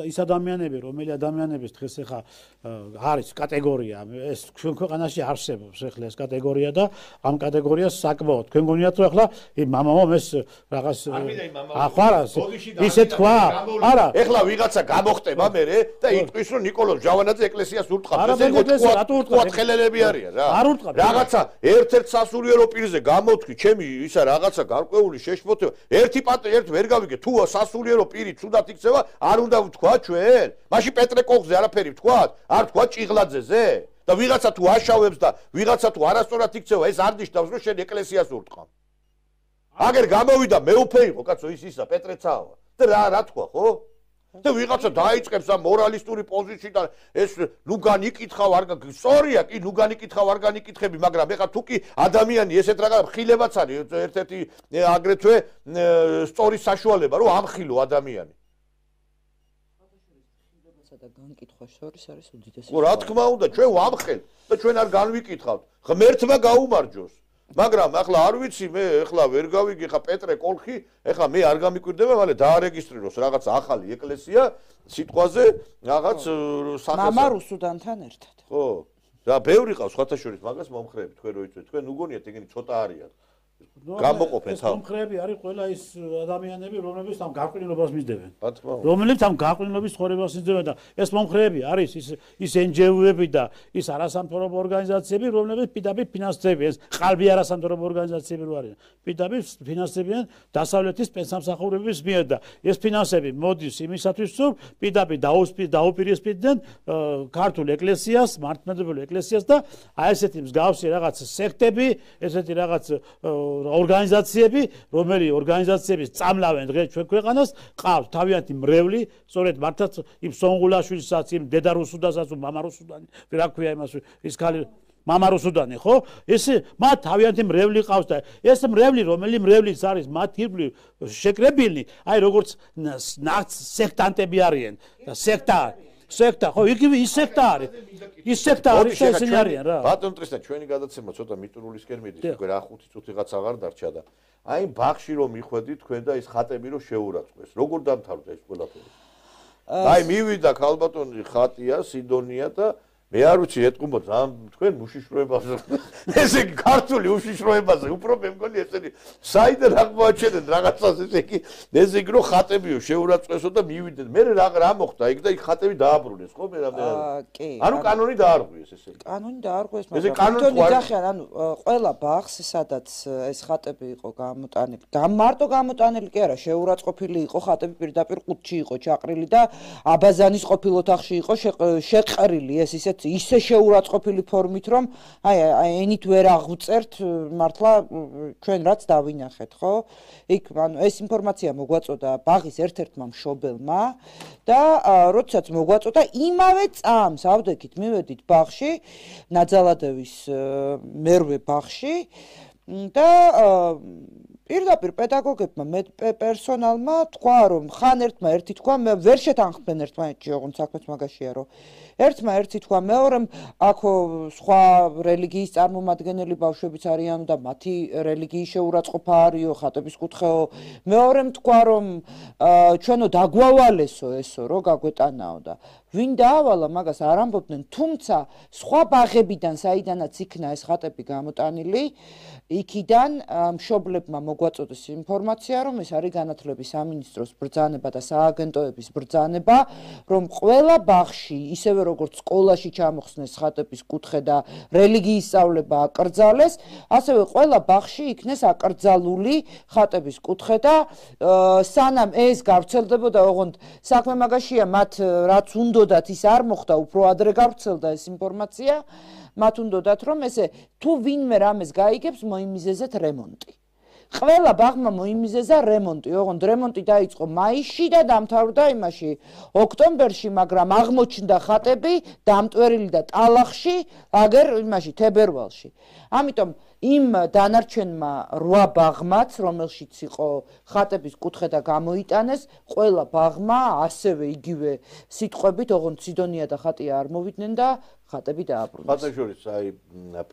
ის ადამიანები, რომელი ადამიანების დღეს ახლა არის კატეგორია, ეს ჩვენ ქვეყანაში არსებობს ახლა ეს კატეგორია და ამ კატეგორიას საკმაოდ თქვენ გონიათ რომ ახლა მამამომ ეს რაღაც ახლა ისე თქვა, არა, ახლა ვიღაცა გამოხტება მერე და იტყვის რომ ნიკოლოზ ჟავანაძე ეკლესიას ურტყავს, ეს იყო ხელელები არიან რა. რაღაცა ერთ-ერთ სასულიერო პირზე გამოთქვი, ჩემი ისა რაღაცა გარკვეული შეშფოთება, ერთ ვერ გავიგე თუ სასულიერო პირი თუდად იქცევა, არ უნდა ვთქვა ჩვენ? მაშინ პეტრე კოხზე არაფერი ვთქვათ? არ ვთქვა ჭიღლაძეზე? და ვიღაცა თუ აშავებს და ვიღაცა თუ არასწორად იქცევა, ეს არ ნიშნავს რომ შენ ეკლესიას ურტყავ. აგერ გამოვიდა მეუფე იყო კაცო ისა პეტრეცაავა. და რა თქვა ხო? და ვიღაცა დაიწყებს ამ მორალისტური პოზიციიდან ეს ნუ განიკითხავ არ სწორია კი ნუ განიკითხავ არ განიკითხები მაგრამ ეხლა თუ კი ადამიანი ესეთ რაღაც ხილებაც არის ერთ-ერთი აგრეთვე სწორი საშუალება რომ ამხილო ადამიანი და განკითხვა შორის არის უდიდესი რა თქმა უნდა ჩვენ ვამხელთ და ჩვენ არ განვიკითხავთ ღმერთმა გაუმარჯოს მაგრამ ახლა არ ვიცი მე ახლა ვერ გავიგე ხა პეტრე კოლხი ახლა მე არ გამიკვირდება მალე დაარეგისტრიროს რაღაც ახალი ეკლესია სიტყვაზე რაღაც მამა რუსუდანთან ერთად ხო და ბევრი ყავს სხვათა შორის მაგას მომხრეები თქვენ რო იცით თქვენ უგონიათ ეგენი ცოტა არიან გამოყოფენ ეს მომხრეები არის ყველა ის ადამიანები რომლებიც ამ გაყრილობას მისდევენ რა თქმა უნდა რომლებიც ამ გაყრილობის ცხოვრებას მისდევენ და ეს მომხრეები არის ის NGO-ები და ის არასამთავრობო ორგანიზაციები რომლებიც პირდაპირ ფინანსდებიან ეს qalbi არასამთავრობო ორგანიზაციები რო არიან პირდაპირ ფინანსდებიან დასავლეთის პენსამსახურების მიერ და ეს ფინანსები მოდის იმისათვის რომ პირდაპირ დაუპირისპირდნენ ქართულ ეკლესიას მართლმადიდებლურ ეკლესიას და აი ესეთი მსგავსი რაღაც სექტები ესეთი რაღაც ორგანიზაციები, რომელი ორგანიზაციების წამლავენ დღეს ჩვენ ქვეყანას, ყავს თავიანთი მრევლი, სწორედ მართლაც იმ სონღულაშვილსაც, იმ დედა რუსუდანსაც, მამა რუსუდანი, რა ქვია იმას, ის ქალი მამა რუსუდანი, ხო? ეს მათ თავიანთი მრევლი ყავს და ეს მრევლი, რომელი მრევლის არის მათ ირგვლივ შეკრებილი, აი როგორც სექტანტები არიან და სექტა ხო იგივე ის სექტა არის ის სექტა არის ესენი არიან რა ბატონ ტრისთან ჩვენი გადაცემა ცოტა მიტურულისკენ მიდის უკვე რა 5 წუთი რაღაც აღარ დარჩა და აი ბაღში რომ მიხვედით თქვენ და ის ხატები რომ შეურაცხყვეს როგორ დამთავრდა ეს ყველაფერი აი მივიდა ქალბატონი ხატია სიდონია და მე არ ვიცი ეთყობთ ამ თქვენ უშიშროებაზე ესე იგი ქართული უშიშროებაზე უფრო მე მგონი ესენი საიდან აღმოაჩენენ რაღაცას ესე იგი ესე იგი რომ ხატებიო შეურაცხყვესო და მივიდნენ მე რა მოხდა იქ და იქ ხატები დააბრუნეს ხო მე კი ანუ კანონი დაარღვიეს ესე იგი კანონი დაარღვიეს მაგრამ თვითონ იძახიან ანუ ყველა ბაღს სადაც ეს ხატები იყო გამოტანილი მარტო გამოტანილი კი არა შეურაცხყოფილი იყო ხატები პირდაპირ ყუთში იყო ჩაყრილი და აბაზანის ყოფილ ოთახში იყო შეყრილი ეს ისე ისე შეურაცხყოფილი ფორმით რომ აი ენით ვერ აღვწერთ მართლა ჩვენ რაც დავინახეთ ხო იქ ანუ ეს ინფორმაცია მოგვაწოდა ბაღის ერთ-ერთმა მშობელმა და როდესაც მოგვაწოდა იმავე წამს ავდექით მივედით ბაღში ნაძალადევის მერვე ბაღში და პირდაპირ პედაგოგებმა პერსონალმა თქვა რომ ხან ერთმა ერთი თქვა მე ვერ შეთანხმდნენ ერთმანეთში ოღონდ საქმეც მაგაშია რომ ერთმა ერთი თქვა მეორემ აქო სხვა რელიგიის წარმომადგენელი ბავშვებიც არიან და მათი რელიგიის შეურაცხყოფა არისო ხატების კუთხეო მეორემ თქვა რომ ჩვენო დაგვავალესო ესო რომ გაგვეტანაო და ვინ დაავალა მაგას არ ამბობდნენ თუმცა სხვა ბაღებიდან საიდანაც იქნა ეს ხატები გამოტანილი იქიდან მშობლებმა მოგვაწოდეს ინფორმაცია რომ ეს არის განათლების სამინისტროს ბრძანება და სააგენტოების ბრძანება რომ ყველა ბაღში ისევე როგორც სკოლაში ჩამოხსნეს ხატების კუთხე და რელიგიის სწავლება აკრძალეს ასევე ყველა ბაღში იქნეს აკრძალული ხატების კუთხე და სანამ ეს გავრცელდებოდა ოღონდ საქმე მაგაშია მათ რაც უნდათ ის არ მოხდა უფრო ადრე გავრცელდა ეს ინფორმაცია მათ უნდათ რომ ესე თუ ვინმე რამეს გაიგებს მოიმიზეზეთ რემონტი ყველა ბაღმა მოიმიზეზა რემონტი ოღონდ რემონტი დაიწყო მაისში და დამთავრდა იმაში ოქტომბერში მაგრამ აღმოჩნდა ხატები დამტვერილი და ტალახში აგერ იმაში თებერვალში ამიტომ იმ დანარჩენმა 8 ბაღმაც რომელშიც იყო ხატების კუთხე და გამოიტანეს ყველა ბაღმა ასევე იგივე სიტყვებით ოღონდ სიდონია და ხატია არ მოვიდნენ და ხატები დააბრუნეს ხატებს შორის აი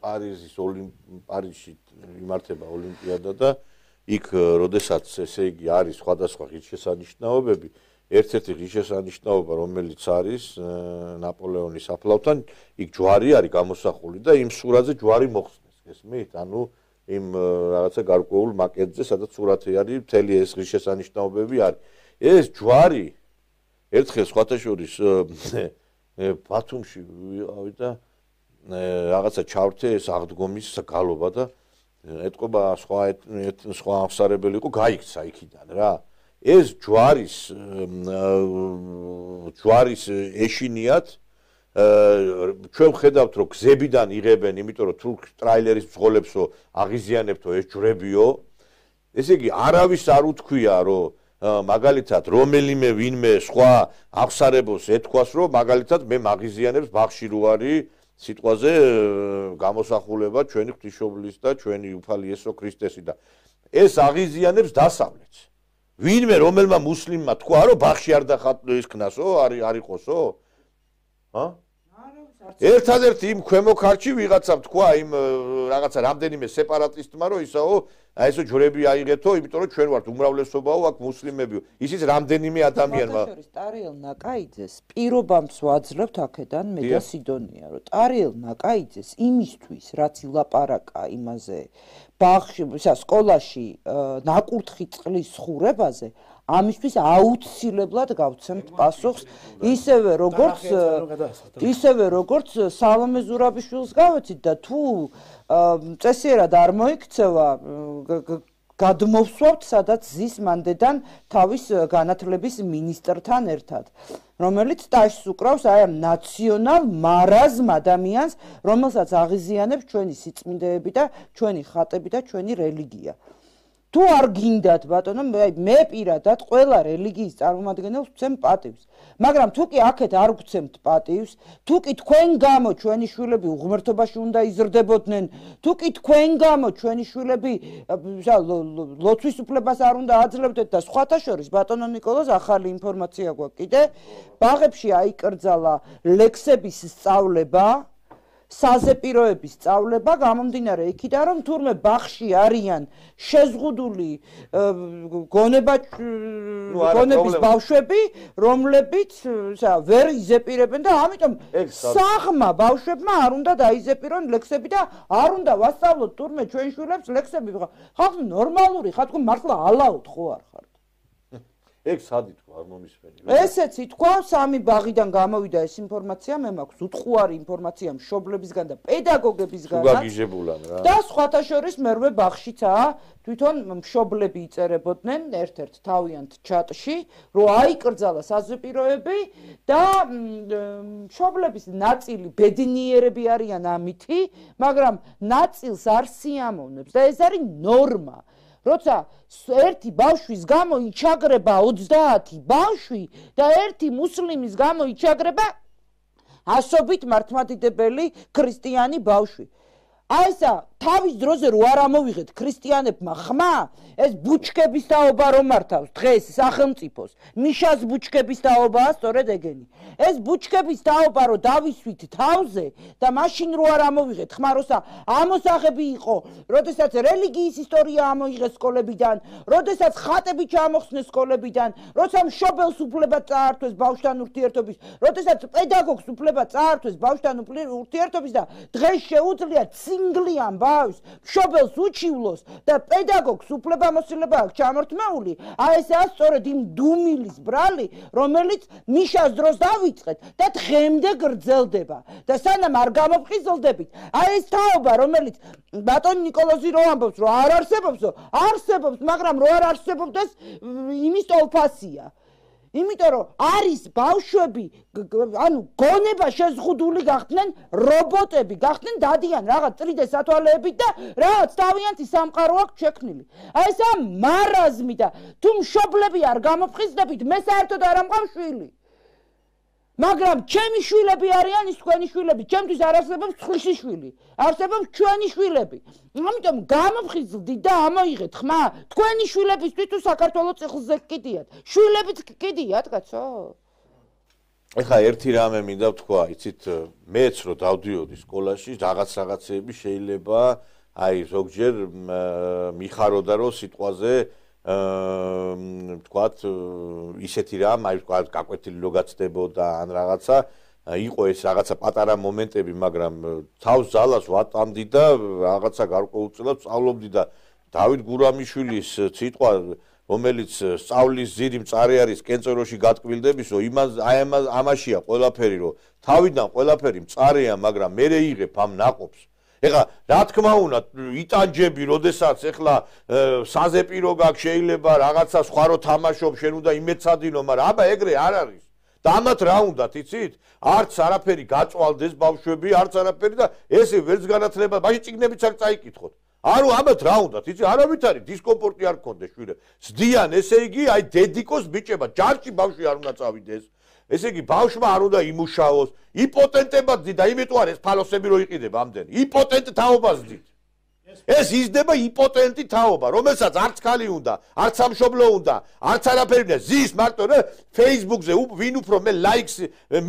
პარიზში იმართება ოლიმპიადა და იქ როდესაც ესე იგი არის სხვადასხვა ღირსშესანიშნაობები, ერთ-ერთი ღირსშესანიშნაობა, რომელიც არის ნაპოლეონის აფლავთან, იქ ჯვარი არის გამოსახული და იმ სურათზე ჯვარი მოხსნეს, გესმით? ანუ იმ რაღაცა გარკვეულ მაკეტზე, სადაც სურათი არის, მთელი ეს ღირსშესანიშნაობები არის. ეს ჯვარი ერთხელ სხვათა შორის ბათუმში ვიყავი და რაღაცა ჩავრთე ეს აღდგომის გალობა და ეთყობა სხვა აღსარებელი იყო, გაიქცა იქიდან რა. ეს ჯვარის ეშინიათ ჩვენ ხედავთ რომ გზებიდან იღებენ, იმიტომ რომ თუ ტრაილერის მსხოლებსო აღიზიანებთო ეს ჯვრებიო. ესე იგი არავის არ უთქვია რომ მაგალითად რომელიმე ვინმე სხვა აღსარებელს ეთქვას რომ მაგალითად მე მაგიზიანებს ბაღში რო არის სიტყვაზე გამოსახულება ჩვენი ღვთისმშობლის და ჩვენი უფალი იესო ქრისტესი და ეს აღიზიანებს დასავლეთს. ვინმე რომელმა მუსლიმმა თქვა რომ ბაღში არ ისქნასო, არ იყოსო? ჰა? ერთადერთი იმ ქვემო ქართში ვიღაცამ თქვა იმ რაღაცა რამდენიმე სეპარატისტმა რომ ისაო აი ესო ჯვრები აიღეთო, იმიტომ რომ ჩვენ ვართ უმრავლესობაო აქ მუსლიმებიო. ისიც რამდენიმე ადამიანმა. ტარიელ ნაკაიძეს პირობამს ვაძლევთ აქედან მე და სიდონია, რომ ტარიელ ნაკაიძეს იმისთვის, რაც ილაპარაკა იმაზე ბაღში, სკოლაში ნაკურთხი წყლის ხურებაზე, ამისთვის აუცილებლად გავცემთ პასუხს, ისევე როგორც სალომე ზურაბიშვილს გავეცით და თუ წესიერად არ მოიქცევა გადმოვსვავთ, სადაც ზის მანდედან თავის განათლების მინისტრთან ერთად, რომელიც ტაშს უკრავს აი ამ ნაციონალ მარაზმ ადამიანს, რომელსაც აღიზიანებს ჩვენი სიწმინდეები და ჩვენი ხატები და ჩვენი რელიგია. თუ არ გინდათ ბატონო, მე პირადად ყველა რელიგიის წარმომადგენელს ვცემ პატივს. მაგრამ თუ კი აქეთ არ გცემთ პატივს, თუ კი თქვენ გამო ჩვენი შვილები უღმრთობაში უნდა იზრდებოდნენ, თუ კი თქვენ გამო ჩვენი შვილები ლოცვის უფლებას არ უნდა აძლევდეთ და სხვათა შორის ბატონო ნიკოლოზ ახალი ინფორმაცია გვაქვს კიდე, ბაღებში აიკრძალა ლექსების სწავლება, საზეპიროების სწავლება გამომდინარე იქიდან რომ თურმე ბაღში არიან შეზღუდული გონების ბავშვები, რომლებიც ვერ იზეპირებენ და ამიტომ საღმა ბავშვებმა არ უნდა დაიზეპირონ ლექსები და არ უნდა ვასწავლოთ თურმე ჩვენ შვილებს ლექსები. ხალხი ნორმალური ხარ, თქო მართლა ალაოდ ხო არ ხარ? ეგ სად ითქვა არ მომისმენი. ესეც ითქვა, სამი ბაღიდან გამოვიდა ეს ინფორმაცია, მე მაქვს უთხუარი ინფორმაცია მშობლებისგან და პედაგოგებისგანაც. გაგიჟებულან რა. და სხვათა შორის მერვე ბაღშიცაა, თვითონ მშობლები იწერებოდნენ ერთ-ერთ თავიანთ ჩატში, რომ აიკრძალა საზეპიროები და მშობლების ნაწილი ბედნიერები არიან ამითი, მაგრამ ნაწილს არ სიამოვნებს და ეს არის ნორმა. როცა ერთი ბავშვის გამო იჩაგრება 30 ბავშვი და ერთი მუსლიმის გამო იჩაგრება ასობით მართლმადიდებელი ქრისტიანი ბავშვი. აი ესა თავის დროზე რო არ ამოვიღეთ ქრისტიანებმა ხმა, ეს ბუჩქების თაობა რომ მართავს დღეს სახელმწიფოს, მიშას ბუჩქების თაობაა სწორედ ეგენი. ეს ბუჩქების თაობა რო დავისვით თავზე და მაშინ რო არ ამოვიღეთ ხმა, როცა ამოსაღები იყო, როდესაც რელიგიის ისტორია ამოიღეს სკოლებიდან, როდესაც ხატები ჩამოხსნეს სკოლებიდან, როცა მშობელს უფლება წაართვეს ბავშვთან ურთიერთობის, როდესაც პედაგოგს უფლება წაართვეს ბავშვთან ურთიერთობის და დღეს შეუძლია ცინგლიან ბავშვს მშობელს უჩივლოს და პედაგოგს უფლებამოსილება აქვს ჩამორთმეული, აი ესაა სწორედ იმ დუმილის ბრალი, რომელიც მიშას დროს დავიწყეთ და დღემდე გრძელდება და სანამ არ გამოფხიზლდებით, აი ეს თაობა, რომელიც ბატონ ნიკოლოზი რო ამბობს, რომ არ არსებობსო, არსებობს, მაგრამ რო არ არსებობდეს, იმის ტოლფასია. იმიტომ რომ არის ბავშვები, ანუ გონება შეზღუდული გახდნენ, რობოტები გახდნენ, დადიან რაღაც 3D სათვალეებით და რაღაც თავიანთი სამყარო აქვს შექმნილი. აი ესა მარაზმი და თუ მშობლები არ გამოფხიზლდებით, მე საერთოდ არ ამყავ შვილი. მაგრამ ჩემი შვილები არიან ის თქვენი შვილები, ჩემთვის არ არსებობს სხვისი შვილი, არსებობს ჩვენი შვილები. ამიტომ გამოფხიზლდით და ამოიღეთ ხმა, თქვენი შვილებისთვის თუ საქართველოს წიხლზე კიდიათ, შვილებიც კიდიათ, კაცო. ეხლა ერთი რამე მინდა ვთქვა, იცით, მეც რო დავდიოდი სკოლაში, რაღაცეები შეიძლება აი ზოგჯერ მიხაროდა რომ სიტყვაზე თქვათ ისეთი რამ აი თქვათ გაკვეთილი რო გაცდებოდა ან რაღაცა იყო ეს რაღაცა პატარა მომენტები მაგრამ თავს ძალას ვატამდი და რაღაცა გარკვეულწილად სწავლობდი და დავით გურამიშვილის სიტყვა რომელიც სწავლის ძირი მწარე არის კენწეროში გატკბილდებისო ამაშია ყველაფერი რომ თავიდან ყველაფერი მწარეა მაგრამ მე იღებ ამ ნაყოფს ეხლა რა თქმა უნდა იტანჯები როდესაც ეხლა საზეპირო გაქვს შეიძლება რაღაცა სხვა რო თამაშობ შენ უნდა იმეცადინო მაგრამ აბა ეგრე არ არის და ამათ რა უნდათ იცით არც არაფერი გაწვალდეს ბავშვები არც არაფერი და ესე ვერც განათლება მაშინ წიგნებიც არ წაიკითხოთ არო ამათ რა უნდათ იცი არავითარი დისკომფორტი არ გქონდეს შვილებს ზდიან ესე იგი აი დედიკოს ბიჭება ჯარში ბავშვი არ უნდა წავიდეს ესე იგი ბავშვმა არ უნდა იმუშაოს იპოტენტებად და იმიტომ არის ფალოსები რო იყიდება ამდენი იპოტენტ თაობას ძით ეს იზრდება იპოტენტი თაობა რომელსაც არც ხალი უნდა არც სამშობლო უნდა არც არაფერი უნდა ზის მარტო რა Facebook-ზე ვინ უფრო მე ლაიქს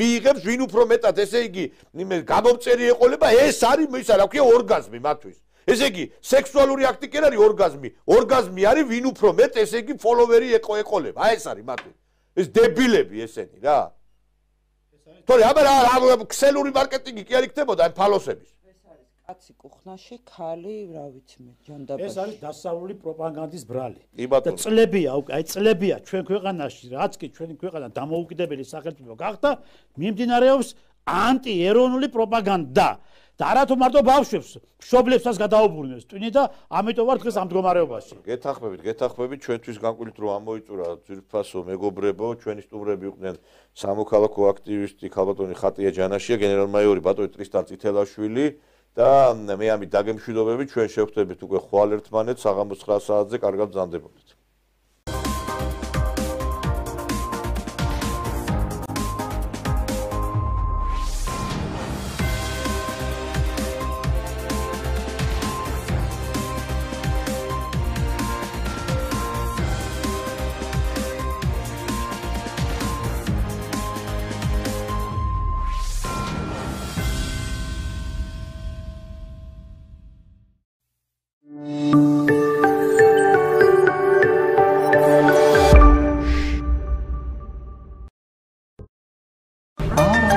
მიიღებს ვინ უფრო მეტად ესე იგი გამომწერი ეყოლება ეს არის ისა რა ქვია ორგაზმი მათთვის ესე იგი სექსუალური აქტი კი არის ორგაზმი არის ვინ უფრო მეტ ესე იგი ფოლოვერი ეყოლება აი ეს არის მათთვის ეს დებილები ესენი რა თორე აბა რა ქსელური მარკეტინგი კი არ იქნებოდა აი ფალოსების კაცი კუხნაში ხალი რა ვიცი მე ჯანდაბაში ეს არის დასავლური პროპაგანდის ბრალი და წლებია აი წლებია ჩვენ ქვეყანაში რაც კი ჩვენი ქვეყანა დამოუკიდებელი სახელმწიფო გახდა მიმდინარეობს ანტიეროვნული პროპაგანდა და არათუ მარტო ბავშვებს მშობლებსაც გადაუბრუნებს ტვინი და ამიტომ ვარ დღეს ამ მდგომარეობაში გეთახმებით ჩვენთვის განკვილით რომ ამოიწურა ძირფასო მეგობრებო ჩვენი სტუმრები იყვნენ სამოქალაქო აქტივისტი ქალბატონი ხატია ჯანაშია გენერალ-მაიორი ბატონი ტრისტან წითელაშვილი და მე ამით დაგემშვიდობებით ჩვენ შევხვდებით უკვე ხვალ ერთმანეთს საღამოს 9 საათზე კარგად ბრძანდებოდეთ